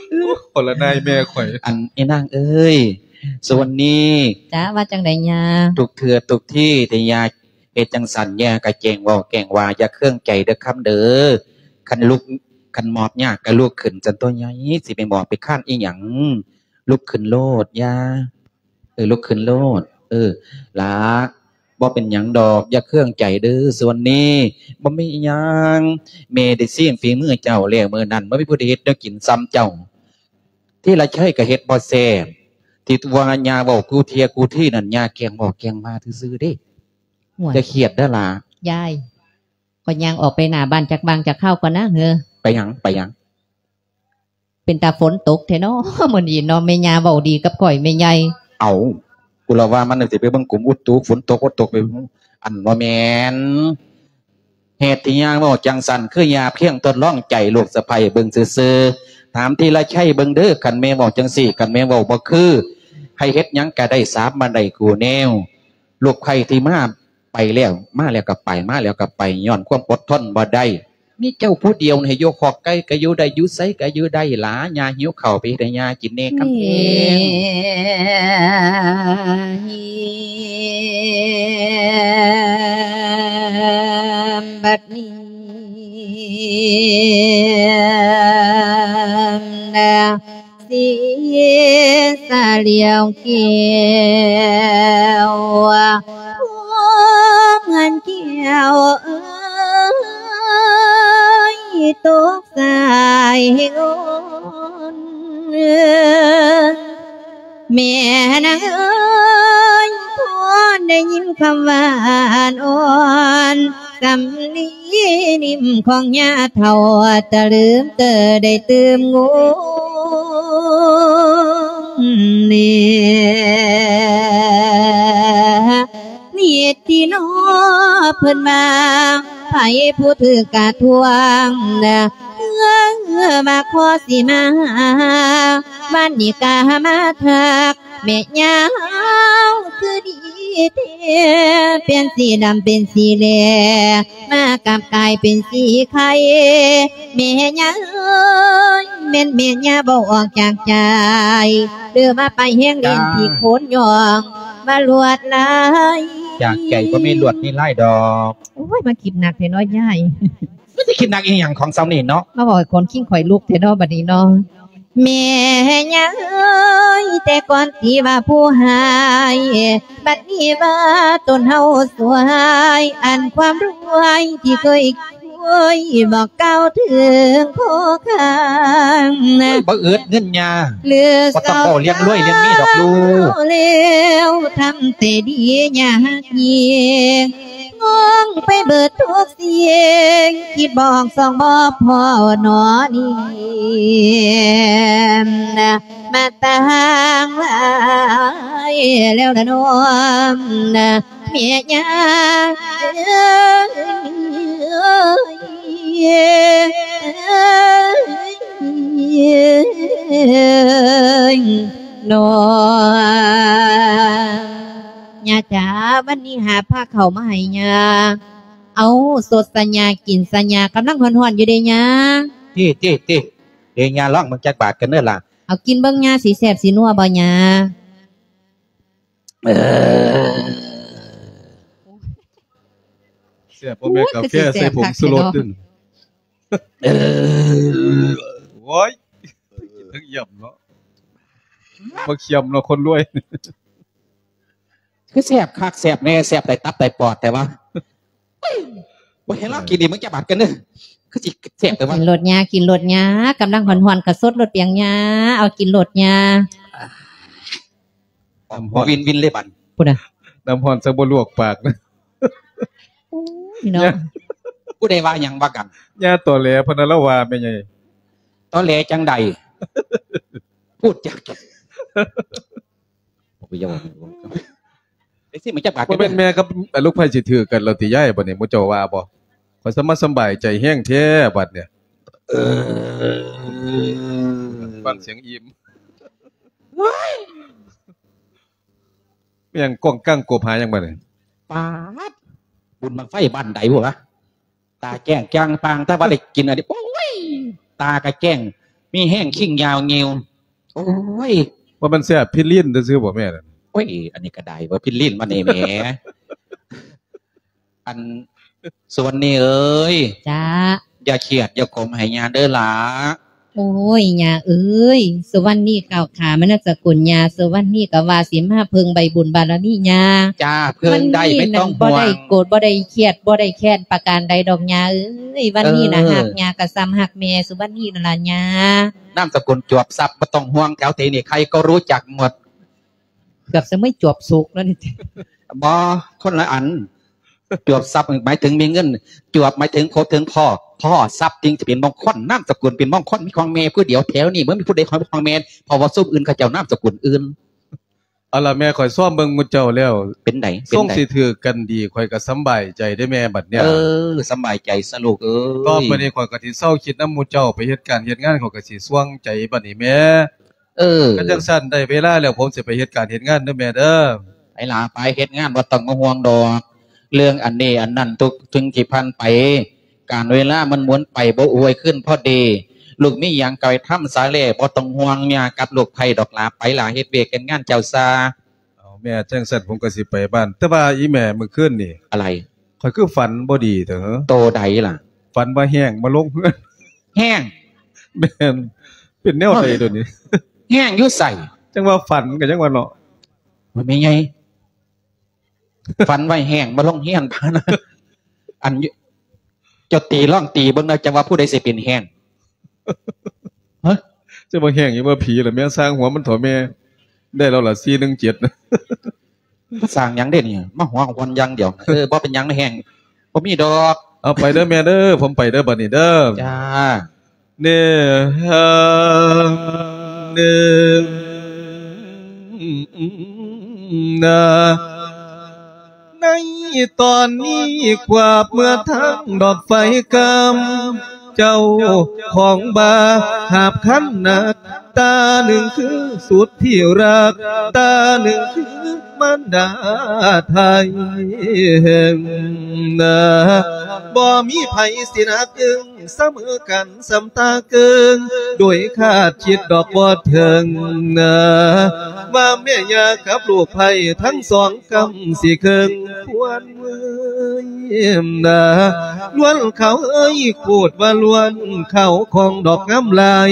ໂອ້ ຄົນລະນາຍແມ່ຂ້ອຍ. ອັນ ອີນາງເອີຍ ສຸວັນນີ. ຈ້າ ວ່າຈັ່ງໃດຍ່າ? ທຸກເທື່ອທຸກທີທີ່ຍ່າເຮັດຈັ່ງຊັ້ນ ຍ່າກະແກ້ງເວົ້າແກ້ງວ່າ ຢ່າເຄືອງໃຈເດີຄຳເດີ. ຄັນລຸກ ຄັນມອບຍາກກະລຸກຂຶ້ນຊັ້ນຕົວະຍາຍ ຊິໄປມອບໄປຄານອີ່ຫຍັງ? ລຸກຂຶ້ນໂລດ ຢ່າ ເອີ ລຸກຂຶ້ນໂລດ. ເອີ ຫຼ້າ ບໍ່ເປັນຫຍັງດອກ ຢ່າເຄືອງໃຈເດີ. ສ່ວນນີ້ບໍ່ມີອີ່ຫຍັງ ແມ່ໄດ້ຊີມຝີມືເຈົ້າແລ້ວ ມື້ນັ້ນບໍ່ມີຜູ້ໃດເຮັດແນວກິນສ່ຳເຈົ້າ. ທີລະໄຊກະເຮັດບໍ່ແຊບ ທີ່ວ່າຍ່າເວົ້າກູ່ເທຍກູ່ທີນັ້ນ ຍ່າແກ້ງເວົ້າແກ້ງວ່າຊື່ໆເດ້. ຫ້ວຍ ຢ່າຄຽດເດີຫຼ້າ. ຍາຍ ຂ້ອຍຍ່າງອອກໄປໜ້າບ້ານຈັກບາງຈັກຄາວກ່ອນນະເຮີ. ໄປຫຍັງ? ໄປຫຍັງ? ເປັນຕາຝົນຕົກແທ້ເນາະ ມື້ນີ້ເນາະ ແມ່ຍ່າເວົ້າດີກັບຂ້ອຍແມ່ໃຫຍ່. ເອົ້າ ກູລະວ່າມັນຊິໄປເບິ່ງກົມອຸຕຸ ຝົນຕົກບໍ່ຕົກໄປ ອັນ ບໍ່ແມ່ນ ເຫດທີ່ຍ່າເວົ້າຈັ່ງຊັ້ນ ຄືຍ່າພຽງທົດລອງໃຈລູກສະໃພ້ເບິ່ງຊື່ໆ. ຖາມທີລະໄຊເບິ່ງເດີ ຄັນແມ່ເວົ້າຈັ່ງຊີ້ ຄັນແມ່ເວົ້າບໍ່ຄື ໃຫ້ເຮັດຫຍັງກະໄດ້ ສາບມາໄດ້ຄູ່ແນວ. ລູກໃຜທີ່ມາ ໄປແລ້ວ ມາແລ້ວກະໄປ ມາແລ້ວກະໄປ ຍ້ອນຄວາມອົດທົນບໍ່ໄດ້. ມີເຈົ້າຜູ້ດຽວໃຫ້ຢູ່ຄອກໄກ່ກະຢູ່ໄດ້ ຢູ່ໃສກະຢູ່ໄດ້ຫຼ້າ. ຍ່າຫິວເຂົ້າ ໄປເຮັດໃຫ້ຍ່າກິນແນ່ຄຳແພງ. ບັດນີ້ນະ ສີສະຫຼຽວແກ້ວ ເມືອນແກ້ວເອີຍ. ຕົກສາຍໂອນ ແມ່ນາງເອີຍ ພໍໄດ້ຍິນຄຳຫວານອ່ອນ ສຳລີນິ້ມຂອງຍ່າເຖົ້າ ຕະລຶມເຕີໄດ້ຕື່ມງົວງນີ້ ນີ້ຕິນໍ ເພິ່ນວ່າ ໃຜຜູ້ຖືກກະທວງ ເອີ ວ່າຂໍຊິມາຫາ ວັນນີ້ກະມາທັກ ແມ່ຍ່າເຮົາຄືດີແທ້ ປ່ຽນສີດຳເປັນສີແຫຼ ມາກັບກາຍເປັນສີໄຂ່ ແມ່ຍ່າເອີຍ ແມ່ນແມ່ຍ່າເວົ້າອອກຈາກໃຈ ຫຼືວ່າໄປແຮງຫຼິ້ນທີ່ໂຄນຍ່ອງ ວ່າລວດລາຍ ຈາກໃຈບໍ່ມີລວດມີລາຍດອກ. ໂອ້ຍ ມາຄິດໜັກແທ້ເນາະຍາຍ. ມັນຊິຄິດໜັກອີ່ຫຍັງຂອງສ່ຳນີ້ເນາະ ມາເວົ້າໃຫ້ຂອນຄີງຂ້ອຍລຸກແທ້ເນາະ ບັດນີ້ເນາະ. ແມ່ຍ່າເອີຍ ແຕ່ກ່ອນທີ່ວ່າຜູ້ຮ້າຍ ບັດນີ້ວ່າຕົນເຮົາສວຍ ອັນຄວາມລວຍທີ່ເຄີຍ ໂອ້ຍ ບອກກ່າວເຖິງຂໍຄາງນະ ໂອ້ຍ ບໍ່ອຶດເງິນຍາ ຫຼື ບໍ່ຕ້ອງເວົ້າເລື່ອງລວຍເລື່ອງມີດອກລູກ ແລ້ວທຳແຕ່ດີຍາກຍິ່ງ ງງໄປເບິດທຸກສິ່ງ ຄິດບໍ່ອອກຊ່ອງບໍ່ພໍໜໍນີ້ ມາຕັ້ງຫຼາຍແລ້ວລະນ້ອງ ແມ່ຍ່າເອີຍ ນ້ອງ ຍ່າຈ໋າ ວັນນີ້ຫາພາເຂົ້າມາໃຫ້ຍ່າ. ເອົາ ສົດຊະຍ່າ ກິນຊະຍ່າ ກຳລັງຮ້ອນໆຢູ່ເດ້ຍ່າ. ຕິ ຕິ ຕິ ເດ ຍ່າລອງເບິ່ງຈັກບາດກັນເດີຫຼ້າ. ເອົາ ກິນເບິ່ງຍ່າ ຊິແຊບຊິນົວບໍ່ຍ່າ? ເອີ ແຊບບໍ່ແມ່ນກາແຟ ໂອ້ຍ ຄືຊິແຊບ ໃສ່ຜົງຊູລົດ ຄັກແທ້ເນາະ ເອີ ໂອ້ຍ ກິນທັງຢ້ຳເນາະ ບໍ່ຄຽມເນາະ ຄົນລວຍ ຄືແຊບຄັກແຊບແນ່ ແຊບໄດ້ຕັບໄດ້ປອດແທ້ວະ. ບໍ່ເຫັນລາວກິນນີ້ ເບິ່ງຈັກບາດກັນເດີ ຄືຊິແຊບແທ້ວະ. ກິນໂລດຍ່າ ກິນໂລດຍ່າ ກຳລັງຮ້ອນໆ ກະສົດໂລດປຽງຍ່າ ເອົາ ກິນໂລດຍ່າ. ນ້ຳຮ້ອນ ວິນໆ ເລີຍບັດ ພຸ້ນນະ ນ້ຳຮ້ອນ ສັກບໍ່ລວກປາກນະ. ໂອ້ຍເນາະ ຜູ້ໃດວ່າຫຍັງວ່າກັນ ຍ່າຕໍແຫຼພະນະ ລາວວ່າແມ່ໃຫຍ່. ຕໍແຫຼຈັ່ງໃດ ພູດຈັກ ບໍ່ຢາກເວົ້າ ໄດ້ຊິມາຈັກບາດ ບໍ່ແມ່ນແມ່ກັບລູກໃພ້ຊິຖືກກັນແລ້ວຕິຍາຍ ບັດນີ້ໝູ່ເຈົ້າວ່າບໍ່? ຂ້ອຍສະມາສຳບາຍໃຈແຮງແທ້ບັດນີ້. ເອີ ຟັງສຽງອີ່ມ ໂອ້ຍ ແມ່ນຫຍັງ ກ້ອງກ້າງກົບຫາຫຍັງບັດນີ້? ປາດ ບຸນບັ້ງໄຟບ້ານໃດພຸ້ນວະ? ຕາແຈ້ງຈ່າງປ່າງ ແຕ່ວ່າໄດ້ກິນອັນນີ້ ໂອ້ຍ ຕາກະແຈ້ງ ມີແຮງ ຄິງຍາວງິ່ວ ໂອ້ຍ. ວ່າມັນແຊບພິລິນຊື່ໆບໍ່ແມ່ນັ້ນ? ໂອ້ຍ ອັນນີ້ກະໄດ້ເວີຍ ພິລິນມານີ້ແໝ. ອັນ ສຸວັນນີເອີຍ ຈ້າ ຢ່າຄຽດຢ່າຂົມໃຫ້ຍ່າເດີຫຼ້າ. ໂອ້ຍ ຍ່າເອີຍ ສຸວັນນີກ້າວຂາມານາມສະກຸນຍ່າ ສຸວັນນີກະວ່າຊິມາເພິ່ງໃບບຸນບາລະມີຍ່າ. ຈ້າ ເພິ່ງໄດ້ ບໍ່ຕ້ອງຫ່ວງ ບໍ່ໄດ້ໂກດ ບໍ່ໄດ້ຄຽດ ບໍ່ໄດ້ແຄ້ນປະການໃດດອກຍ່າເອີຍ. ວັນນີ້ນະ ເອີ ຮັກຍ່າກະສ່ຳຮັກແມ່ສຸວັນນີນັ້ນລະຍ່າ. ນາມສະກຸນຈວບຊັບ ບໍ່ຕ້ອງຫ່ວງ ແຖວເທນີ້ໃຄກໍຮູ້ຈັກໝົດ. ເກືອບສະເໝີຍຈວບສຸກແລ້ວນີ້. ບໍ່ ຄົນລະອັນ. ຈວບຊັບໝາຍເຖິງມີເງິນ ຈວບໝາຍເຖິງຄົບເຖິງພໍ້ ພໍ້ຊັບຈຶ່ງຈະເປັນມົງຄົນ ນາມສະກຸນເປັນມົງຄົນ ມີຂອງແມ່ຜູ້ດຽວແຖວນີ້ ບໍ່ມີຜູ້ໃດຂອງ ຂອງແມ່ ເພາະວ່າຊຸມອື່ນເຂົາເຈົ້ານາມສະກຸນອື່ນ. ເອົາລະແມ່ ຂ້ອຍຊອມເບິ່ງໝູ່ເຈົ້າແລ້ວ ເປັນໃດ ເປັນໃດ ຊົງຊິຖືກກັນດີ ຂ້ອຍກໍສຳບາຍໃຈເດ້ແມ່ ບັດເນີ້ຍ. ເອີ ສຳບາຍໃຈຊະລູກເອີຍ ຕໍ່ໄປນີ້ຂ້ອຍກໍຊິເຊົາຄິດນຳໝູ່ເຈົ້າ ໄປເຮັດການເຮັດງານ ຂ້ອຍກໍຊິສ່ວງໃຈບັດນີ້ແມ່. ເອີ ຄັນຈັ່ງຊັ້ນໄດ້ເວລາແລ້ວ ຜົມຊິໄປເຮັດການເຮັດງານເດີແມ່ເດີ. ໄປຫຼ້າໄປເຮັດງານ ບໍ່ຕ້ອງມາຫ່ວງດອກ ເລື່ອງອັນນີ້ອັນນັ້ນ ທຸກສິ່ງທີ່ຜ່ານໄປ ການເວລາມັນໝູນໄປບໍ່ອວຍຄືນພໍດີ ລູກມີຫຍັງກໍໄປທຳສາແລ ບໍ່ຕ້ອງຫ່ວງຍາກັບລູກໃຜດອກຫຼ້າ ໄປຫຼ້າເຮັດວຽກເຮັດງານເຈົ້າຊາ. ເອົາແມ່ ຈັ່ງຊັ້ນຜົມກໍຊິໄປບ້ານ ແຕ່ວ່າອີ່ແມ່ມື້ຄືນນີ້ ອະໄລ? ຂ້ອຍຄືຝັນບໍ່ດີແທ້ເຫີ? ໂຕໃດລະ? ຝັນວ່າແຫ້ງມາລົງເຮືອນ. ແຫ້ງ? ແມ່ນ. ເປັນແນວໃດໂດຍນີ້? ແຫ້ງຢູ່ໃສ? ຈັ່ງວ່າຝັນກໍຍັງວ່າເນາະ. ໂອ້ຍ ແມ່ໃຫຍ່ ຝັນວ່າແຫ້ງມາລົງເຮືອນ ອັນ ເຈົ້າຕີ ລອງຕີເບິ່ງເດີ ຈັກວ່າຜູ້ໃດຊິເປັນແຮງ. ຮະ? ຈະບໍ່ແຮງຢູ່ບໍ່ ຜີລະແມ່ ຊ່າງຫົວມັນເຖາະແມ່. ໄດ້ແລ້ວລະ ສີ່ໜຶ່ງເຈັດ ນະ. ສ້າງຫຍັງເດ້ນີ້ ມາຫົວຄວນຢ່າງດຽວ. ເອີ ບໍ່ເປັນຫຍັງ ແຮງບໍ່ມີດອກ. ເອົາ ໄປເດີແມ່ເດີ ຜົມໄປເດີ ບັດນີ້ເດີ. ຈ້າ. ເນ ເນ ນາ ໃນຕອນນີ້ ຄວາບເມືອທາງດອກໄຟກຳ ເຈົ້າຂອງບາຫາບຂັນໜັກ ຕາໜຶ່ງຄືສຸດທີ່ຮັກ ຕາໜຶ່ງຄືມານດາໄທ ນາ ບໍ່ມີໃຜຊິໜັກເອິງ ສະເໝີກັນສ່ຳຕາເກີງ ໂດຍຄາດຄິດດອກບໍ່ເຖິງນາ ວ່າແມ່ຍ່າກັບລູກໃພ້ທັງສອງກຳຊິເຄິ່ງຄວນເມີຍນາ ລວນເຂົາເອີຍ ໂຄດວ່າລວນເຂົາຂອງດອກງາມຫຼາຍ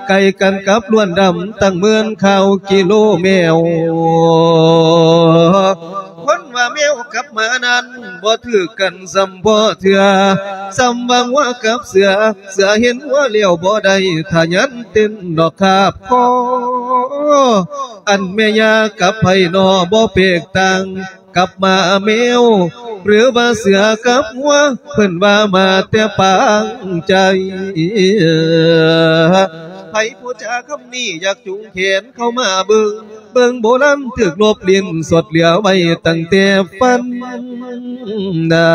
ໃກ້ກັນກັບລວນດຳຕັ້ງໝື່ນຂ່າວກິໂລແມວ. ຄົນວ່າແມວກັບໝານັ້ນ ບໍ່ຖືກກັນສ່ຳພໍເທື່ອ ສ່ຳວ່າງົວກັບເສືອ ເສືອເຫັນງົວແລ້ວບໍ່ໄດ້ ທະຍານເຕັ້ນດອກຄາບຄໍ ອັນແມ່ຍ່າກັບໃຜນໍ ບໍ່ແປກຕ່າງກັບໝາແມວ ຫຼືວ່າເສືອກັບງົວ ເພິ່ນວ່າມາແຕ່ປາງໃຈ. ໃຜຜູ້ຈາຄຳນີ້ ຢາກຈູງແຂນເຂົ້າມາເບິ່ງ ເບິ່ງໂບລານຖືກລົບຫຼິ້ນສົດເຫຼືອໄວ້ຕັ້ງແຕ່ຝັນນາ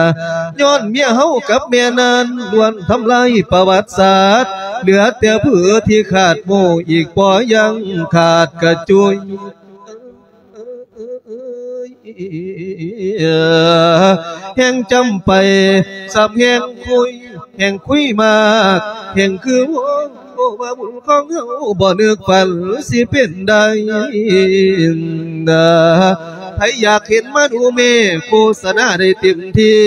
ຍ້ອນເມຍເຮົາກັບແມ່ນານ ລ້ວນທຳລາຍປະຫວັດສາດ ເຫຼືອແຕ່ຜືທີ່ຂາດໂມ້ອີກບໍ່ຍັງຂາດກະຈຸຍ ແຮ່ງຈຳໄປ ສ່ຳແຮ່ງຄຸຍ ແຮ່ງຄຸຍມາກ ແຮ່ງຄືໂອ້ ວ່າບຸນຂອງເຮົາບໍ່ນຶກຝັນຊິເປັນໄດ້ນາ ໃຜຢາກເຫັນມາດູແມ່ ໂຄສະນາໄດ້ເຕັມທີ່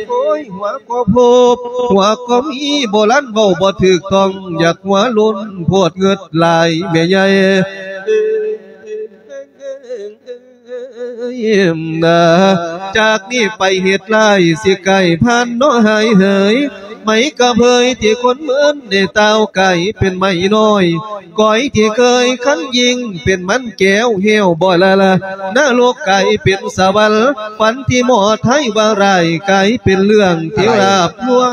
ໂອ້ຍ ຫົວກໍພົບ ຫົວກໍມີ ໂບລານເວົ້າບໍ່ຖືກຕ້ອງ ຢາກຫົວໂລ້ນໂພດເງິດຫຼາຍແມ່ໃຫຍ່ ນາ ຈາກນີ້ໄປເຫດຮ້າຍຊິກາຍຜ່ານເນາະຫາຍເຫີຍ ໄມ້ກະເຜີຍທີ່ຄົນເມີນໄດ້ຕ່າວກາຍເປັນໄມ້ນ້ອຍ ກ້ອຍທີ່ເຄີຍຄັນຍິ່ງເປັນມັນແກ້ວແຫ້ວບໍ່ລະລະ ນະລົກກາຍເປັນສະຫວັນ ຝັນທີ່ໝໍໄທວ່າຮ້າຍກາຍເປັນເລື່ອງທີ່ລາບລວງ.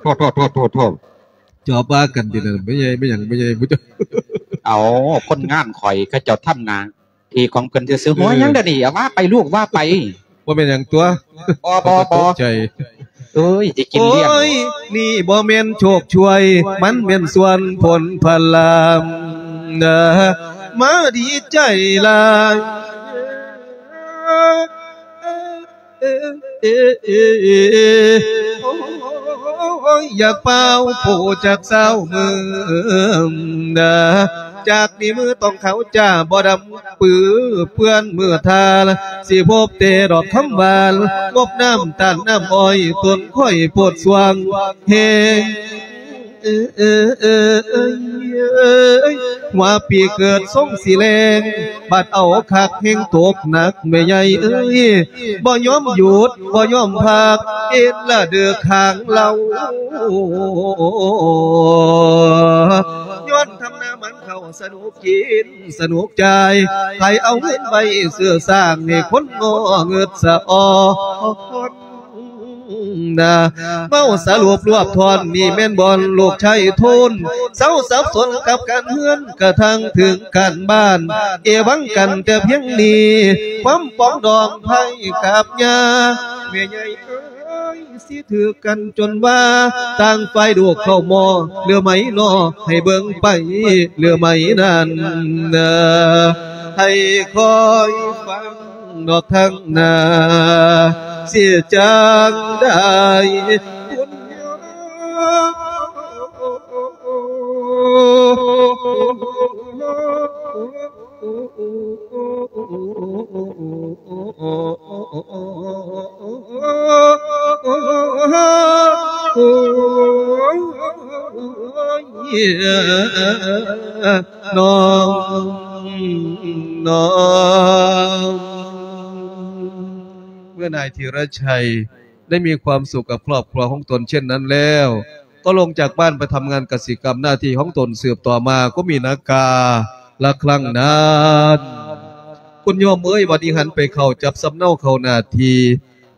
ໂທດ ໂທດ ໂທດ ໂທດ ໂທດ. ຈອບວ່າກັນຕິນັ້ນ ແມ່ໃຫຍ່ ແມ່ຫຍັງ ແມ່ໃຫຍ່ ຜູ້ເຈົ້າ ເອົາ ຄົນງານຂ້ອຍເຂົາເຈົ້າທຳໜ້າທີ່ຂອງເພິ່ນຊື່ໆ. ເອີ ຫົວຫຍັງດຽວນີ້ ເອົາ ວ່າໄປລູກ ວ່າໄປ. ບໍ່ແມ່ນຫຍັງຕົວະ. ບໍ່ ບໍ່ ບໍ່ ຕົກໃຈ. ເອີຍ ຊິກິນລ້ຽງ. ໂອ້ຍ ນີ້ບໍ່ແມ່ນໂຊກຊ່ວຍ ມັນແມ່ນສ່ວນຜົນພະລາມນະ ມາດີໃຈຫຼາຍ. ໂອ້ຍ ຢາກເປົ່າໂປຈັກຊາວມື້ນາ ຈາກນີ້ມືຕ້ອງຂາວຈ້າ ບໍ່ດຳປືເປື້ອນມືທາ ຊິພົບແຕ່ດອກຄຳຫວານ ງົບນ້ຳຕານນ້ຳອ້ອຍ ຕົ້ນຂ້ອຍໂພດສວ່າງແຮງ. ເອີ ເອີ ເອີ ເອີ ເອີ ຫົວປີເກີດຊົງຊິແລງ ບັດເອົາຄັກແຮງຕົກໜັກແມ່ໃຫຍ່ເອີຍ ບໍ່ຍອມຢຸດ ບໍ່ຍອມພັກ ເອັດລະເດີກຫາງເລົ່າ ຍ້ອນທຳນາໝັ່ນເຂົ້າສະໜຸກກິນ ສະໜຸກຈ່າຍ ໃຜເອົາເງິນໄວ້ຊື້ສ້າງໃຫ້ຄົນງໍເງິດສະອອນນາ. ເວົ້າສະຫຼຸບລວບທ່ອນນີ້ແມ່ນບ່ອນລູກຊາຍໂທນ ເຊົາສັບສົນກັບການເຮືອນ ກະທັ່ງເຖິງການບ້ານ ເອວັງກັນແຕ່ພຽງນີ້ ຄວາມປອງດອງໄພກັບຍາ ແມ່ໃຫຍ່ເອີຍ ຊິຖືກກັນຈົນວ່າ ຕ່າງຝ່າຍດູກເຂົ້າໝໍ້ ຫຼືໄໝນໍ ໃຫ້ເບິ່ງໄປ ຫຼືໄໝນັ້ນ ໃຫ້ຄອຍຟັງດອກທາງໜ້າ ຊິຈັ່ງໄດ້ບຸນຍາ. ນ້ອງ ນ້ອງ. ເມື່ອນາຍທີລະໄຊໄດ້ມີຄວາມສຸກກັບຄອບຄົວຂອງຕົນເຊັ່ນນັ້ນແລ້ວ ກໍລົງຈາກບ້ານໄປທຳງານກະສິກຳໜ້າທີ່ຂອງຕົນສືບຕໍ່ມາ ກໍມີນາກາລະຄັ້ງນັ້ນ. ຄຸນໂຍມເອີຍ ບັດນີ້ຫັນໄປເຂົ້າຈັບສຳເນົາເຂົ້າໜ້າທີ່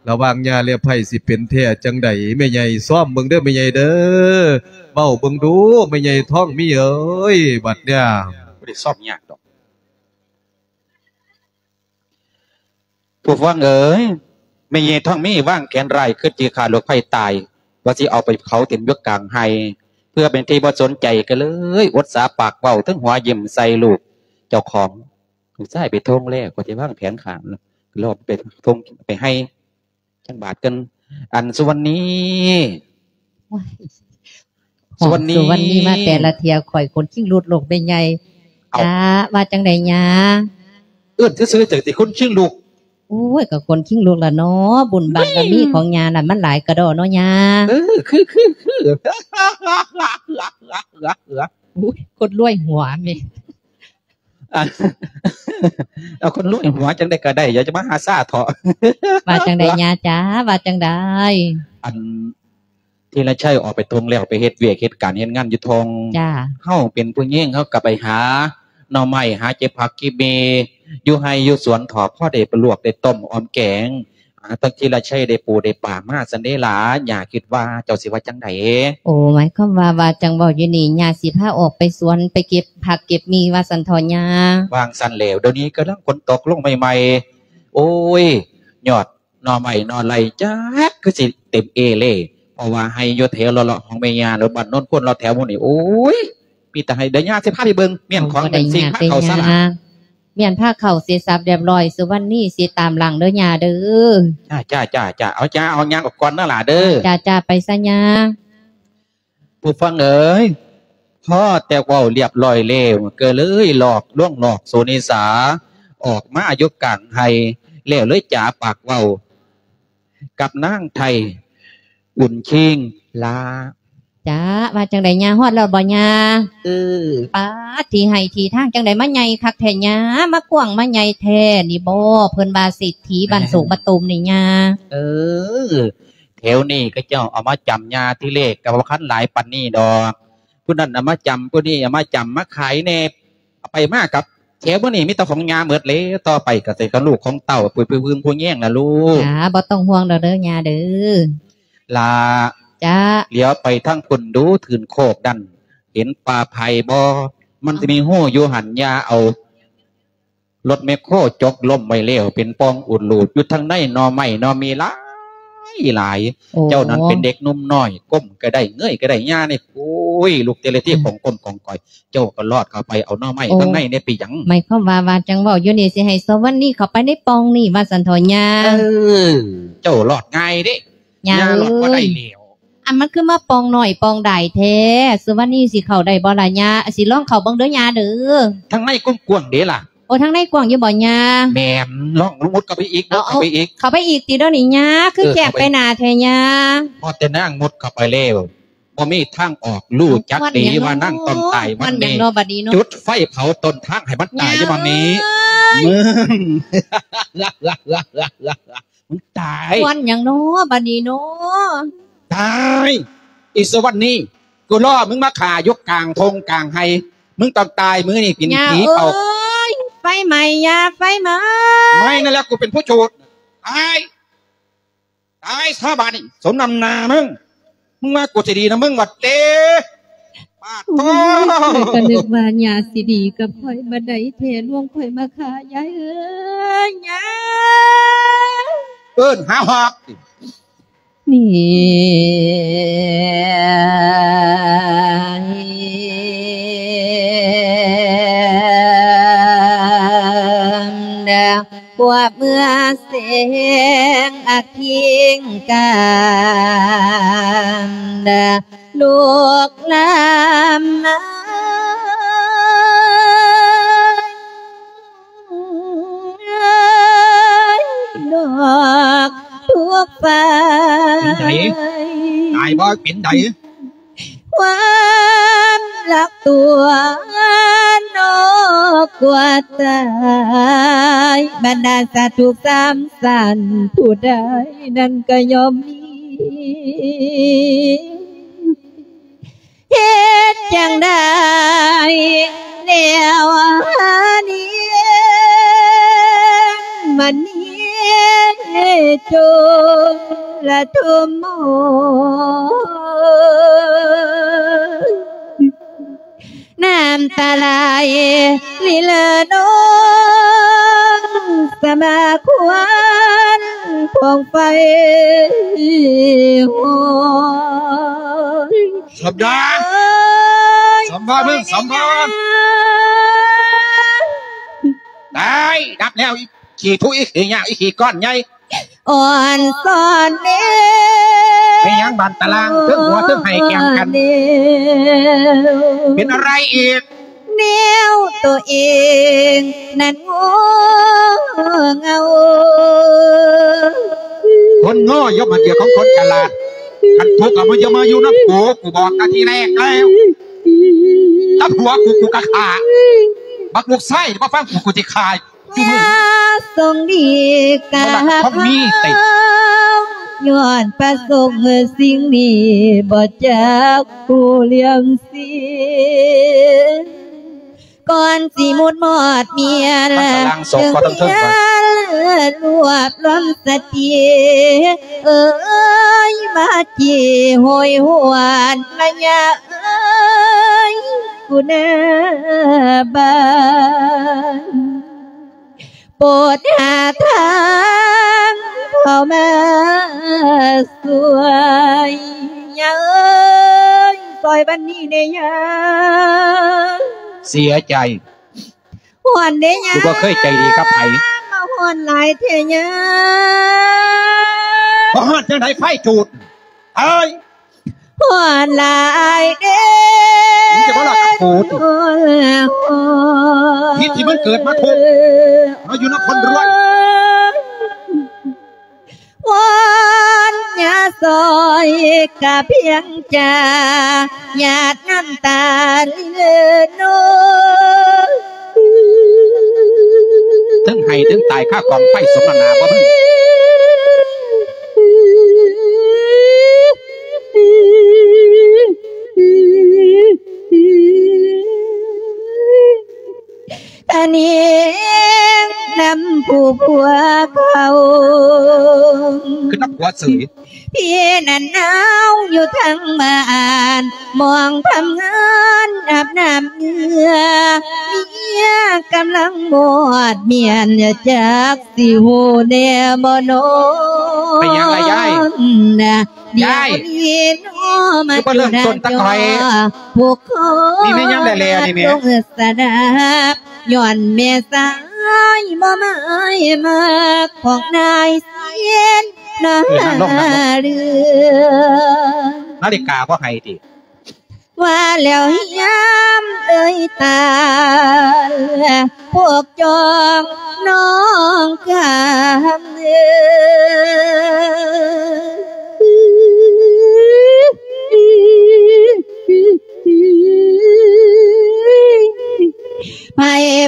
ລະຫວ່າງຍ່າແລະໃຜຊິເປັນແທ້ຈັ່ງໃດ? ແມ່ໃຫຍ່ຊ້ອມເບິ່ງເດີແມ່ໃຫຍ່ເດີ ເວົ້າເບິ່ງດູແມ່ໃຫຍ່ທອງມີເອີຍ ບັດເນີ້ຍ. ບໍ່ໄດ້ຊ້ອມຍາກດອກ. ຜູ້ຟັງເອີຍ, ແມ່ໃຫຍ່ທອງມີວາງແຜນຮ້າຍ ຄິດຊິຂ້າລູກໃພ້ຕາຍ ວ່າຊິເອົາໄປເຜົາຖິ້ມຢູ່ກາງໄຮ່ ເພື່ອເປັນທີ່ບໍ່ສົນໃຈ ກໍເລີຍອົດສາປາກເວົ້າ ເທິງຫົວຍິ້ມໃສ່ລູກເຈົ້າຂອງ. ລູກຊາຍໄປທົ່ງແລ້ວ ກໍຊິວາງແຜນຂ້າ ລອບໄປທົ່ງໄປໄຮ່ ຈັກບາດກັນ. ອັນ ສຸວັນນີ ໂອ້ຍ ສຸວັນນີ ສຸວັນນີມາແຕ່ລະເທື່ອ ຂ້ອຍຂົນຄີງລຸກໂລກແມ່ໃຫຍ່. ເອົ້າ ຈ້າ ວ່າຈັ່ງໃດຍ່າ? ເອີ້ນຊື່ໆ ຈັ່ງຊິຂົນຄີງລຸກ. ໂອ້ຍ ກໍຂົນຄີງລຸກລະເນາະ ບຸນບານບາມີຂອງຍ່ານັ້ນ ມັນຫຼາຍກະດໍ້ເນາະຍ່າ. ເອີ ຄື ຄື ຄື ໂອ້ຍ ຄົນລວຍຫົວແມ່. ອັນ ເອົາຄົນລວຍຫົວຈັ່ງໃດກໍໄດ້ ຢ່າຈະມາຫາຊາເຖາະ. ວ່າຈັ່ງໃດຍ່າຈ໋າ ວ່າຈັ່ງໃດ? ອັນ ທີລະໄຊອອກໄປທົ່ງແລ້ວ ໄປເຮັດວຽກເຮັດການເຮັດງານຢູ່ທົ່ງ. ຈ້າ ເຮົາເປັນຜູ້ຍິງ ເຮົາກໍໄປຫາໜໍ່ໄມ້ ຫາເກັບຜັກເກັບໝີ່ ຢູ່ໄຮ່ຢູ່ສວນເຖາະ ພໍໄດ້ໄປລວກໄດ້ຕົ້ມອອມແກງ. ອາ ທັງທີລະໄຊໄດ້ປູໄດ້ປາມາຊັ້ນເດລະ ຍ່າຄິດວ່າເຈົ້າຊິວ່າຈັ່ງໃດ? ໂອ້ ໝາຍຄວາມວ່າ ວ່າຈັ່ງເວົ້າຢູ່ນີ້ ຍ່າຊິພາອອກໄປສວນ ໄປເກັບຜັກເກັບໝີ່ວ່າຊັ້ນເຖາະຍ່າ. ວ່າງຊັ້ນແລ້ວ ດຽວນີ້ກຳລັງຝົນຕົກລົງໃໝ່ໆ ໂອ້ຍ ຍອດໜໍ່ໄມ້ໜໍ່ໄລ່ຈັກຄືຊິເຕັມເອເລ ເພາະວ່າໄຮ່ຢູ່ແຖວເລາະໆ ຂອງແມ່ຍ່າ ແລະ ບ້ານໂນນໂພນ ເລາະແຖວໝູ່ນີ້ ໂອ້ຍ ມີແຕ່ໄຮ່. ດຽວຍ່າຊິພາໄປເບິ່ງ ມ້ຽນຂອງ ໂອ້ ບໍ່ໄດ້ ແມ່ນຊິ ຍາກ ພາ ເດ້ ເຂົ້າ ສະ ຍ່າ ລະ ມ້ຽນພາເຂົ້າເສດສັບຮຽບຮ້ອຍ ສຸວັນນີຊິຕາມຫຼັງເດີຍ່າເດີ. ຈ້າ ຈ້າ ຈ້າ ຈ້າ ເອົາ ຈ້າ ເອົາຍ່າງອອກກ່ອນເດີຫຼ້າເດີ. ຈ້າ ຈ້າ ໄປຊະຍ່າ. ຜູ້ຟັງເອີຍ ພໍແຕ່ເວົ້າລຽບຮ້ອຍແລ້ວ ກໍເລີຍລອກ ລ່ວງລອກໂສນີສາ ອອກມາຢູ່ກາງໄຮ່ ແລ້ວເລີຍຈາປາກເວົ້າກັບນາງໄທ ອຸ່ນຄີງ ລາ ຈ້າ ວ່າຈັ່ງໃດຍ່າ ຮອດແລ້ວບໍ່ຍ່າ? ເອີ ປາດ ທີ່ໄຮ່ທີ່ທາງຈັ່ງໃດມາໃຫຍ່ຄັກແທ້ຍ່າ ມາກວ້າງມາໃຫຍ່ແທ້ນີ້ບໍ? ເພິ່ນວ່າເສດຖີບ້ານໂສກ ເອີ ບ້ານຕູມນີ້ຍ່າ. ເອີ ແຖວນີ້ເຂົາເຈົ້າເອົາມາຈຳຍ່າ ທີແລກກໍບໍ່ຄັນຫຼາຍປານນີ້ດອກ ຜູ້ນັ້ນເອົາມາຈຳ ຜູ້ນີ້ເອົາມາຈຳ ມາຂາຍແດ່ ເອົາໄປມາກັບແຖວມື້ນີ້ມີແຕ່ຂອງຍ່າໝົດແລ້ວ ຕໍ່ໄປກໍຊິຂອງລູກຂອງເຕົ້າ ຜູ້ ຜູ້ ຜູ້ແຍງລະລູກ. ຈ້າ ບໍ່ຕ້ອງຫ່ວງດອກເດີຍ່າເດີ. ລາ ຈ້າ ຫຼຽວໄປທາງພຸ້ນດູ ຖືນໂຄກນັ້ນ ເຫັນປ່າໄຜ່ບໍ່? ມັນຊິມີຮູຢູ່ຫັ້ນ ຍ່າເອົາລົດແມັກໂຄຈົກລົ້ມໄວ້ແລ້ວ ເປັນປ່ອງອຸດລູດ ຢູ່ທາງໃນໜໍ່ໄມ້ໜໍ່ມີຫຼາຍຫຼາຍ. ໂອ້ ເຈົ້ານັ້ນເປັນເດັກໜຸ່ມນ້ອຍ ກົ້ມກໍໄດ້ ເງີຍກໍໄດ້ ຍ່ານີ້ ໂອ້ຍ ລູກເຕລະທີ ອືມ ຂອງກົ້ມຂອງກ້ອຍ ເຈົ້າກໍລອດເຂົ້າໄປເອົາໜໍ່ໄມ້ ໂອ້ ທາງໃນແດ່ ເປັນຫຍັງ? ໝາຍຄວາມວ່າ ວ່າຈັ່ງເວົ້າຢູ່ນີ້ ຊິໃຫ້ສຸວັນນີເຂົ້າໄປໃນປ່ອງນີ້ວ່າຊັ້ນເຖາະຍ່າ. ເອີ ເຈົ້າລອດງ່າຍເດ້ ຍ່າ ຍ່າລອດບໍ່ໄດ້ແລ້ວ. ເອີຍ ອັນ ມັນຄືມາປ່ອງນ້ອຍປ່ອງດາຍແທ້ ສຸວັນນີຊິເຂົ້າໄດ້ບໍ່ລະຍ່າ? ຊິລອງເຂົ້າເບິ່ງເດີຍ່າເດີ. ທາງໃນກວ້າງໆເດ້ລະ. ໂອ້ ທາງໃນກວ້າງຢູ່ບໍ່ຍ່າ? ແມ່ນ ລອງມຸດເຂົ້າໄປອີກ ເອົາ ມຸດເຂົ້າໄປອີກ. ເຂົ້າໄປອີກຕິດຽວນີ້ຍ່າ ຄື ເອີ ແຄບ ເຂົ້າໄປ ໄປໜ້າແທ້ຍ່າ. ພໍແຕ່ນາງມຸດເຂົ້າໄປແລ້ວ ບໍ່ມີທາງອອກ ຮູ້ຈັກດີວ່ານາງຕ້ອງຕາຍວັນນີ້. ຄວັນຫຍັງເນາະບັດນີ້ເນາະ? ຈຸດໄຟເຜົາຕົ້ນທາງໃຫ້ມັນຕາຍຢູ່ບັດນີ້. ຍາຍ ມຶງ ມຶງຕາຍ. ຄວັນຫຍັງເນາະບັດນີ້ເນາະ? ຕາຍ ອີສະວັນນີ້ ກູລໍມຶງມາຂ້າຢູ່ກາງທົ່ງກາງໄຮ່ ມຶງຕ້ອງຕາຍມື້ນີ້ ກິນ ຍາ ຜີເປົ່າ. ເອີຍ ໄຟໄໝ້ ຍາ ໄຟໄໝ້. ໄໝ້ນັ້ນແຫຼະ ກູເປັນຜູ້ຈູດ. ຕາຍ ຕາຍຊະບາດນີ້ ສົມນ້ຳໜ້າມຶງ. ມຶງວ່າກູຊິດີນຳມຶງຫວັດເຕ. ປາດໂທ້ ໂອ້ຍ ຂ້ອຍກໍນຶກວ່າຍາຊິດີກັບຂ້ອຍບັດໃດແທ້ ລວງຂ້ອຍມາຂ້າ ຍາຍເອີຍ ຍາຍ. ເອີ້ນຫາຮອກ. ນີ້ ກວ່າເມື່ອແສງອາທິງການ ລູກລາມາ ດອກທຸກໄຟ. ເປັນໃດ? ຕາຍບໍ່? ເປັນໃດ? ຄວາມລັກຕົວນອກ ກວ່າຕາຍ ບັນດາສັດທຸກສາມສັນ ຜູ້ໃດນັ້ນກໍຍ່ອມມີ ເຮັດຈັ່ງໃດແລ້ວນີ້ ມັນມີຈົນລະທຸມ ນ້ຳຕາໄຫຼລິເລີນອງ ສະມາຄວັນພອງໄຟຮອຍ. ສົມດາ ເອີຍ ສົມພອນ ເອີຍ ສົມພອນ ຕາຍ ດັບແລ້ວ ອີຂີ້ທຸ ອີຂີ້ຍາກ ອີຂີ້ກ້ອນໃຫຍ່. ອ່ອນສອນແນວ ແມ່ນຫຍັງບາດຕາລາງ ເທິງຫົວເທິງໄຫ້ແກ່ງກັນ ເປັນອະໄລອີກ ແນວໂຕເອງນັ້ນໂງ່ເຫງົາ ຄົນໂງ່ຍ່ອມມາເກືອຂອງຄົນສະຫຼາດ ຄັນທຸກກໍບໍ່ຢ່າມາຢູ່ນຳກູ ກູບອກແຕ່ທີແລກແລ້ວ ກັບຜົວກູ ກູກໍຂ້າ ບັກລູກຊາຍບໍ່ຟັງກູ ກູຊິຂ້າ. ຢ່າສົ່ງດີກັບເຮົາ ຍ້ອນປະສົງສິ່ງນີ້ບໍ່ຈັກຮູ້ເລື່ອງເສຍ ກ່ອນຊິໝົດມອດມຽນ ລວບລວມສະຕິ ເອີຍ ມາຈີໂຫຍຫວນ ລະຍາເອີຍ ກູໜ້າບ້ານ ໂປດຫາທາງເຂົ້າມາຊ່ວຍ ຍ່າເອີຍ ຊ່ອຍບັດນີ້ແດ່ຍ່າ. ເສຍໃຈ ຮ້ອນເດ້ຍ່າ ກູບໍ່ເຄີຍໃຈດີກັບໃຜ ມາຮ້ອນຫຼາຍແທ້ຍ່າ. ບໍ່ຮ້ອນຈັ່ງໃດ ໄຟຈູດ ເອີຍ ຮ້ອນຫຼາຍເດ້ ມຶງຈະມາລາກັບກູຕິ ຜິດທີ່ມຶງເກີດມາທຸກ ມາຢູ່ນຳຄົນລວຍ ວອນຢ່າຊ່ອຍກະພຽງຈາ ຫຍາດນ້ຳຕາລິນເລີນອງ ເທິງໄຫ້ເທິງຕາຍຄາກອງໄຟສົມນ້ຳໜ້າບໍ່ມຶງ. ຕາເນງນຳຜູ້ຜົວເຂົາ ຄືນຳຜົວເສີຍ ພີ່ນັ້ນໜາວຢູ່ທາງບ້ານ ມອງທຳງານອາບນ້ຳເຫຼືອ ເມຍກຳລັງມອດມ້ຽນ ຈັກຊິຮູ້ແດ່ບໍ່ນໍ ເປັນຫຍັງລະຍາຍ? ດຽວນີ້ນໍມາ ຄືບໍ່ເລີ່ມຕົ້ນຕະກອຍ ຜູ້ຂໍ ນີ້ແມ່ນຫຍັງແຫຼະໆ ນີ້ແມ່ ລົງສະດາບ ຍ້ອນແມ່ສາຍບໍ່ໝາຍມັກ ຂອງນາຍຊຽນນາເຫຼືອ ເອີ ນັ່ງລົງ ນັ່ງລົງ ນາລິກາບໍ່ໃຫ້ຕິ ວ່າແລ້ວຍາມເອີຍຕາ ພວກຈອງນ້ອງກາມເອີຍ ໃຜ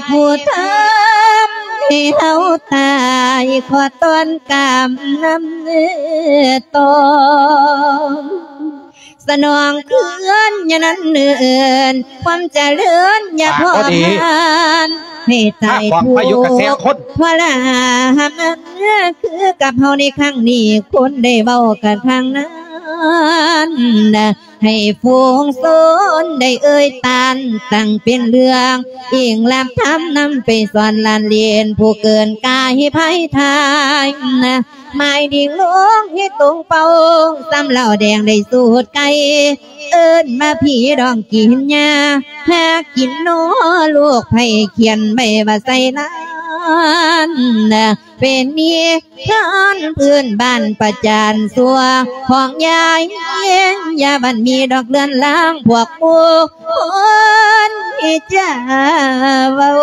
ຜູ້ທຳໃຫ້ເຮົາຕາຍ ຂໍຕ້ອນກາມນຳເອີຕອງ ສະໜອງຄືນຍານັ້ນເນີນ ຄວາມຈະເລີນຢ່າພໍຜ່ານ ໃຫ້ຕາຍທຸກທໍລະມານ ຄືກັບເຮົາໃນຄັ້ງນີ້ ຄົນໄດ້ເວົ້າກັນຄັ້ງນັ້ນ ໃຫ້ຝູງຊົນໄດ້ເອີຍຕານ ຕັ້ງເປັນເລື່ອງອີງລາບທຳນຳໄປສອນຫຼານເລນ ຜູ້ເກີນກາຍໃຫ້ໄພທາຍ ໝາຍດິງລົງເຮັດຕົງເປົ່າ ສ່ຳເຫຼົ້າແດງໄດ້ສູດໄກ່ ເອີ້ນມາພີ່ດອງກິນຢາ ຫາກິນນໍລູກໄຜ່ຂຽນໄວ້ວ່າໃສ່ລ້ານ ເປັນນິທານພື້ນບ້ານປະຈານຊົ່ວ ຂອງຍາຍເອງ ຢ່າບັນມີດອກເລື່ອນລາງ ພວກໝູ່ຄົນທີ່ຈະເວົ້າ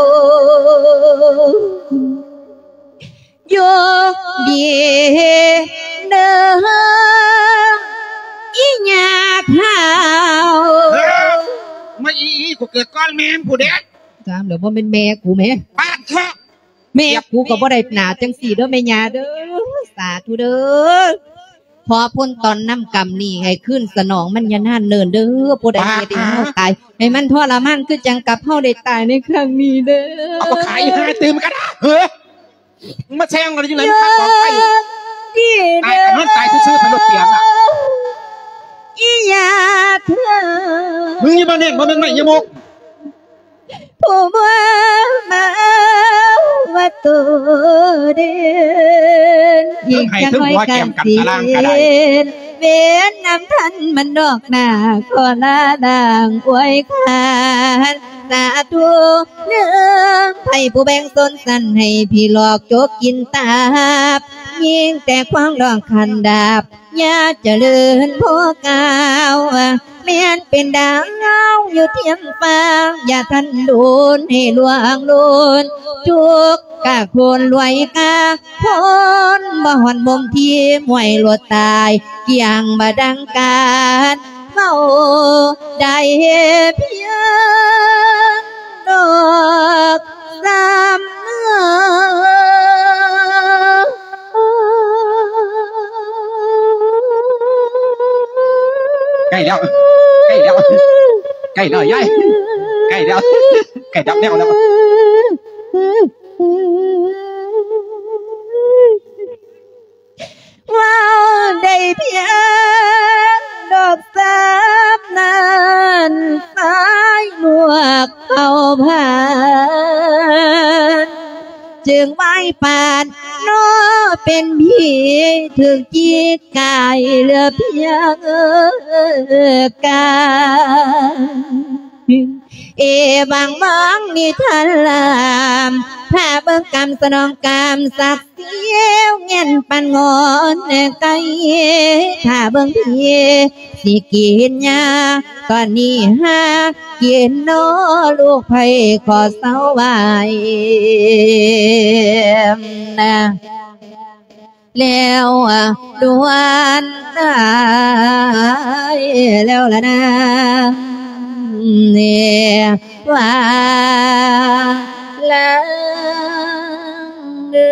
ໂຍກດີເດີ ອີຫຍາເຖົ້າ ເອີ ມາອີ ອີ ກູເກີດກ່ອນແມ່ນຜູ້ເດ. ສາມແລ້ວ ບໍ່ແມ່ນແມ່ກູແໝ່. ປາດເຖາະ ແມ່ກູກໍບໍ່ໄດ້ໜ້າຈັ່ງຊີ້ເດີແມ່ຍ່າເດີ. ສາທຸເດີ. ຂໍພົນຕອນນຳກຳນີ້ໃຫ້ຄືນສະໜອງມັນຢ່ານານເນີນເດີ. ຜູ້ໃດເຮັດໃຫ້ເຮົາຕາຍ ໃຫ້ມັນທໍລະມານຄືຈັ່ງກັບເຮົາໄດ້ຕາຍໃນຄັ້ງນີ້ເດີ. ເອົາ ບໍ່ຂາຍ ຫາຕື່ມກັນເດີ. ມາແຊງກັນຢູ່ໃນມັນຂາດສອງໄປ ຕາຍກັນນອນຕາຍຊື່ໆ ໄປລົດປຽງອະ. ອີ່ຫຍາເທີ ມຶງຢ່າມາແນງ ບໍ່ແມ່ນໄມ້ຍາມົກ ຜູ້ບໍ່ມາວ່າໂຕເດັ່ນ ອີກຈັກໜ້ອຍກະຊິເຫັນ ເວນນຳທັນມັນດອກໜ້າ ຂໍລາລາງອວຍຄານ ສາທຸເດີ. ໃຜຜູ້ແບ່ງຊົນຊັ້ນ ໃຫ້ຜີຫຼອກຈົກກິນຕັບ ຍິ່ງແຕ່ຄວາມລອກຄັນດາບ ຢ່າຈະເລີນພໍກ້າວ ແມ່ນເປັນດາວຢູ່ທຽມຟ້າ ຢ່າທັນໂດນໃຫ້ລ່ວງໂລນ ທຸກກະຄົນລວຍກາ ຄົນບໍ່ຮອດມຸມທີມ ຫ້ວຍໂລດຕາຍ ກ່ຽງບໍ່ດັງການ ເວົ້າໄດ້ພຽງດອກຊ້ຳ. ໃກ້ແລ້ວ ໃກ້ແລ້ວ ໃກ້ແລ້ວຍາຍ ໃກ້ແລ້ວ ໃກ້ດັບແນວແລ້ວ. ເວົ້າໄດ້ພຽງດອກສາມນັ້ນ ສາຍນວກເຂົ້າຜ່ານ ຈຶ່ງໄຫວ້ປານ ນໍເປັນຜີຖືກຈີກກາຍ ເຫຼືອພຽງກາຍ. ເອວັງວັງນິທາລາມ ຖ້າເບິ່ງກຳສະໜອງກຳສັກ ສຽວແງ່ນປັນງອນໄກ ຖ້າເບິ່ງພີຊິກິນຫຍ້າ ຕອນນີ້ຫາກິນນໍລູກໃຜຂໍເຊົາໄວ້ນະ ແລ້ວດ່ວນໄດ້ແລ້ວລະນາ ເນ ວ່າລາງເດີ.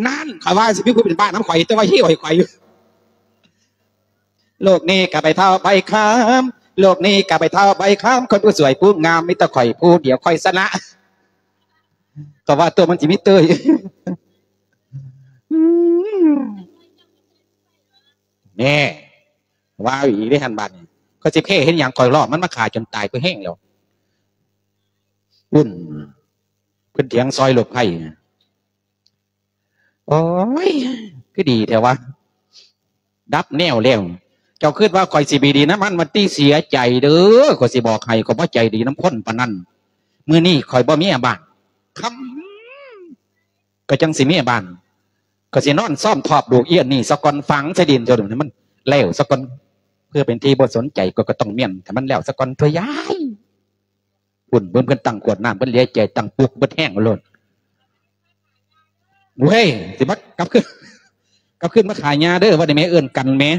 ນັ້ນ ຂ້ອຍວ່າຊິມີຜູ້ເປັນບ້ານຳຂ້ອຍ ແຕ່ວ່າຫິວໃຫ້ຂ້ອຍຢູ່. ໂລກນີ້ກະໃບເທົ້າໃບຄຳ ໂລກນີ້ກະໃບເທົ້າໃບຄຳ ຄົນຜູ້ສວຍຜູ້ງາມ ມີແຕ່ຂ້ອຍຜູ້ດຽວຂ້ອຍຊະນະ ກໍວ່າຕົວມັນຊິມີເຕີຍ. ແນ່ ວ່າອີກເດ້ຫັ້ນບາດນີ້ ຂ້ອຍຊິແພ້ເຮັດຫຍັງ ຂ້ອຍລ້ອມມັນມາຂ້າຈົນຕາຍ ຂ້ອຍແຮງແລ້ວ. ພຸ້ນ ເພິ່ນຖຽງຊອຍລົບໄພ. ໂອ້ຍ ຄືດີແທ້ວະ ດັບແນວແລ້ວ. ເຈົ້າຄິດວ່າຂ້ອຍຊິໄປດີນຳມັນ ມັນຕິເສຍໃຈເດີ ຂ້ອຍຊິບອກໃຫ້ ຂ້ອຍບໍ່ໃຈດີນຳຄົນປານນັ້ນ. ມື້ນີ້ຂ້ອຍບໍ່ເມຍບ້ານ ຄ່ຳກໍຈັ່ງຊິເມຍບ້ານ. ຂ້ອຍຊິນອນຊອມທອບລູກອີອັນນີ້ສາກ່ອນ ຝັງໃສ່ດິນ ຈົນໃຫ້ມັນແລ້ວສາກ່ອນ ເພື່ອເປັນທີ່ບໍ່ສົນໃຈ ຂ້ອຍກໍຕ້ອງມ້ຽນໃຫ້ມັນແລ້ວສາກ່ອນຕົວະຍາຍ. ພຸ້ນ ເບິ່ງເພິ່ນຕັ້ງຂວດນ້ຳ ເພິ່ນເຫຼືອໃຈ ຕັ້ງປຸກເບິດແຮງໂລດ. ເວີຍ ຊິມາກັບຄືນ ກັບຄືນມາຂາຍຫຍ້າເດີ ວ່າໄດ້ແມ່ເອີ້ນກັນແໝ່.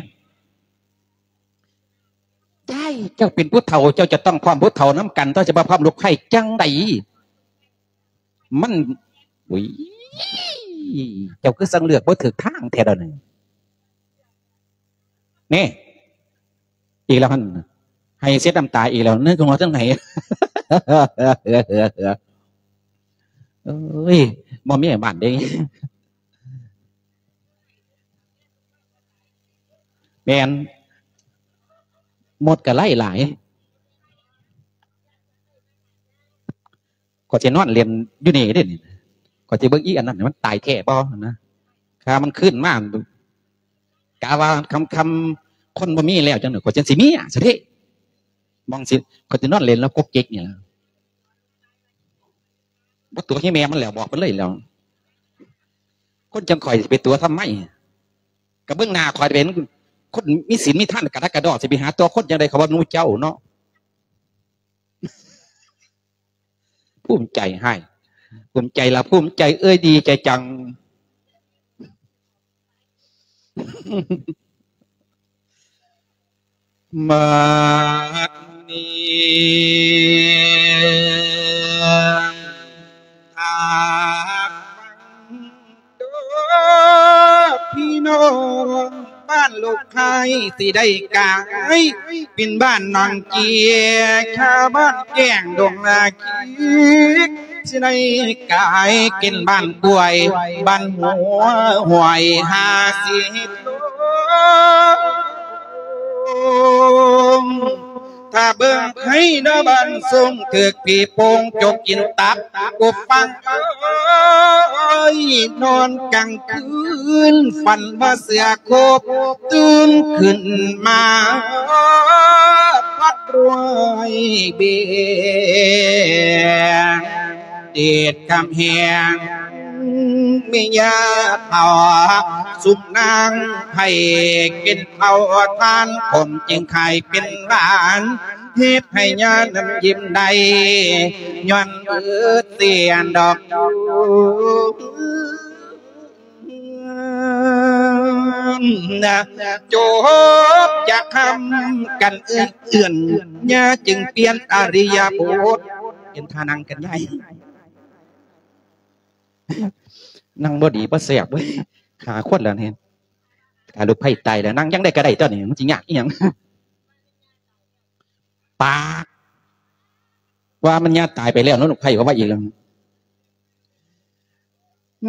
ຍາຍ ເຈົ້າເປັນຜູ້ເຖົ້າ ເຈົ້າຈະຕ້ອງພ້ອມຜູ້ເຖົ້ານຳກັນ ເຈົ້າຈະບໍ່ພ້ອມລູກໃພ້ຈັ່ງໃດ? ມັນ ອຸ້ຍ ເຈົ້າຄືຊ່າງເລືອກບໍ່ຖືກທາງແທ້ດອກນີ້. ນີ້ ອີກແລ້ວຫັ້ນ ໄຫ້ເຊັດນ້ຳຕາອີກແລ້ວ ເນີກຫົວທັງໄຫ. ເອີຍ ບໍ່ມີບ້ານເດ້. ແມ່ນ ມົດກໍໄລ່ຫຼາຍ. ຂ້ອຍຊິນອນຫຼິ້ນຢູ່ນີ້ເດ້ນີ້ ຂ້ອຍຊິເບິ່ງອີອັນນັ້ນ ມັນຕາຍແທ້ບໍ່ນະ. ຖ້າມັນຄືນມາ ກະວ່າຄ່ຳໆ ຄົນບໍ່ມີແລ້ວ ຈັ່ງນັ້ນ ຂ້ອຍຈັ່ງຊິເມຍຊະເດ້. ມອງຊິ ຂ້ອຍຊິນອນຫຼິ້ນລາວກົກເຈັກນີ້ລະ ບໍ່ຕົວະໃຫ້ແມ່ມັນແລ້ວ ບອກມັນເລີຍແລ້ວ. ຄົນຈັ່ງຂ້ອຍຊິໄປຕົວະທຳໄມ? ກະເບິ່ງໜ້າຂ້ອຍເປັນຄົນມີສິນມີທານ ກະດັກກະດໍ້ ຊິໄປຫາຕົວະຄົນຈັ່ງໃດ ເຂົາວ່າໜູເຈົ້າເນາະ. ພູມໃຈໃຫ້ ພູມໃຈລະພູມໃຈເອີຍ ດີໃຈຈັງ. ບັດນີ້ ຖ້າຟັງເດີພີ່ນ້ອງ ບ້ານລູກໄຂ່ຊິໄດ້ກາຍ ເປັນບ້ານໜອງເຈຍ ຊາວບ້ານແກ້ງດົງນາຄີ ຊິໄດ້ກາຍເປັນບ້ານກ້ວຍ ບ້ານຫົວຫ້ວຍຫ້າສິບໂລ. ຖ້າເບິ່ງໃຜນະບ້ານຊົງ ຖືກຜີໂປ່ງຈົກກິນຕັບ ກຸບປັງເອີຍ ນອນກາງຄືນ ຝັນວ່າເສືອໂຄບ ຕື່ນຂຶ້ນມາ ພັດລວຍເບງ ເດດຄຳແຮງ ແມ່ຍ່າເຖົ້າ ຊຸມນາງໃຜກິນເຂົ້າທານ ຜົມຈຶ່ງໄຂ້ເປັນຫຼານ ເຮັດໃຫ້ຍ່ານຳຍິ້ມໄດ້ ຍ້ອນເບີດເສຍດອກ ຈົບຈາກຄຳກັນເອື້ອນເອື້ອນ ຍ່າຈຶ່ງປ່ຽນອະລິຍະບົດ ປ່ຽນທ່ານັ່ງກັນຍາຍ ນັ່ງບໍ່ດີບໍ່ແຊບເວີຍ ຂ້າຄົນລະນີ້ ຖ້າລູກໃພ້ຕາຍແລ້ວ ນັ່ງຈັ່ງໃດກໍໄດ້ຕົວນີ້ ມັນຊິຍາກອີ່ຫຍັງ? ປາກ ວ່າມັນຍາຕາຍໄປແລ້ວເນາະ ລູກໃພ້ເວົ້າວ່າອີກແລ້ວ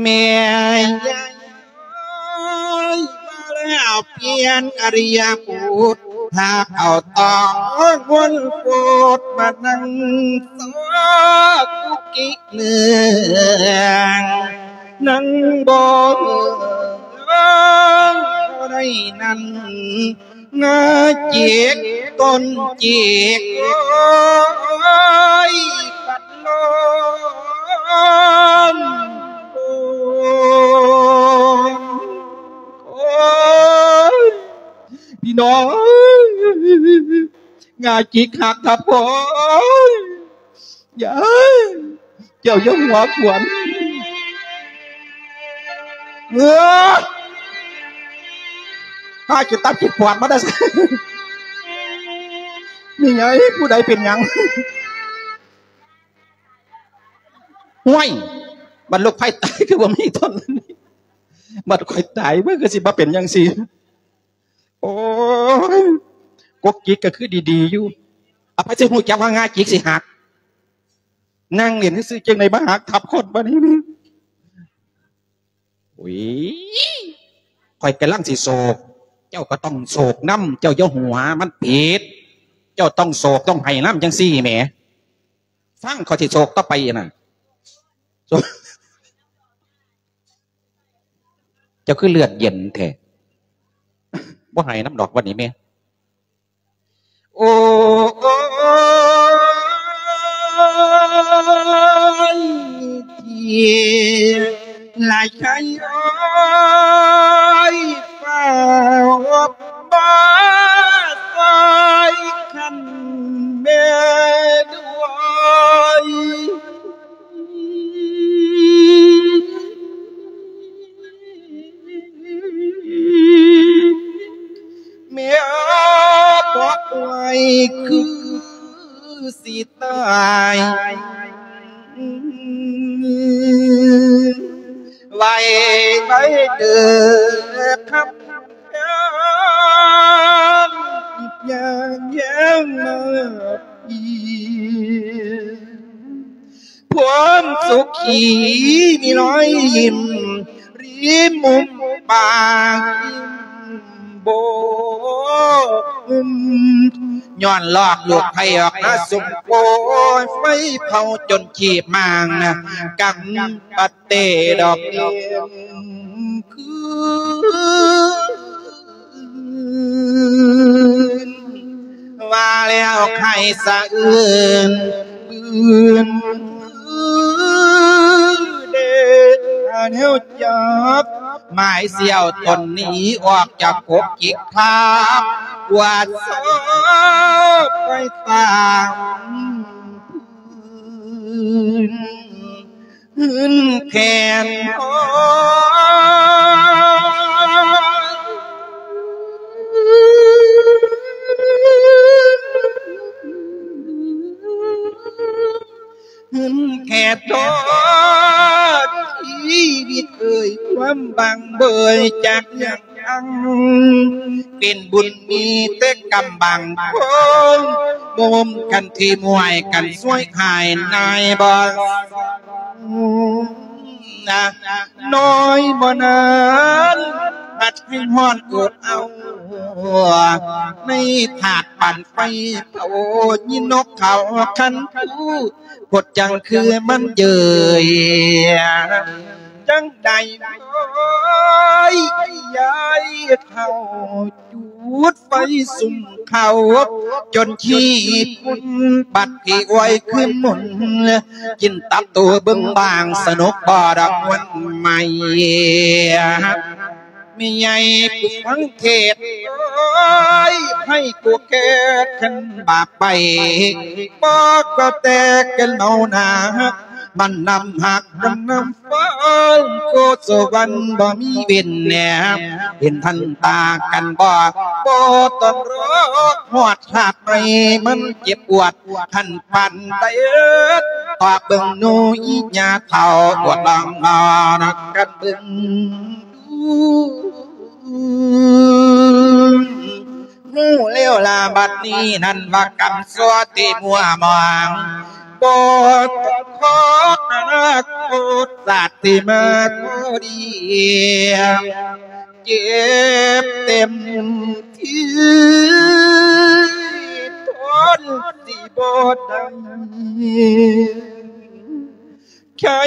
ແມ່ຍາຍເອີຍ ມາແລ້ວປ່ຽນອະລິຍະບຸດ ພາເອົາຕອງວົນໂພດ ມານັ່ງຊອກກຸກກິກເໜືອງ ນັ່ງບໍ່ເອີງບໍ່ໄດ້ນັ້ນ ງາຈິກຕົ້ນຈິກ ໂອ້ຍ ປັດໂລມ ໂອ້ຍ ໂອ້ຍ ພີ່ນ້ອງເອີຍ ງາຈິກຫັກທັບຄົນ ຍາຍ ເຈົ້າຢ່າຫົວຂວັນ ເອີ ພາກິນຕັບກິນປອດມາໄດ້ ແມ່ໃຫຍ່ ຜູ້ໃດເປັນຫຍັງ? ຫ້ວຍ ບັດລູກໃພ້ຕາຍຄືບໍ່ມີຕົນ ບັດຂ້ອຍຕາຍ ມັນຄືຊິມາເປັນຈັ່ງຊີ້? ໂອ້ຍ ກົກຈິກກໍຄືດີໆຢູ່ ອາ ໃຜຊິຮູ້ຈັກວ່າງາຈິກຊິຫັກ ນັ່ງຫຼິ້ນຊື່ໆ ຈັ່ງໃດມາຫັກທັບຄົນບາດນີ້. ໂອ້ຍ ຂ້ອຍກຳລັງຊິໂສກ ເຈົ້າກໍຕ້ອງໂສກນຳ ເຈົ້າຢ່າຫົວ ມັນຜິດ ເຈົ້າຕ້ອງໂສກຕ້ອງໄຫ້ນຳ ຈັ່ງຊີ້ແໝ ຟັງຂ້ອຍຊິໂສກຕໍ່ໄປນະ ໂສກ ເຈົ້າຄືເລືອດເຢັນແທ້ ບໍ່ໃຫ້ນຳດອກວັນນີ້ແມ່ ໂອ້ຍ ທີ່ລະໄຊໂອ້ຍ ຟ້າວມາຊ່ອຍຂັນແມ່ດ້ວຍ. ແມ່ບອກໄວ້ຄືຊິຕາຍ ໄວໄວເດີຄຳແພງ ຢ່າງແຍງມາອີກ ຄວາມສຸຂີມີຮອຍຍິ້ມ ລິມມຸມປາກ ບໍ່ຫຸ້ມ ຍ້ອນລອກລູກໄພ້ອອກມາສຸມໂພຍ ໄຟເຜົາຈົນຂີບໝາງ ກຳປະເຕດອກເດືອນຄືນ ວ່າແລ້ວໃຫ້ສະເອື່ນບືນ ເດດແນວຈັບ ໝາຍສ່ຽວຕົນໜີອອກຈາກກົກຈິກຄາບ ກວາດຊອບໄປຕາມພື້ນ. ຄືນແຜ່ນ ເງິນແຄ່ທອດຊີວິດເອີຍ ຄວາມບາງເບີຍຈາກຫຍັງອັງ ເປັນບຸນມີແຕ່ກຳບາງຄົນ ໂຮມກັນທີ່ມວຍກັນຊ່ວຍຂາຍນາຍບໍ່ ນະ ນ້ອຍບໍ່ນານ ພັດໃຫ້ຮ້ອນອົດເອົາ ໃນຖາດປັນໄຟເຜົາ ຍິນນົກເຂົາຄັນຄູ ພົດຈັ່ງຄືມັນເຍີຍ ຈັ່ງໃດເອີຍ ຍາຍເຖົ້າ ຈູດໄຟສຸມເຂົາ ຈົນຂີ້ຝຸ່ນ ບັດທີ່ອວຍຄືນໝຸນ ກິນຕັບໂຕເບິ່ງບາງ ສະໜຸກບໍ່ດອກມ່ວນໃໝ່ ແມ່ໃຫຍ່ຜູ້ຟັງເທດເອີຍ ໃຫ້ໂກແກດຄັນບາບໄປ ບໍ່ກໍແຕ່ກັນເມົາໜາ ມັນນຳຮັກ ມັນນຳຟັງ ໂຄສະຫວັນບໍ່ມີເວັ້ນແນມ ເຫັນທັນຕາກັນບໍ່ ບໍ່ຕ້ອງລໍຮອດຊາດໃໝ່ ມັນເຈັບປວດ ທັນປານໃດ ຕອບເບິ່ງໜູອີຫຍາເຖົ້າ ອວດລອງນອນກັນເບິ່ງ ຮູ້ແລ້ວລະບັດນີ້ນັ້ນວ່າກຳຊົ່ວທີ່ມົວມອງ ບໍ່ຕ້ອງຂໍອະນາຄົດຊາດທີ່ມາກໍດີ ເຈັບເຕັມທີ່ ທົນຊິບໍ່ໄດ້ ໃຄ່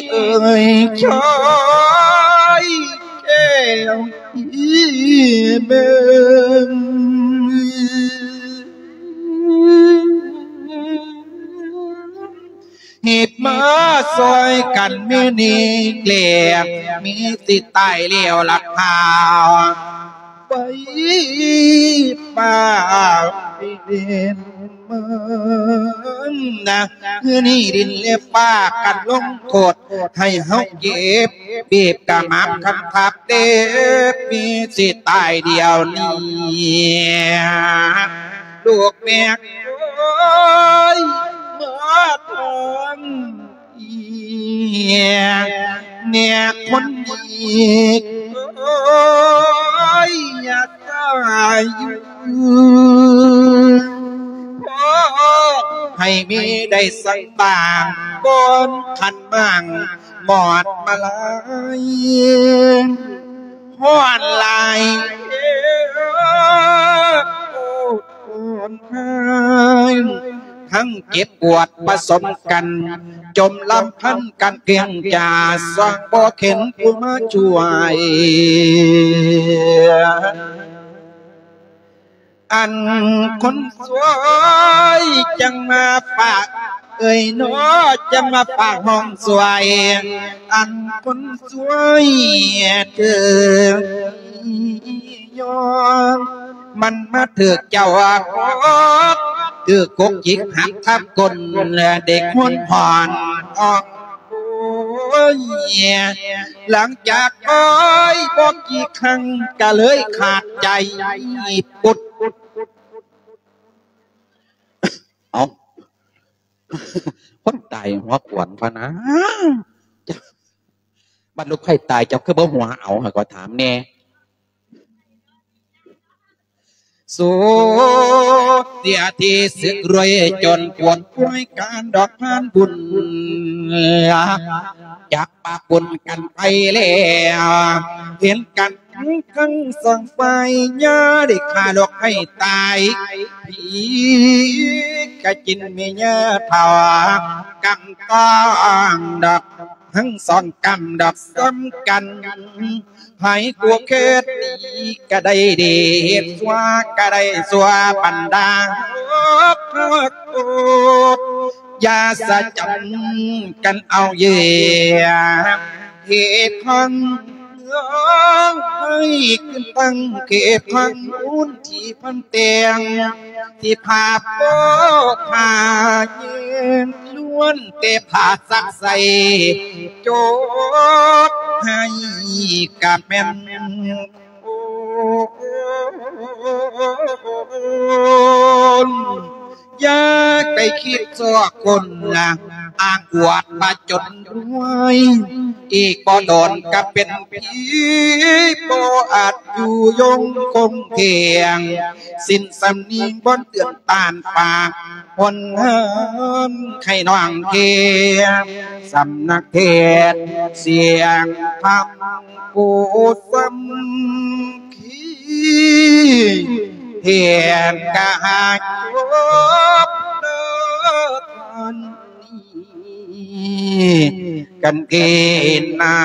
ເອີຍ ຄ່ແກ້ວທີ່ເບິ່ງ ຮີບມາຊ່ອຍກັນມື້ນີ້ແລະ ມີຊິຕາຍແລ້ວລະຂ່າວ ໄປຟ້າວເປັນເມືອງນະ ມື້ນີ້ດິນແລະຟ້າກັນລົງໂທດ ໃຫ້ເຮົາເຈັບ ບີບກະໝາບຄັນທັບເດັບ ມີຊິຕາຍດຽວນີ້ ລູກແມ່ເອີຍ ມາທາງ ແມ່ຄົນດີເອີຍ ຢ່າສາຍຢູ່ ຂໍໃຫ້ແມ່ໄດ້ສັງບາງ ກ່ອນຄັນໝາງ ໝອດມາລາຍ ຮ້ອນຫຼາຍ ໂອ້ ທັງເຈັບປວດປະສົມກັນ ຈົ່ມລຳພັນກັນເກງຈາ ສາງບໍ່ເຫັນຜູ້ມາຊ່ວຍ ອັນຄົນຊ່ວຍຈັ່ງມາຝາກ ເອີຍເນາະ ຈັ່ງມາຝາກຫ້ອງຊ່ວຍ ອັນຄົນຊ່ວຍຖືກຍອມ ມັນມາຖືກເຈົ້າອາກອກ ຖືກກົກຈິກຫັກທັບກົ້ນ ແລະເດັກຫົວຫອນອອກ ໂອ້ຍ ຫຼັງຈາກອ້ອຍບໍ່ກີ່ຄັ້ງ ກະເລີຍຂາດໃຈປຸດ. ເອົ້າ ຄົນຕາຍຫົວຂວັນພະນາ ບັດລູກໃຜຕາຍເຈົ້າຄືບໍ່ຫົວເອົາ ໃຫ້ຂ້ອຍຖາມແດ່. ສູນເສຍທີ່ສຶກລວຍຈົນປວນປ່ວຍການດອກພານບຸນ ຈາກປາກບຸນກັນໄປແລ້ວ ເຫັນກັນທັງສອງຝ່າຍ ຢ່າໄດ້ຂ້າລູກໃຫ້ຕາຍ ຜີກະກິນແມ່ຍ່າເຖົ້າ ກຳຕ້ອງດອກ ທັງສອງກຳດອກສ່ຳກັນ ໃຜກວມເຂດດີກະໄດ້ດີ ເຮັດຊົ່ວກະໄດ້ຊົ່ວ ບັນດາພວກໂກດ ຢ່າສະຈຳກັນເອົາເຫຍື່ອ ເຫດຂອງເລື່ອງໃຫ້ຂຶ້ນຕັ້ງເຂດຂອງບຸນທີ່ພັນແຕ່ງ ທີ່ພາໂປພາເຢັນ ວນແຕ່ຜ້າຊັກໃສ່ ຈົກໃຫ້ກະແມ່ນ ຢ່າໄປຄິດຊອກຄົນ ອ້າງອວດວ່າຈົນລວຍ ອີກບໍ່ດົນກະເປັນຜີ ບໍ່ອາດຢູ່ຍົງຄົງເຖງ ສິ້ນສຳນຽງບ່ອນເຕືອນຕານປາກ ພົນເຮີນໄຂ່ນ້ອງເທ ສຳນັກເທດສຽງທຳ ຜູ້ສຳຄີ ເຫັນກະຫາຈົບເດີທ່ານນີ້ ກັນເທນາ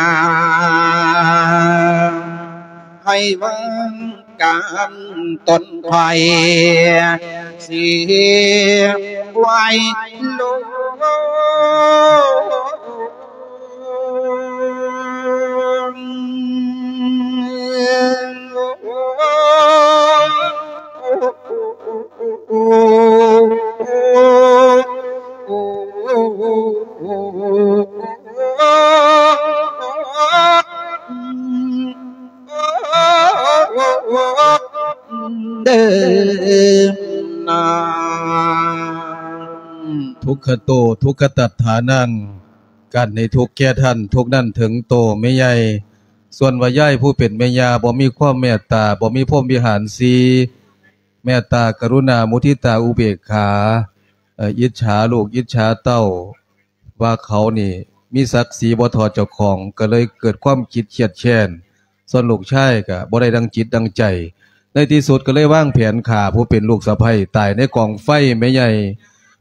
ໃຫ້ວາງ ການຕົນໄພເສຍໄວ້ລົງ ເດີນາ ທຸກຂະໂຕ ທຸກຂະຕັດຖານັງ ການໃຫ້ທຸກແກ່ທ່ານ ທຸກນັ້ນເຖິງໂຕແມ່ໃຫຍ່. ສ່ວນວ່າຍາຍຜູ້ເປັນແມ່ຍ່າບໍ່ມີຄວາມແມ່ດຕາ ບໍ່ມີພົມວິຫານສີ່ ແມ່ດຕາ ກະລຸນາ ມຸທິຕາ ອຸເບກຂາ ເອີ ອິດສາລູກ ອິດສາເຕົ້າ ວ່າເຂົານີ້ມີສັກສີບໍ່ທໍ່ເຈົ້າຂອງ ກໍເລີຍເກີດຄວາມຄິດຄຽດແຄ້ນ ສ່ວນລູກຊາຍກໍບໍ່ໄດ້ດັ່ງຈິດດັ່ງໃຈ ໃນທີ່ສຸດກໍເລີຍວາງແຜນຂ້າຜູ້ເປັນລູກສະໃພ້ຕາຍໃນກອງໄຟແມ່ໃຫຍ່.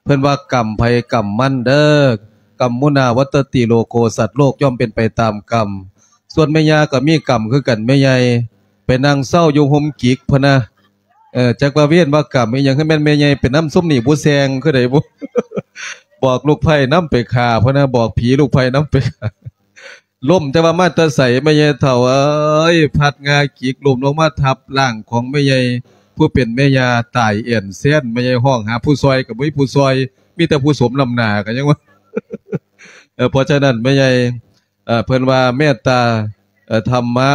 ເພິ່ນວ່າກຳໃຜກຳມັນເດີ ກຳມຸນາວັດຕະຕິໂລໂກ ສັດໂລກຍ່ອມເປັນໄປຕາມກຳ. ສ່ວນແມ່ຍ່າກໍມີກຳຄືກັນແມ່ໃຫຍ່ ໄປນັ່ງເຊົາຢູ່ຮົ່ມກິກພຸ້ນນະ. ເອີ ຈັກວ່າເວນວ່າກຳອີ່ຫຍັງ ຄືແມ່ນແມ່ໃຫຍ່ໄປນຳຊຸມນີ້ຜູ້ແຊງຄືໃດບຸ ບອກລູກໃພ້ນຳໄປຂ້າພຸ້ນນະ ບອກຜີລູກໃພ້ນຳໄປຂ້າ ລົ້ມແຕ່ວ່າມາແຕ່ໃສ ແມ່ໃຫຍ່ເຖົ້າເອີຍ ພັດງາກິກລົ້ມລົງມາທັບຮ່າງຂອງແມ່ໃຫຍ່ ຜູ້ເປັນແມ່ຍ່າຕາຍແອ່ນແຊນ. ແມ່ໃຫຍ່ຮ້ອງຫາຜູ້ຊ່ອຍກໍບໍ່ມີຜູ້ຊ່ອຍ ມີແຕ່ຜູ້ສົມນ້ຳໜ້າ ກໍຍັງວ່າ ເອີ ເພາະສະນັ້ນແມ່ໃຫຍ່ ເອີ ເພິ່ນວ່າເມດຕາ ເອີ ທຳມະ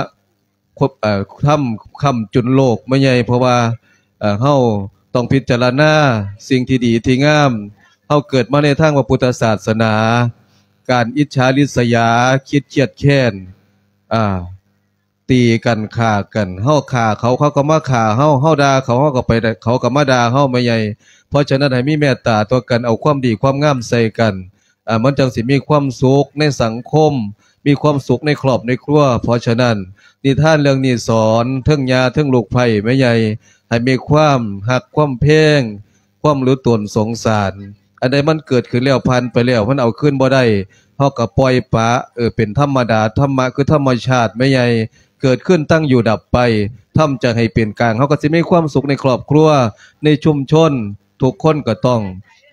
ຄົບ ເອີ ທຳຄ້ຳຈຸນໂລກແມ່ໃຫຍ່ ເພາະວ່າ ເອີ ເຮົາຕ້ອງພິຈາລະນາສິ່ງທີ່ດີທີ່ງາມ. ເຮົາເກີດມາໃນທາງພະພຸດທະສາສະໜາ ການອິດສາລິດສະຍາ ຄິດຄຽດແຄ້ນ ອ່າ ຕີກັນຂ້າກັນ ເຮົາຂ້າເຂົາ ເຂົາກໍມາຂ້າເຮົາ ເຮົາດ່າເຂົາ ເຮົາກໍໄປ ເຂົາກໍມາດ່າເຮົາແມ່ໃຫຍ່. ເພາະສະນັ້ນໃຫ້ມີເມດຕາຕໍ່ກັນ ເອົາຄວາມດີຄວາມງາມໃສ່ກັນ ອ່າ ມັນຈັ່ງຊິມີຄວາມສຸກໃນສັງຄົມ ມີຄວາມສຸກໃນຄອບໃນຄົວ. ເພາະສະນັ້ນ ນິທານເລື່ອງນີ້ສອນເທິງຍ່າເທິງລູກໃພ້ແມ່ໃຫຍ່ ໃຫ້ມີຄວາມຮັກຄວາມແພງ ຄວາມຮູ້ຕົນສົງສານ. ອັນໃດມັນເກີດຂຶ້ນແລ້ວ ຜ່ານໄປແລ້ວ ມັນເອົາຄືນບໍ່ໄດ້ ເຮົາກໍປ່ອຍປະ ເອີ ເປັນທຳມະດາ. ທຳມະຄືທຳມະຊາດແມ່ໃຫຍ່ ເກີດຂຶ້ນ ຕັ້ງຢູ່ ດັບໄປ. ທຳໃຈໃຫ້ເປັນກາງ ເຮົາກໍຊິມີຄວາມສຸກໃນຄອບຄົວ ໃນຊຸມຊົນ. ທຸກຄົນກໍຕ້ອງ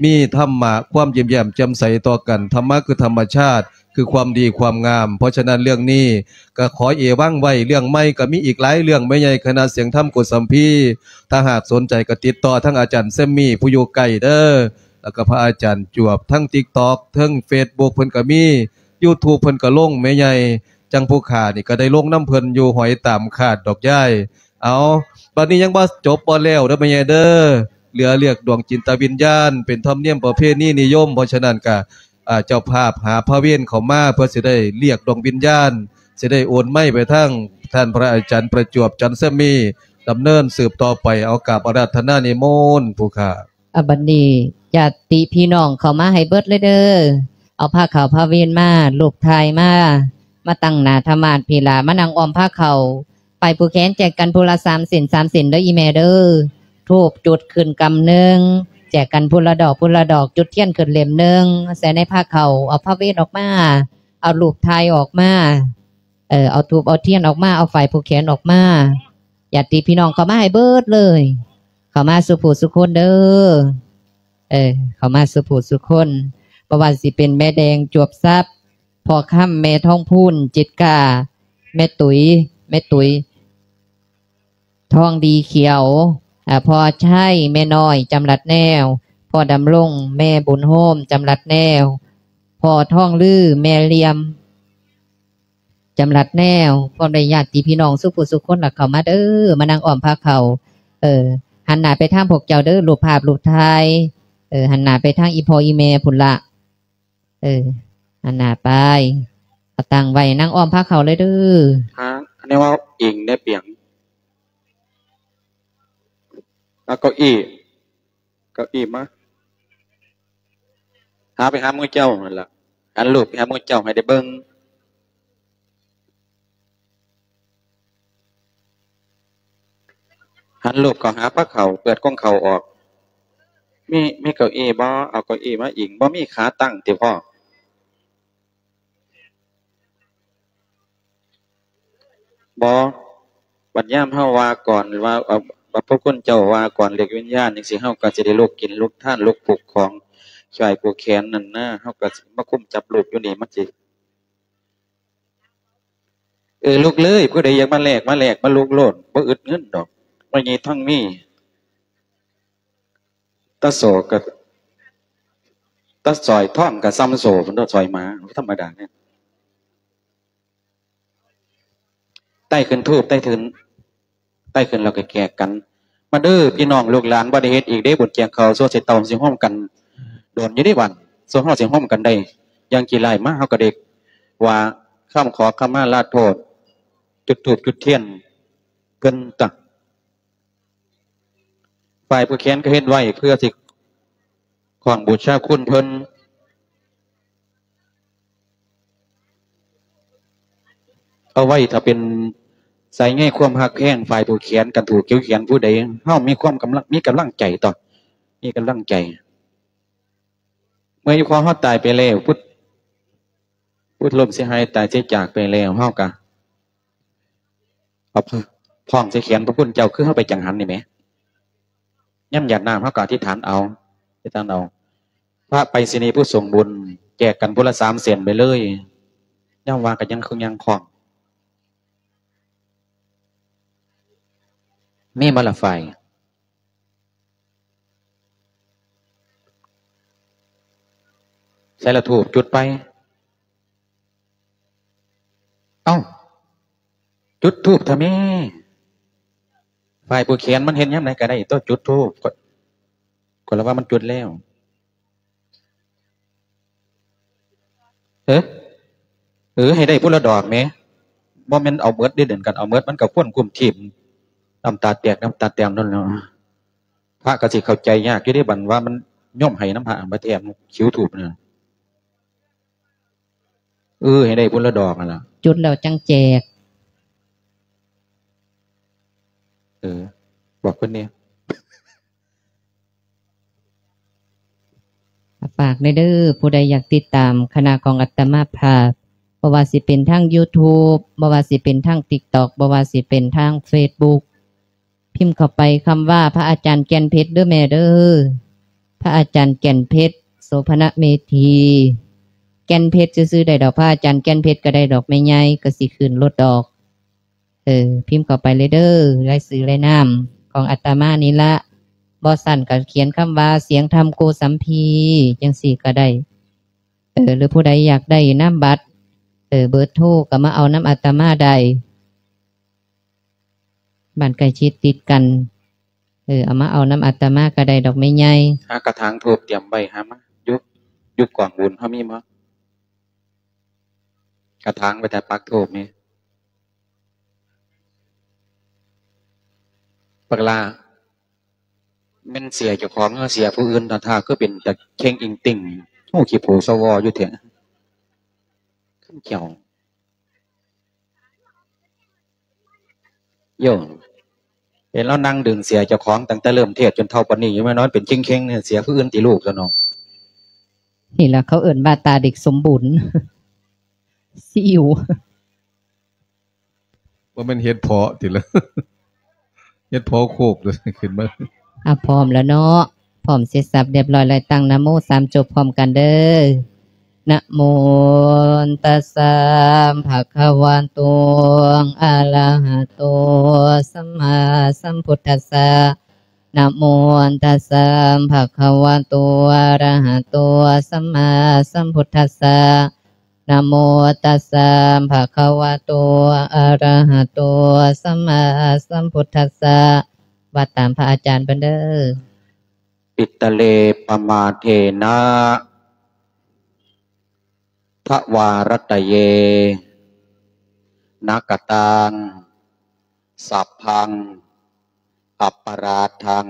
ມີທຳມະ ຄວາມຍິ້ມແຍ້ມແຈ່ມໃສຕໍ່ກັນ. ທຳມະຄືທຳມະຊາດ ຄືຄວາມດີຄວາມງາມ. ເພາະສະນັ້ນເລື່ອງນີ້ກໍຂໍເອວັງໄວ້. ເລື່ອງໃໝ່ກໍມີອີກຫຼາຍເລື່ອງແມ່ໃຫຍ່ ຄະນະສຽງທຳໂກສຳພີ. ຖ້າຫາກສົນໃຈກໍຕິດຕໍ່ທາງອາຈານແຊມມີ້ ຜູ້ຢູ່ໃກ້ເດີ ແລ້ວກໍພະອາຈານຈວບ. ທັງຕິກຕັອກ ທັງເຟສບຸກເພິ່ນກໍມີ ຢູທູບເພິ່ນກໍລົງແມ່ໃຫຍ່. ຈັ່ງຜູ້ຂ້ານີ້ກໍໄດ້ລົງນຳເພິ່ນຢູ່ ຫອຍຕາມຄາດດອກຍາຍ. ເອົາ ບັດນີ້ຍັງບໍ່ຈົບບໍ່ແລ້ວເດີແມ່ໃຫຍ່ເດີ ເຫຼືອລຽກດວງຈິດຕະວິນຍານ ເປັນທຳນຽມປະເພນີນິຍົມ. ເພາະສະນັ້ນກະ ອາ ເຈົ້າພາບຫາພະເວນເຂົ້າມາ ເພື່ອຊິໄດ້ລຽກດວງວິນຍານ ຊິໄດ້ໂອນໄມໄປທາງທ່ານພະອາຈານປະຈວບ ຈັນແຊມມີ ດຳເນີນສືບຕໍ່ໄປ. ເອົາ ກາບອາລາທະນານິມົນຜູ້ຂ້າ. ອາ ບັດນີ້ຍາດຕິພີ່ນ້ອງເຂົ້າມາໃຫ້ເບິດເລີຍເດີ ເອົາພາເຂົ້າພາເວນມາ ຮູບຖ່າຍມາ ມາຕັ້ງໜ້າທຳມາດພີ້ລະ ມານັ່ງອ້ອມພາເຂົ້າ. ໄປຜູ້ແຂນແຈກກັນຜູ້ລະສາມເສັ້ນ ສາມເສັ້ນເດີອີ່ແມ່ເດີ. ທູບຈຸດຂຶ້ນກຳໜຶ່ງ ແຈກກັນຜູ້ລະດອກ ຜູ້ລະດອກ ຈຸດທຽນຂຶ້ນເຫຼັ້ມໜຶ່ງ ໃສ່ໃນພາເຂົ້າ. ເອົາພາເວນອອກມາ ເອົາຮູບຖ່າຍອອກມາ ເອີ ເອົາທູບເອົາທຽນອອກມາ ເອົາຝ້າຍຜູກແຂນອອກມາ. ຍາດຕິພີ່ນ້ອງເຂົ້າມາໃຫ້ເບິດເລີຍ ເຂົ້າມາສູ່ຜູ້ສູ່ຄົນເດີ ເອີ ເຂົ້າມາສູ່ຜູ້ສູ່ຄົນ. ບໍ່ວ່າຊິເປັນແມ່ແດງ ຈວບຊັບ ພໍ່ຄຳ ແມ່ທອງພູນ ຈິດກາ ແມ່ຕຸ້ຍ ແມ່ຕຸ້ຍ ທອງດີຂຽວ ອາ ພໍ່ໄຊ ແມ່ນ້ອຍ ຈຳລັດແນວ ພໍ່ດຳລົງ ແມ່ບຸນໂຮມ ຈຳລັດແນວ ພໍ່ທອງລື ແມ່ລຽມ ຈຳລັດແນວ ພ້ອມດ້ວຍຍາດຕິພີ່ນ້ອງສູ່ຜູ້ສູ່ຄົນ ລະເຂົ້າມາເດີ ມານັ່ງອ້ອມພາເຂົ້າ ເອີ ຫັນໜ້າໄປທາງພວກເຈົ້າເດີ ຮູບພາບຮູບຖ່າຍ ເອີ ຫັນໜ້າໄປທາງອີ່ພໍ່ອີ່ແມ່ພຸ້ນລະ ເອີ ຫັນໜ້າໄປ ເອົາຕັ້ງໄວ້ ນັ່ງອ້ອມພາເຂົ້າເລີຍເດີ. ຫາແນວເອົາອີງແດ່ປຽງ ເອົາເກົ້າອີ ເກົ້າອີມາ ຫາໄປຫາໝູ່ເຈົ້າຫັ້ນລະ ຫັນຮູບໄປຫາໝູ່ເຈົ້າໃຫ້ໄດ້ເບິ່ງ ຫັນຮູບເຂົ້າຫາພາເຂົ້າ ເປີດກົງເຂົ້າອອກ ມີ ມີເກົ້າອີບໍ່? ເອົາເກົ້າອີມາອີງ ບໍ່ມີຂາຕັ້ງຕິພໍ່? ບໍ່ ບັດຍາມເຮົາວ່າກ່ອນ ວ່າ ເອີ ວ່າພວກຄຸນເຈົ້າວ່າກ່ອນເລີກວິນຍານຈັ່ງຊີ້ ເຮົາກໍຊິໄດ້ລຸກກິນລຸກທານ ລຸກຜູກຂອງ ຊ່ອຍຜູກແຂນນັ້ນນະ ເຮົາກໍຊິມາຄຸມຈັບຮູບຢູ່ນີ້ ມັນຊິ ເອີ ລຸກເລີຍ ຜູ້ໃດຢາກມາແລກ ມາແລກ ມາລຸກໂລດ ບໍ່ອຶດເງິນດອກ ບໍ່ມີທັງມີ ຕາໂສກະ ຕາສອຍທອງກະສ່ຳໂສ ເພິ່ນວ່າສອຍໝາ ທຳມະດາເດ້. ໄຕ້ຂຶ້ນທູບ ໄຕ້ຂຶ້ນ ໄຕ້ຂຶ້ນແລ້ວກະແຈກກັນ ມາເດີພີ່ນ້ອງລູກຫຼານ ບໍ່ໄດ້ເຮັດອີກເດ້ ບຸນແຈກເຂົ້າ ຊົ່ວຊິເຕົາ ຊິໂຮມກັນ ໂດນຢູ່ເດ້ບັດ ສ່ວນເຮົາຊິໂຮມກັນໄດ້ຢ່າງຈີ່ຫຼ້າຍມາ ເຮົາກະໄດ້ວ່າຄຳຂໍຂະມາລາໂທດ ຈຸດທູບຈຸດທຽນເພິ່ນຕະ ຝ່າຍຜູ້ຂຽນກໍເຮັດໄວ້ເພື່ອຊິຂອງບູຊາຄຸນເພິ່ນ ເອົາໄວ້ຖ້າເປັນສາຍໃຍຄວາມຮັກແພງ ຝ່າຍຜູ້ຂຽນກັນ ຜູ້ຂຽນຜູ້ໃດ ເຮົາມີຄວາມກຳລັງ ມີກຳລັງໃຈຕໍ່ ມີກຳລັງໃຈ ເມື່ອຢູ່ຂອງເຮົາຕາຍໄປແລ້ວ ພຸດ ພຸດລົ້ມເສຍຫາຍຕາຍເສຍຈາກໄປແລ້ວ ເຮົາກະ ເອົາພ້ອງໃສ່ແຂນພະຄຸນເຈົ້າ ຄືເຮົາໄປຈັງຫັນນີ້ແໝ ຍາມຢາດນ້ຳເຮົາກໍອະທິຖານເອົາ ອະທິຖານເອົາ ພະໄປສະນີຜູ້ສົ່ງບຸນ ແຈກກັນຜູ້ລະສາມເສັ້ນໄປເລີຍ ຍາມວ່າກໍຍັງຄືຍັງຄ່ອງ ມີມາລະໄຟ ໃສລະທູບ ຈຸດໄປ ເອົ້າ ຈຸດທູບທຳເມ ຝ່າຍຜູ້ຂຽນມັນເຮັດຍາມໃດກໍໄດ້ຕົວະ ຈຸດທູບ ຂ້ອຍ ຂ້ອຍລະວ່າມັນຈຸດແລ້ວ ເອີ ເອີ ໃຫ້ໄດ້ຜູ້ລະດອກແໝ ບໍ່ແມ່ນເອົາເໝິດເດ້ ເດີນກັນເອົາເໝິດ ມັນກໍຄວນກຸ້ມທີບ ນ້ຳຕາແຕກ ນ້ຳຕາແຕກນັ້ນແຫຼະ ພະກໍຊິເຂົ້າໃຈຍາກຢູ່ເດ້ ບັດວ່າມັນໂຍມໃຫ້ນຳພະ ບັດແຖມຄິວທູບນະ. ເອີ ໃຫ້ໄດ້ພຸ້ນລະດອກຫັ້ນລະ ຈຸດແລ້ວຈັ່ງແຈກ ເອີ ບອກເພິ່ນແດ່ ຝາກແດ່ເດີ ຜູ້ໃດຢາກຕິດຕາມຄະນະຂອງອາດຕະມາພາບ ບໍ່ວ່າຊິເປັນທາງຢູທູບ ບໍ່ວ່າຊິເປັນທາງຕິກຕັອກ ບໍ່ວ່າຊິເປັນທາງເຟສບຸກ ພິມເຂົ້າໄປຄຳວ່າ ພະອາຈານແກ່ນເພັດເດີແມ່ເດີ ພະອາຈານແກ່ນເພັດ ໂສພະນະເມທີ ແກ່ນເພັດຊື່ໆໄດ້ດອກ ພະອາຈານແກ່ນເພັດກໍໄດ້ດອກແມ່ໃຫຍ່ ກໍຊິຂຶ້ນໂລດດອກ ເອີ ພິມເຂົ້າໄປເລີຍເດີ ລາຍຊື່ລາຍນາມຂອງອາດຕະມານີ້ລະ ບໍ່ຊັ້ນກໍຂຽນຄຳວ່າ ສຽງທຳໂກສຳພີ ຈັ່ງຊີ້ກໍໄດ້ ເອີ ຫຼືຜູ້ໃດຢາກໄດ້ນາມບັດ ເອີ ເບີໂທ ກໍມາເອົານຳອາດຕະມາໄດ້ ບ້ານໃກ້ຊິດຕິດກັນ ເອີ ເອົາມາເອົານຳອາດຕະມາກໍໄດ້ດອກແມ່ໃຫຍ່ ຫາກະຖາງທູບຕຽມໄວ້ ຫາມາ ຢູ່ ຢູ່ກອງບຸນເຮົາມີບໍ່? ກະຖາງໄວ້ຖ້າປັກທູບນີ້ ບັກຫຼ້າ ແມ່ນເສຍເຈົ້າຂອງ ເສຍຜູ້ອື່ນ ທ່າຄືເປັນຕາເຄັ່ງອິງຕິ່ງ ຫູຂີ້ໂພສະວໍຢູ່ແທ້ ຄັນເຈົ້າ ໂຍມ ເຫັນລາວນັ່ງດຶງເສຍເຈົ້າຂອງຕັ້ງແຕ່ເລີ່ມເທດຈົນເທົ່າປານນີ້ ຍັງມານອນເປັນເຄັ່ງໆ ເສຍຜູ້ອື່ນຕິລູກຊະເນາະ ນີ້ລະເຂົາເອີ້ນວ່າຕາເດັກສົມບູນ ຊີອິ້ວ ບໍ່ແມ່ນເຫັດເພາະຕິລະ ເຫັດເພາະໂຄກ ຂຶ້ນມາ ອາ ພ້ອມແລ້ວເນາະ ພ້ອມເສັດສັບຮຽບຮ້ອຍແລ້ວ ຕັ້ງນະໂມສາມຈົບພ້ອມກັນເດີ ນະໂມ ຕັດສະ ພະຄະວະໂຕ ອະລະຫະໂຕ ສຳມາສຳພຸດທັດສະ ນະໂມຕັດສະ ພະຄະວະໂຕ ອະຣະຫະໂຕ ສຳມາສຳພຸດທັດສະ. ນະໂມຕັດສະ ພະຄະວະໂຕ ອະຣະຫະໂຕ ສຳມາສຳພຸດທັດສະ. ວ່າຕາມພະອາຈານເພິ່ນເດີ. ປິດຕະເລ ປະມາເທນະ ທະວາຣັດຕະເຍ ນະກະຕັງ ສັບພັງ ອັບປະຣາທັງ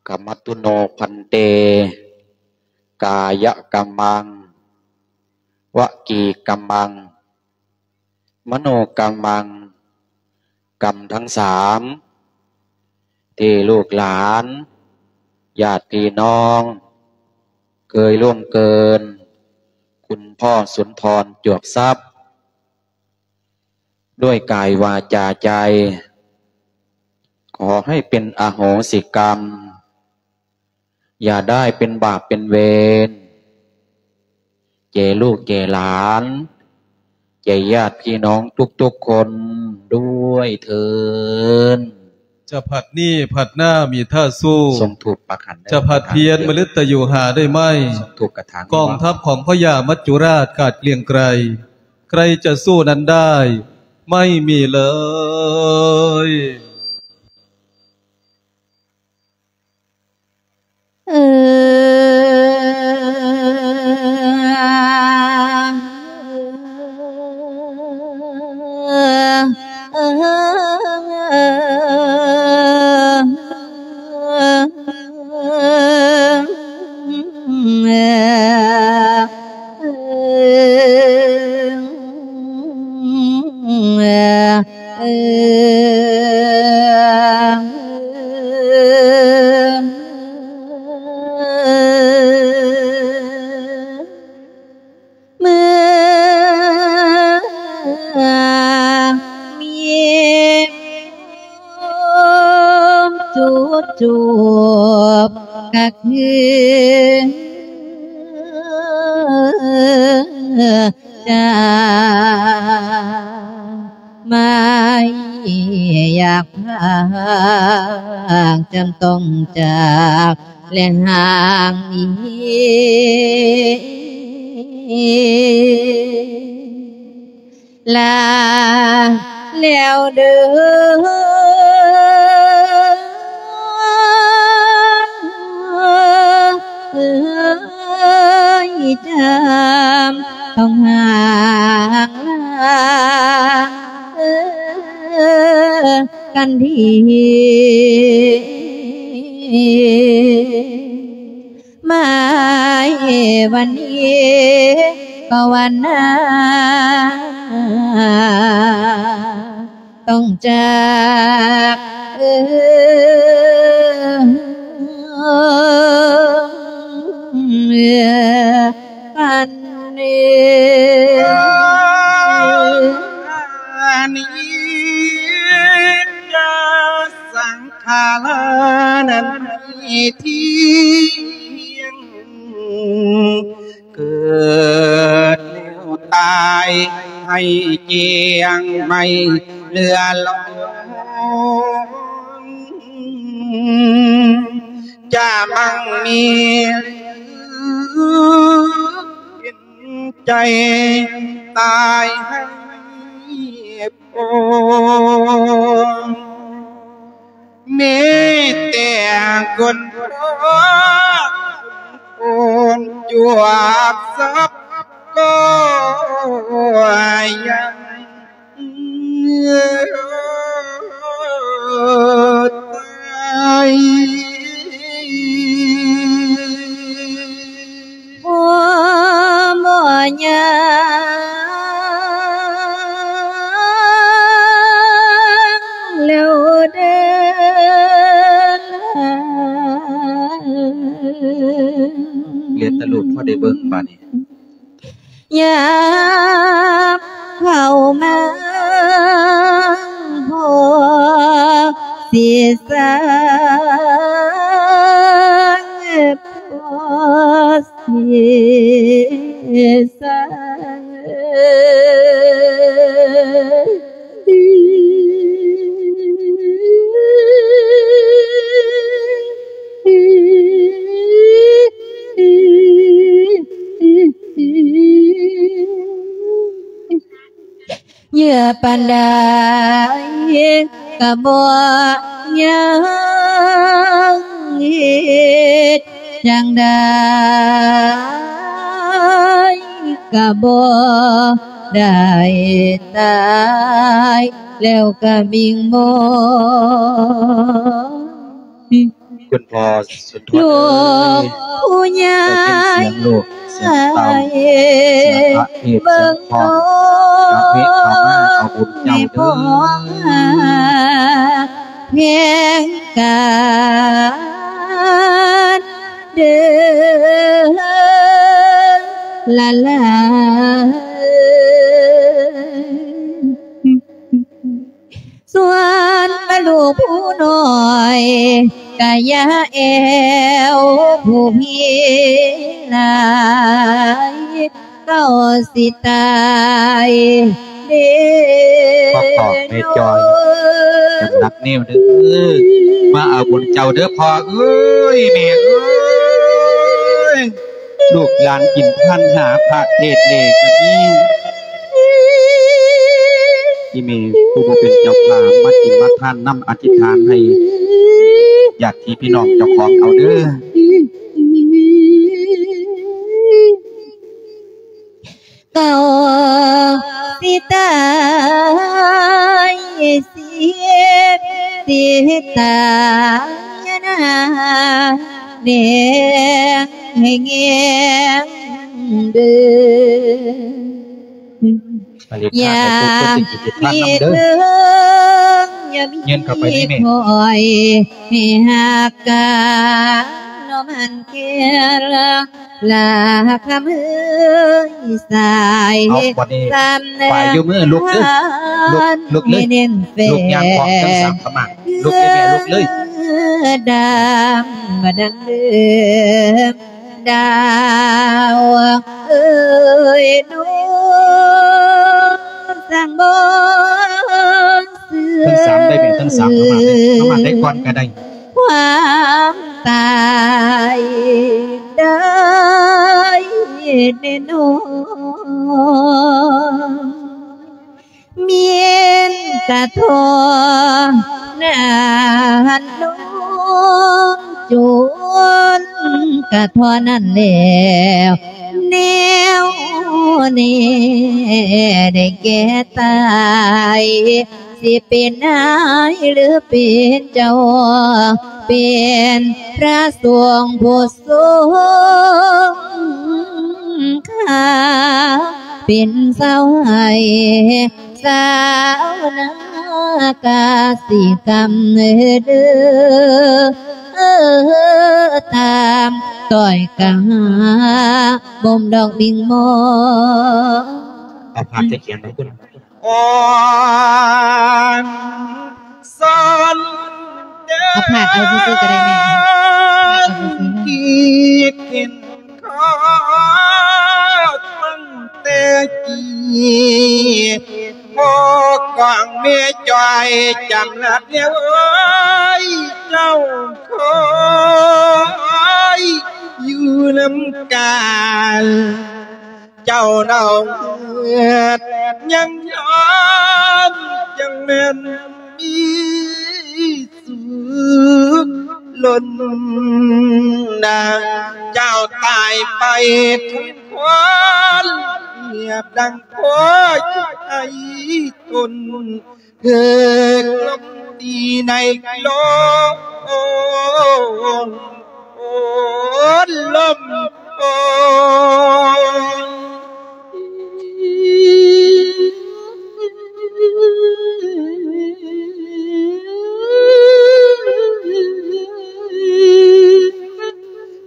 ກະມະຕຸໂນ ພັນເຕ ກາຍະກຳມັງ ວະຈີກຳມັງ ມະໂນກຳມັງ ກຳທັງສາມ ທີ່ລູກຫຼານ ຍາດພີ່ນ້ອງ ເຄີຍລ່ວງເກີນ ຄຸນພໍ່ສຸນທອນ ຈວບຊັບ ດ້ວຍກາຍ ວາຈາ ໃຈ ຂໍໃຫ້ເປັນອະໂຫສິກຳ ຢ່າໄດ້ເປັນບາບເປັນເວນ ແກ່ລູກແກ່ຫຼານ ແກ່ຍາດພີ່ນ້ອງທຸກໆຄົນດ້ວຍເທີ້ນ. ຈະຜັດນີ້ຜັດໜ້າມີທ່າສູ້ ສົ່ງທູບປັກຂັນເດີ ຈະຜັດພຽນມະລຶດຕະໂຍຫາໄດ້ໄໝ ສົ່ງທູບກະຖາງ ກອງທັບຂອງພະຍາມັດຈຸລາດກາດເກລຽງໄກ ໃຄຈະສູ້ນັ້ນໄດ້ ໄມ່ມີເລີຍ. ເມື່ອມີຄວາມຈຸດຈວບກະຄືຈາ ໄມ່ຢາກພາກ ຈຳຕ້ອງຈາກ ແລະຫ່າງໜີ ລາແລ້ວເດີ ເອີຍ ຈຳ ຕ້ອງຫ່າງລາກັນທີ ມາວັນນີ້ກໍວັນໜ້າ ຕ້ອງຈາກ ເອີ ປັນເດ ອະນິດຈະສັງຂາລານັ້ນໃຫ້ທ່ຽງ ເກີດແລ້ວຕາຍໃຫ້ຈ້ຽງ ໄມ່ເຫຼືອຫຼອງ ຈະມັ່ງມີໃຈຕາຍໃຫ້ ໂອ ມີແຕ່ຄົນໂອນຈວບສັບກໍຍັງຕາຍ. ພໍ່ໝໍຍ່າງແລ້ວເດີ ເຫຼືອແຕ່ລູກພໍໄດ້ເບິ່ງບາດນີ້. ຍາມເຂົ້າມາພໍຊິສາງ ພໍຊິສາງ ເຍອະປານໃດກໍບໍ່ຍັງ ເຮັດຈັ່ງໃດກໍບໍ່ໄດ້ຕາຍ ແລ້ວກໍວິງວອນ ຄຸນພໍ່ສຸນທອນເອີຍ ໄດ້ຍິນສຽງລູກ ສຽງເຕົ້າ ສຽງພະເທດ ສຽງຟ້ອນ ກະເວະເຂົ້າມາເອົາບຸນເຈົ້າເດີ ແພງກັນເດີ ລາລາ. ສ່ວນວ່າລູກຜູ້ນ້ອຍກະຢ່າແອວຜູ້ພີຫຼາຍ ເຂົາຊິຕາຍເດ້ ພໍ່ຂອງແມ່ຈອຍ ຈຳໜັກແນວເດີ ມາເອົາບຸນເຈົ້າເດີພໍ່ເອີຍ ແມ່ເອີຍ. ລູກຫຼານກິນທານຫາພະເທດເລກະມີ ອີ່ແມ່ຜູ້ບໍ່ເປັນເຈົ້າພາບມາກິນມາທານນຳ ອະທິຖານໃຫ້ຍາດຕິພີ່ນ້ອງເຈົ້າຂອງເອົາເດີ. ເຂົາຊິຕາຍ ຊິເຮັດ ຊິຕາຍນາແນງໃຫ້ແງງເດີ ອາເລກ ຢາກມີເຖິງ ຢ່າມີ ເງິນເຂົ້າໄປໃນແມ່ ຂ້ອຍໃຫ້ຮັກກັນ ນ້ອງມັນແກ່ລາ ລາຄຳເອີຍສາຍ ເອົາ ບັດນີ້ ສຳນັກ ປາຍຢູ່ມືລຸກເດີ້ ລຸກ ລຸກເລີຍ ລຸກຍ່າງຂອງເທິງສາມຂະໝາດ ລຸກເລີຍແມ່ ລຸກເລີຍ ດຳມາດັງເດີມ ດາວເອີຍ ໜູສັງບໍ່ເຊື່ອ ເທິງສາມໄດ້ແມ່ ເທິງສາມຂະໝາດເລີຍ ຂະໝາດໄດ້ກ່ອນກະໄດ້ ຄວາມຕາຍໄດ້ແນ່ນອນ ແມ່ນກະທໍ່ນັ້ນນ້ອງ ຈົນກະທໍ່ນັ້ນແລ້ວ ແນວແນ່ໄດ້ແກ່ຕາຍ ຊິເປັນນາຍຫຼືເປັນເຈົ້າ ເປັນພະສົງຜູ້ຊົງຄ່າ ເປັນຊາວໄຮ່ຊາວນາກະສິກຳເດີ ຕາມຕ້ອຍກະຫາບົ່ມດອກມິງມອງ ເອົາພາກຈະຂຽນໄປພຸ້ນ ອ່ອນສອນເດີ ເອົາພາກເອົາຊື່ໆກໍໄດ້ແມ່ ເອົາພາກເອົາຊື່ໆ ຄິດເຫັນຂໍຕັ້ງແຕ່ກີ້ ພໍ່ຂອງແມ່ຈ້ອຍຈຳລັດແລ້ວເອີຍ ເຈົ້າຄອຍຢູ່ນຳກັນ ເຈົ້າເນົ່າເຫືອດຍັງຍອມ ຈັ່ງແມ່ນມີສຸກລົ້ນນາ ເຈົ້າຕາຍໄປທັງຄວານ ຮຽບດັ່ງພໍ່ໄອ້ຕົນ ຖືກລົມຕີໃນໂລງ ໂອ້ ລົມໂອ້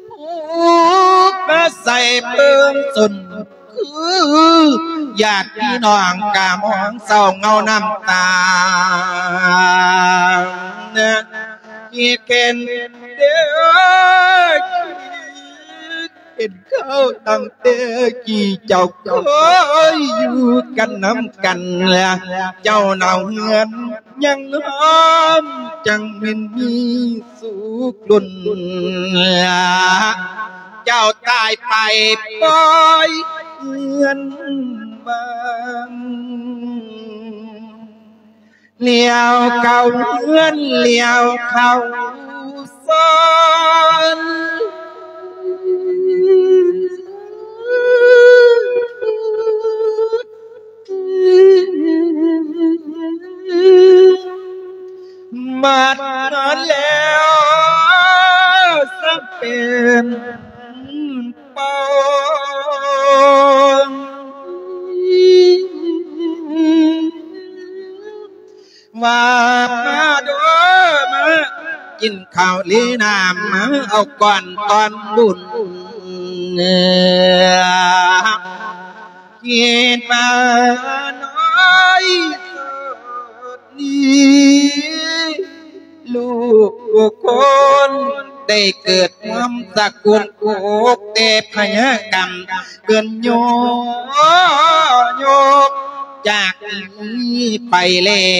ຜູ້ມາໃສ່ເບິ່ງສົນ ຄືຍາດພີ່ນ້ອງກະມອງເສົ້າເຫງົານ້ຳຕາ ຄິດເຫັນເດີ ເຫັນເຂົາຕັ້ງແຕ່ກີ້ເຈົ້າເຄີຍຢູ່ກັນນຳກັນ ເຈົ້າເນົ່າເຫືອດຍັງຫອມ ຈັ່ງແມ່ນມີສຸກດົນ ເຈົ້າຕາຍໄປປ່ອຍເຮືອນບ້ານ ລ້ຽວເຂົ້າເຮືອນ ລ້ຽວເຂົ້າຊານ ມາແລ້ວ ສະເປັນ ປອງ ວ່າມາເດີ ມາກິນເຂົ້າລີນ້ຳ ມາເອົາກ່ອນຕອນບຸນ ຄິດວ່ານ້ອຍສຸດນີ້ ລູກທຸກຄົນໄດ້ເກີດຮ່ວມສະກຸນ ໂກກແຕ່ພະຍາກຳ ເກີນໂຍ ໂຍກຈາກນີ້ໄປແລ້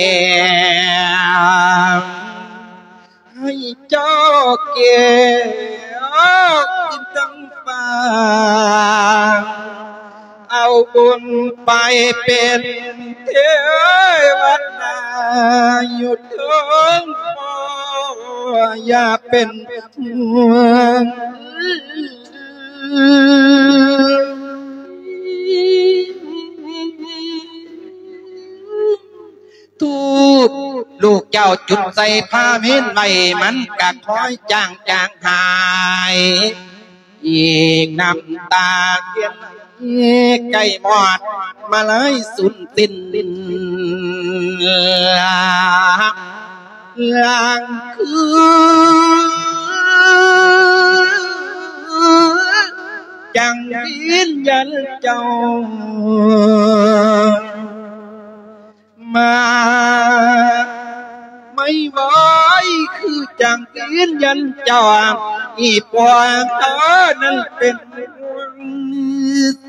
ວ ໃຫ້ເຈົ້າແກ້ວກິນທັງປາງ ເອົາບຸນໄປເປັນເທວະດາຢູ່ເທິງຟ້າ ຢ່າເປັນຫ່ວງ ທູບລູກເຈົ້າຈຸດໃສ່ຜ້າເມນໄວ້ ມັນກະຄ່ອຍຈາງຈາງຫາຍ ອີກນ້ຳຕາເທີນໄຫຼ ໃກ້ມອດມາລາຍສູນສິ້ນ ລາງຄືຈັ່ງວິນຍານເຈົ້າ ມາໄໝ້ວອຍ ຄືຈັ່ງຢືນຢັນເຈົ້າ ອີພວກເຮົານັ້ນເປັນຫ່ວງ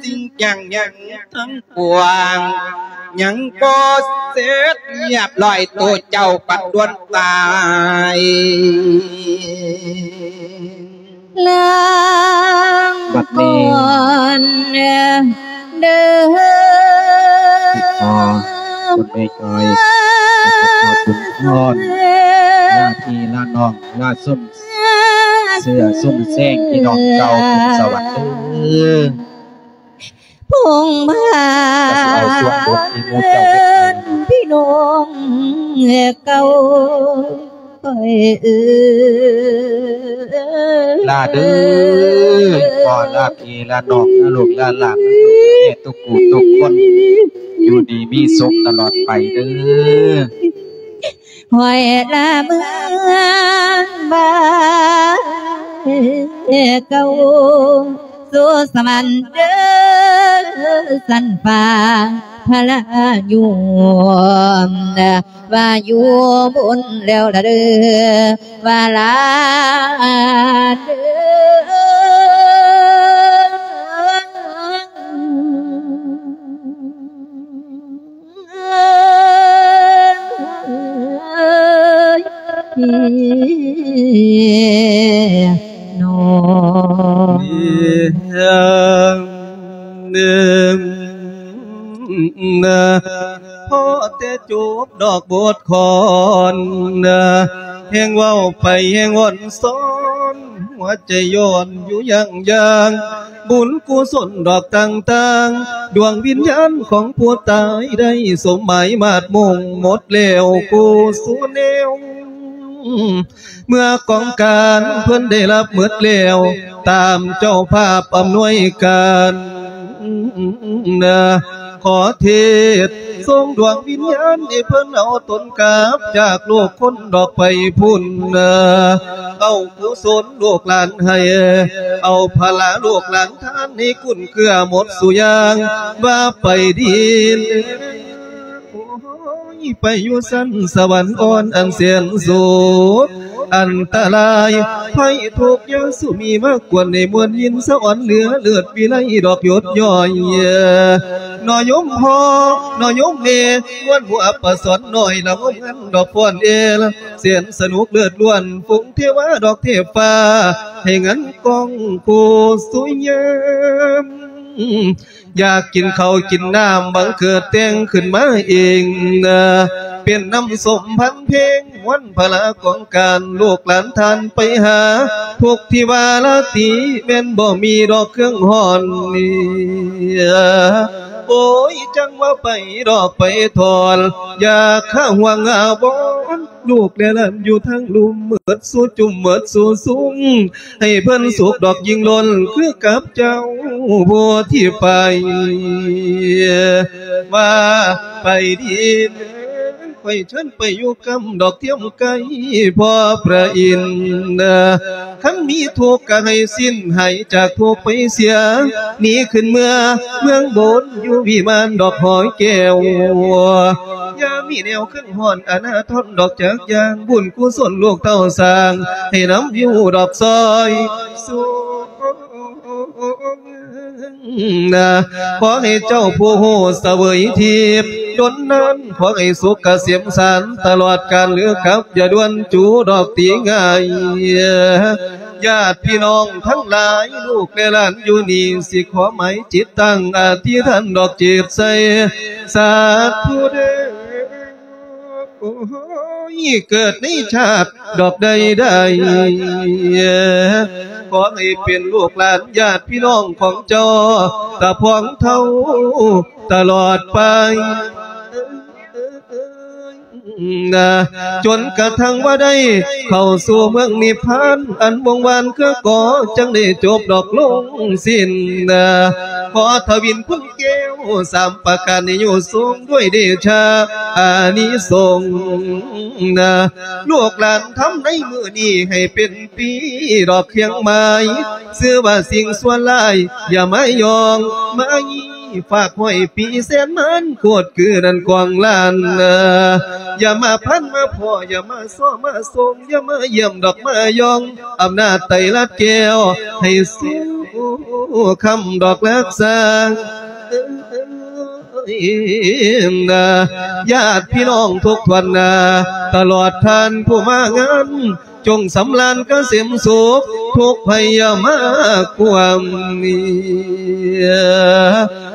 ສິ່ງຢ່າງຫຍັງທັງປວງ ຍັງບໍ່ເສັດຮຽບຮ້ອຍ ໂຕເຈົ້າປັດດ່ວນຕາຍ ລາງ ບັດນີ້ ກ່ອນເດີ ຂໍບຸນແມ່ຈ້ອຍ ຂໍບຸນພອນ ລາພີ່ລານ້ອງ ລາຊົມເຊື້ອຊົມແຊງ ພີ່ນ້ອງເກົ່າຂຶ້ນສະຫວັນເດີ ພົງພາ ກໍຊິເອົາສ່ວນບຸນທີ່ໝູ່ເຈົ້າເຮັດໃຫ້ ພີ່ນ້ອງເກົ່າ ຂ້ອຍເອີຍ ລາເດີ ຂໍລາພີ່ລານ້ອງ ລາລູກລາຫຼານ ລາລູກແມ່ທຸກຜູ້ທຸກຄົນ ຢູ່ດີມີສຸກຕະຫຼອດໄປເດີ ຂ້ອຍລາເມືອງບ້ານເກົ່າ ສູ່ສະຫວັນເດີ ຊັ້ນຟ້າພະລາຍົມ ວ່າຢູ່ບຸນແລ້ວລະເດີ ວ່າລາເດີ ນ້ອງ ພໍແຕ່ຈົບດອກບົດກອນ ແຮ່ງເວົ້າໄປແຮ່ງວອນສອນ ຫົວໃຈຍ້ອນຢູ່ຢ່າງຢ່າງ ບຸນກຸສົນດອກຕ່າງໆ ດວງວິນຍານຂອງຜູ້ຕາຍໄດ້ສົມໝາຍມາດມຸ່ງໝົດແລ້ວ ຜູ້ສູ່ແນວ ເມື່ອກອງການເພິ່ນໄດ້ຮັບໝົດແລ້ວ ຕາມເຈົ້າພາບອຳນວຍການ ຂໍເທດສົ່ງດວງວິນຍານໃຫ້ເພິ່ນເອົາຕົນກັບຈາກໂລກຄົນດອກໄປພຸ້ນ ເອົາກຸສົນລູກຫຼານໃຫ້ ເອົາພະລາລູກຫຼານທານໃຫ້ກຸນເກືອໝົດສູ່ຢ່າງ ວ່າໄປດີ ໂອ້ຍ ໄປຢູ່ຊັ້ນສະຫວັນອ່ອນອັນແສນໂສກ ອັນຕະລາຍໄພທຸກຢ່າສູ່ມີມາກວນໃນມວນຍິນສະອອນເຫຼືອເລີດວິໄລດອກຢົດຍ້ອຍ ໜໍ່ໂຍມພໍ່ ໜໍ່ໂຍມແມ່ ມ່ວນຫົວປະສອນນ້ອຍ ລະງົມງັນດອກຟ້ອນເອລ ແສນສະໜຸກເລີດລ້ວນ ຝູງເທວາດອກເທບຟ້າ ໃຫ້ງັນກ້ອງໂຄສຸຍາມ ຢາກກິນເຂົ້າກິນນ້ຳ ບັງເກີດແຕ່ງຂຶ້ນມາເອງ ເປັນນ້ຳສົ້ມພັນເພັງ ວັນພະລາກອງການ ລູກຫຼານທ່ານໄປຫາ ທຸກທີ່ວ່າລາຕີ ແມ່ນບໍ່ມີດອກເຄື່ອງຮ້ອນນີ້ ໂອ້ຍ ຈັ່ງວ່າໄປດອກໄປຖອນ ຢາກຫາຫວງອາວອນ ລູກແລຫຼານຢູ່ທາງລຸ່ມ ໝົດສູ່ຈຸ້ມໝົດສູ່ຊຸມ ໃຫ້ເພິ່ນສຸກດອກຍິ່ງລົ້ນ ຄືກັບເຈົ້າຜູ້ທີ່ໄປ ວ່າໄປດີ ຂ້ອຍເຊີນໄປຢູ່ກຳດອກທຽມໄກພໍ່ພະອິນ ຄັນມີທຸກກະໃຫ້ສິ້ນ ຫາຍຈາກທຸກໄປເສຍ ໜີຂຶ້ນເມືອເມືອງບົນ ຢູ່ວິມານດອກຫອຍແກ້ວ ຢ່າມີແນວຄຶງຮ້ອນອະນາທົນດອກຈັກຢ່າງ ບຸນກຸສົນລູກເຕົ້າສ້າງ ໃຫ້ນຳຢູ່ດອກຊອຍສວງ ນະ ຂໍໃຫ້ເຈົ້າຜູ້ຮູ້ສະເຫວີຍທິບດົນນານ ຂໍໃຫ້ສຸກກະເສມສານຕະຫຼອດການ ຫຼືກັບຢ່າດ່ວນຈູດອກຕີງ່າຍ ຍາດພີ່ນ້ອງທັງຫຼາຍ ລູກແລຫຼານຢູ່ນີ້ ຊິຂໍໝາຍຈິດຕັ້ງອະທິຖານດອກຈິດໃສ່ ສາທຸເດີ. ໂອ້ຍ ເກີດໃນຊາດດອກໃດໆ ຂໍໃຫ້ເປັນລູກຫຼານຍາດພີ່ນ້ອງຂອງເຈົ້າ ຕາພອງເທົ້າຕະຫຼອດໄປ ຈົນກະທັ້ງວ່າໄດ້ເຂົ້າສູ່ເມືອງນິບພານ ອັນວົງວານຄືກໍ ຈັ່ງໄດ້ຈົບດອກລົງສິ້ນ ຂໍທະວິນຄຸນ ແກ້ວສາມປະການນີ້ ຢູ່ສູງດ້ວຍເດຊະອານິສົງ ລູກຫຼານທຳໃນມື້ນີ້ ໃຫ້ເປັນປີດອກຄຽງໝາຍ ຊື່ວ່າສິ່ງຊົ່ວຮ້າຍ ຢ່າມາຍ່ອງມາຢີ້ ຝາກຮ້ອຍປີແສນມານ ໂຄດຄືນັ້ນກວາງລ້ານ ຢ່າມາພັນມາພໍ້ ຢ່າມາ ຊໍມາສົ່ງ ຢ່າມາຢ້ຽມດອກມາຢອງ ອຳນາດໄຕລັດແກ້ວ ໃຫ້ສູ້ຄ້ຳດອກລັກສາ ຍາດພີ່ນ້ອງທຸກທ່ານນາ ຕະຫຼອດທ່ານຜູ້ມາງານ ຈົ່ງສຳລານກະເສມສຸກ ທຸກໄພຢ່າມາກວມ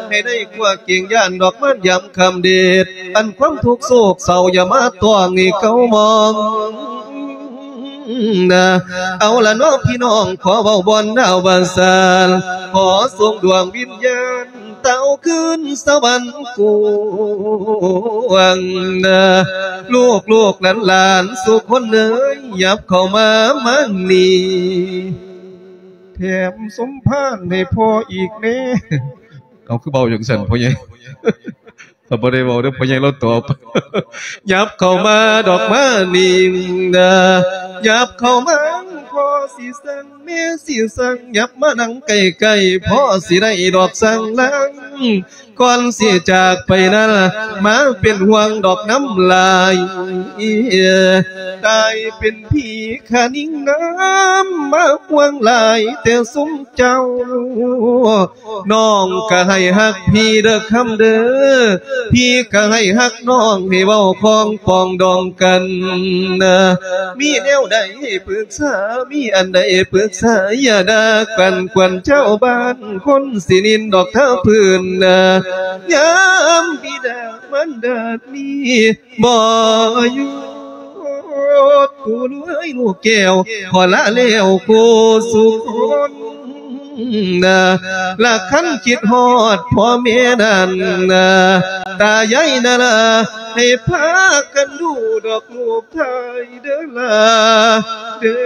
ໃຫ້ໄດ້ກົວເກງຢ້ານດອກມານຍາມຄ່ຳເດດ ອັນຄວາມທຸກໂສກເສົ້າຢ່າມາຕ້ອງໃຫ້ເກົາມອງ ເອົາລະເນາະພີ່ນ້ອງ ຂໍເວົ້າບ່ອນອາວະສານ ຂໍສົ່ງດວງວິນຍານ ເຕົ້າຄືນສະຫວັນກວ້າງ ລູກໆຫຼານໆ ສູ່ຄົນເອີຍ ຫຍັບເຂົ້າມາມານີ້ ແຖມສົມພານໃຫ້ພໍ່ອີກແດ່. ເອົາ ຄືເວົ້າຈັ່ງຊັ້ນພໍ່ໃຫຍ່? ຂ້ອຍບໍ່ໄດ້ເວົ້າເດີ້ ພໍ່ໃຫຍ່ລາວຕອບ. ຫຍັບເຂົ້າມາດອກມານີ້ນະ ຫຍັບເຂົ້າມາ ພໍ່ຊິສັ່ງ ແມ່ຊິສັ່ງ ຫຍັບມານັ່ງໃກ້ໆ ພໍ່ຊິໄດ້ດອກສັ່ງລາ ກ່ອນຊິຈາກໄປນັ້ນ ມາເປັນຫ່ວງດອກນ້ຳລາຍ ຕາຍເປັນຜີຂະນິງນາມ ມາຫ່ວງຫຼາຍແຕ່ຊຸມເຈົ້າ ນ້ອງກະໃຫ້ຮັກພີ່ເດີຄຳເດີ ພີ່ກະໃຫ້ຮັກນ້ອງ ໃຫ້ເວົ້າຄອງປອງດອງກັນ ມີແນວໃດປຶກສາ ມີອັນໃດປຶກສາ ຢ່າດ່າກັນກວນເຈົ້າບ້ານ ຄົນຊິນິນດອກທາງພື້ນ ຍາມບິດາມານດານີ້ ບໍ່ຢູ່ ຕູເອີຍລູກແກ້ວ ຂໍລາແລ້ວຄູ່ສູ່ຄົນນະ ລະຄັນຄິດຮອດພໍ່ແມ່ນັ້ນນະ ຕາຍາຍນະລາ ໃຫ້ພາກັນດູດອກຮູບຖ່າຍເດີລາເດີ.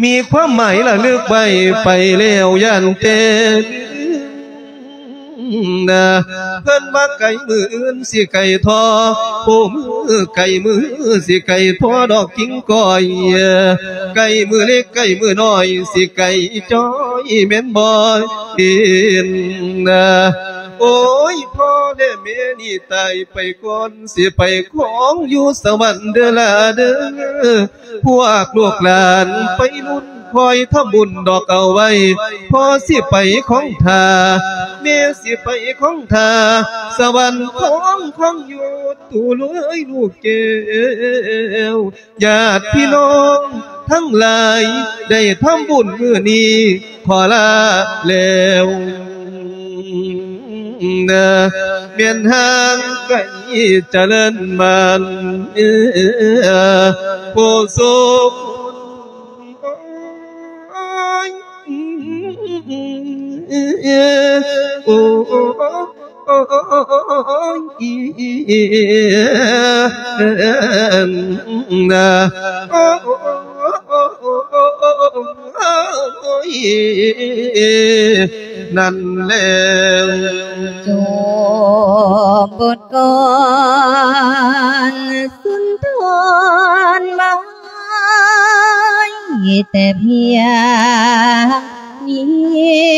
ມີຄວາມໝາຍລະລຶກໄວ້ໄປແລ້ວຢ້ານແຕ່ລືມນະ ເພິ່ນວ່າໄກມື້ອື່ນຊິໄກທໍ່ ໂອ້ ມື້ໄກມື້ຊິໄກພໍດອກກິ່ງກ້ອຍ ໄກມື້ເລັກໄກມື້ນ້ອຍ ຊິໄກຈ້ອຍແມ່ນບໍ່ເຫັນນະ ໂອ້ຍ ພໍ່ແລະແມ່ນີ້ຕາຍໄປກ່ອນ ຊິໄປຄອງຢູ່ສະຫວັນເດີລາເດີ ພວກລູກຫຼານໄປລຸ້ນຄອຍທຳບຸນດອກເອົາໄວ້ ພໍ່ຊິໄປຄອງທ່າ ແມ່ຊິໄປຄອງທ່າ ສະຫວັນຄອງຄອງຢູ່ຕູເອີຍລູກແກ້ວ ຍາດພີ່ນ້ອງທັງຫຼາຍ ໄດ້ທຳບຸນມື້ນີ້ ຂໍລາແລ້ວ. ນະ ແມ່ນຮ່າງໄກຈະເລີນມານ ຜູ້ສຸກ ໂອ້ຍ ນະ ໂອ້ຍ ນັ້ນແຫຼະ ຈົບບົດກອນສຸນທອນ ໄວ້ແຕ່ພຽງນີ້.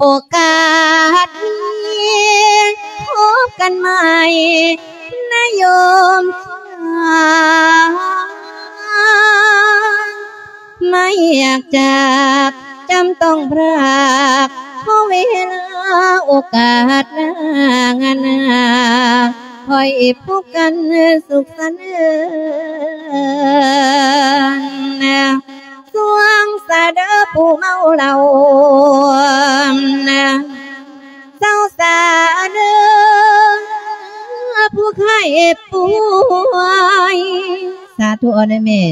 ໂອກາດມີ ພົບກັນໃໝ່ນະໂຍມ ໄມ່ຢາກຈາກ ຈຳຕ້ອງພຣາກ ຂໍເວລາໂອກາດໜ້າງານໜ້າ ຄ່ອຍພົບກັນສຸກສັນເອີນ. ສວງສາເດີຜູ້ເມົາເຫຼົ້າ ເຊົາສາເດີຜູ້ໄຂ້ປ່ວຍ ສາທຸເອົາແດ່ແມ່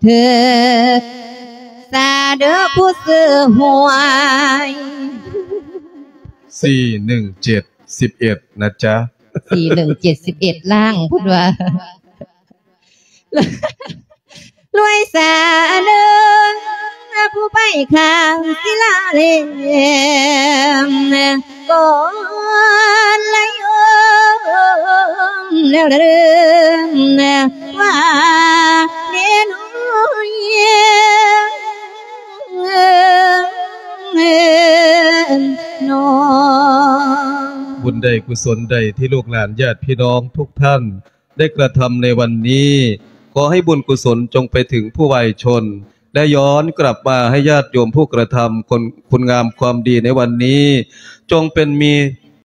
ເທີສາເດີຜູ້ຊື້ຫວຍ ສີ່ໜຶ່ງເຈັດ ສິບເອັດ ນະຈ໊ະ ສີ່ໜຶ່ງເຈັດ ສິບເອັດ ລ້າງ ເພິ່ນວ່າ ລວຍສາເດີ ຜູ້ໄປຂ້າງສິລາເລມ ກ່ອນລະໂຍມ ແລ້ວລະເດີມ ວ່າເນນ້ອຍ ນ້ອງ. ບຸນໃດກຸສົນໃດທີ່ລູກຫຼານຍາດພີ່ນ້ອງທຸກທ່ານ ໄດ້ກະທຳໃນວັນນີ້ ຂໍໃຫ້ບຸນກຸສົນຈົ່ງໄປເຖິງຜູ້ວາຍຊົນ ແລະ ຍ້ອນກັບມາໃຫ້ຍາດໂຍມຜູ້ກະທຳຄຸນ ຄຸນງາມຄວາມດີໃນວັນນີ້ ຈົ່ງເປັນມີ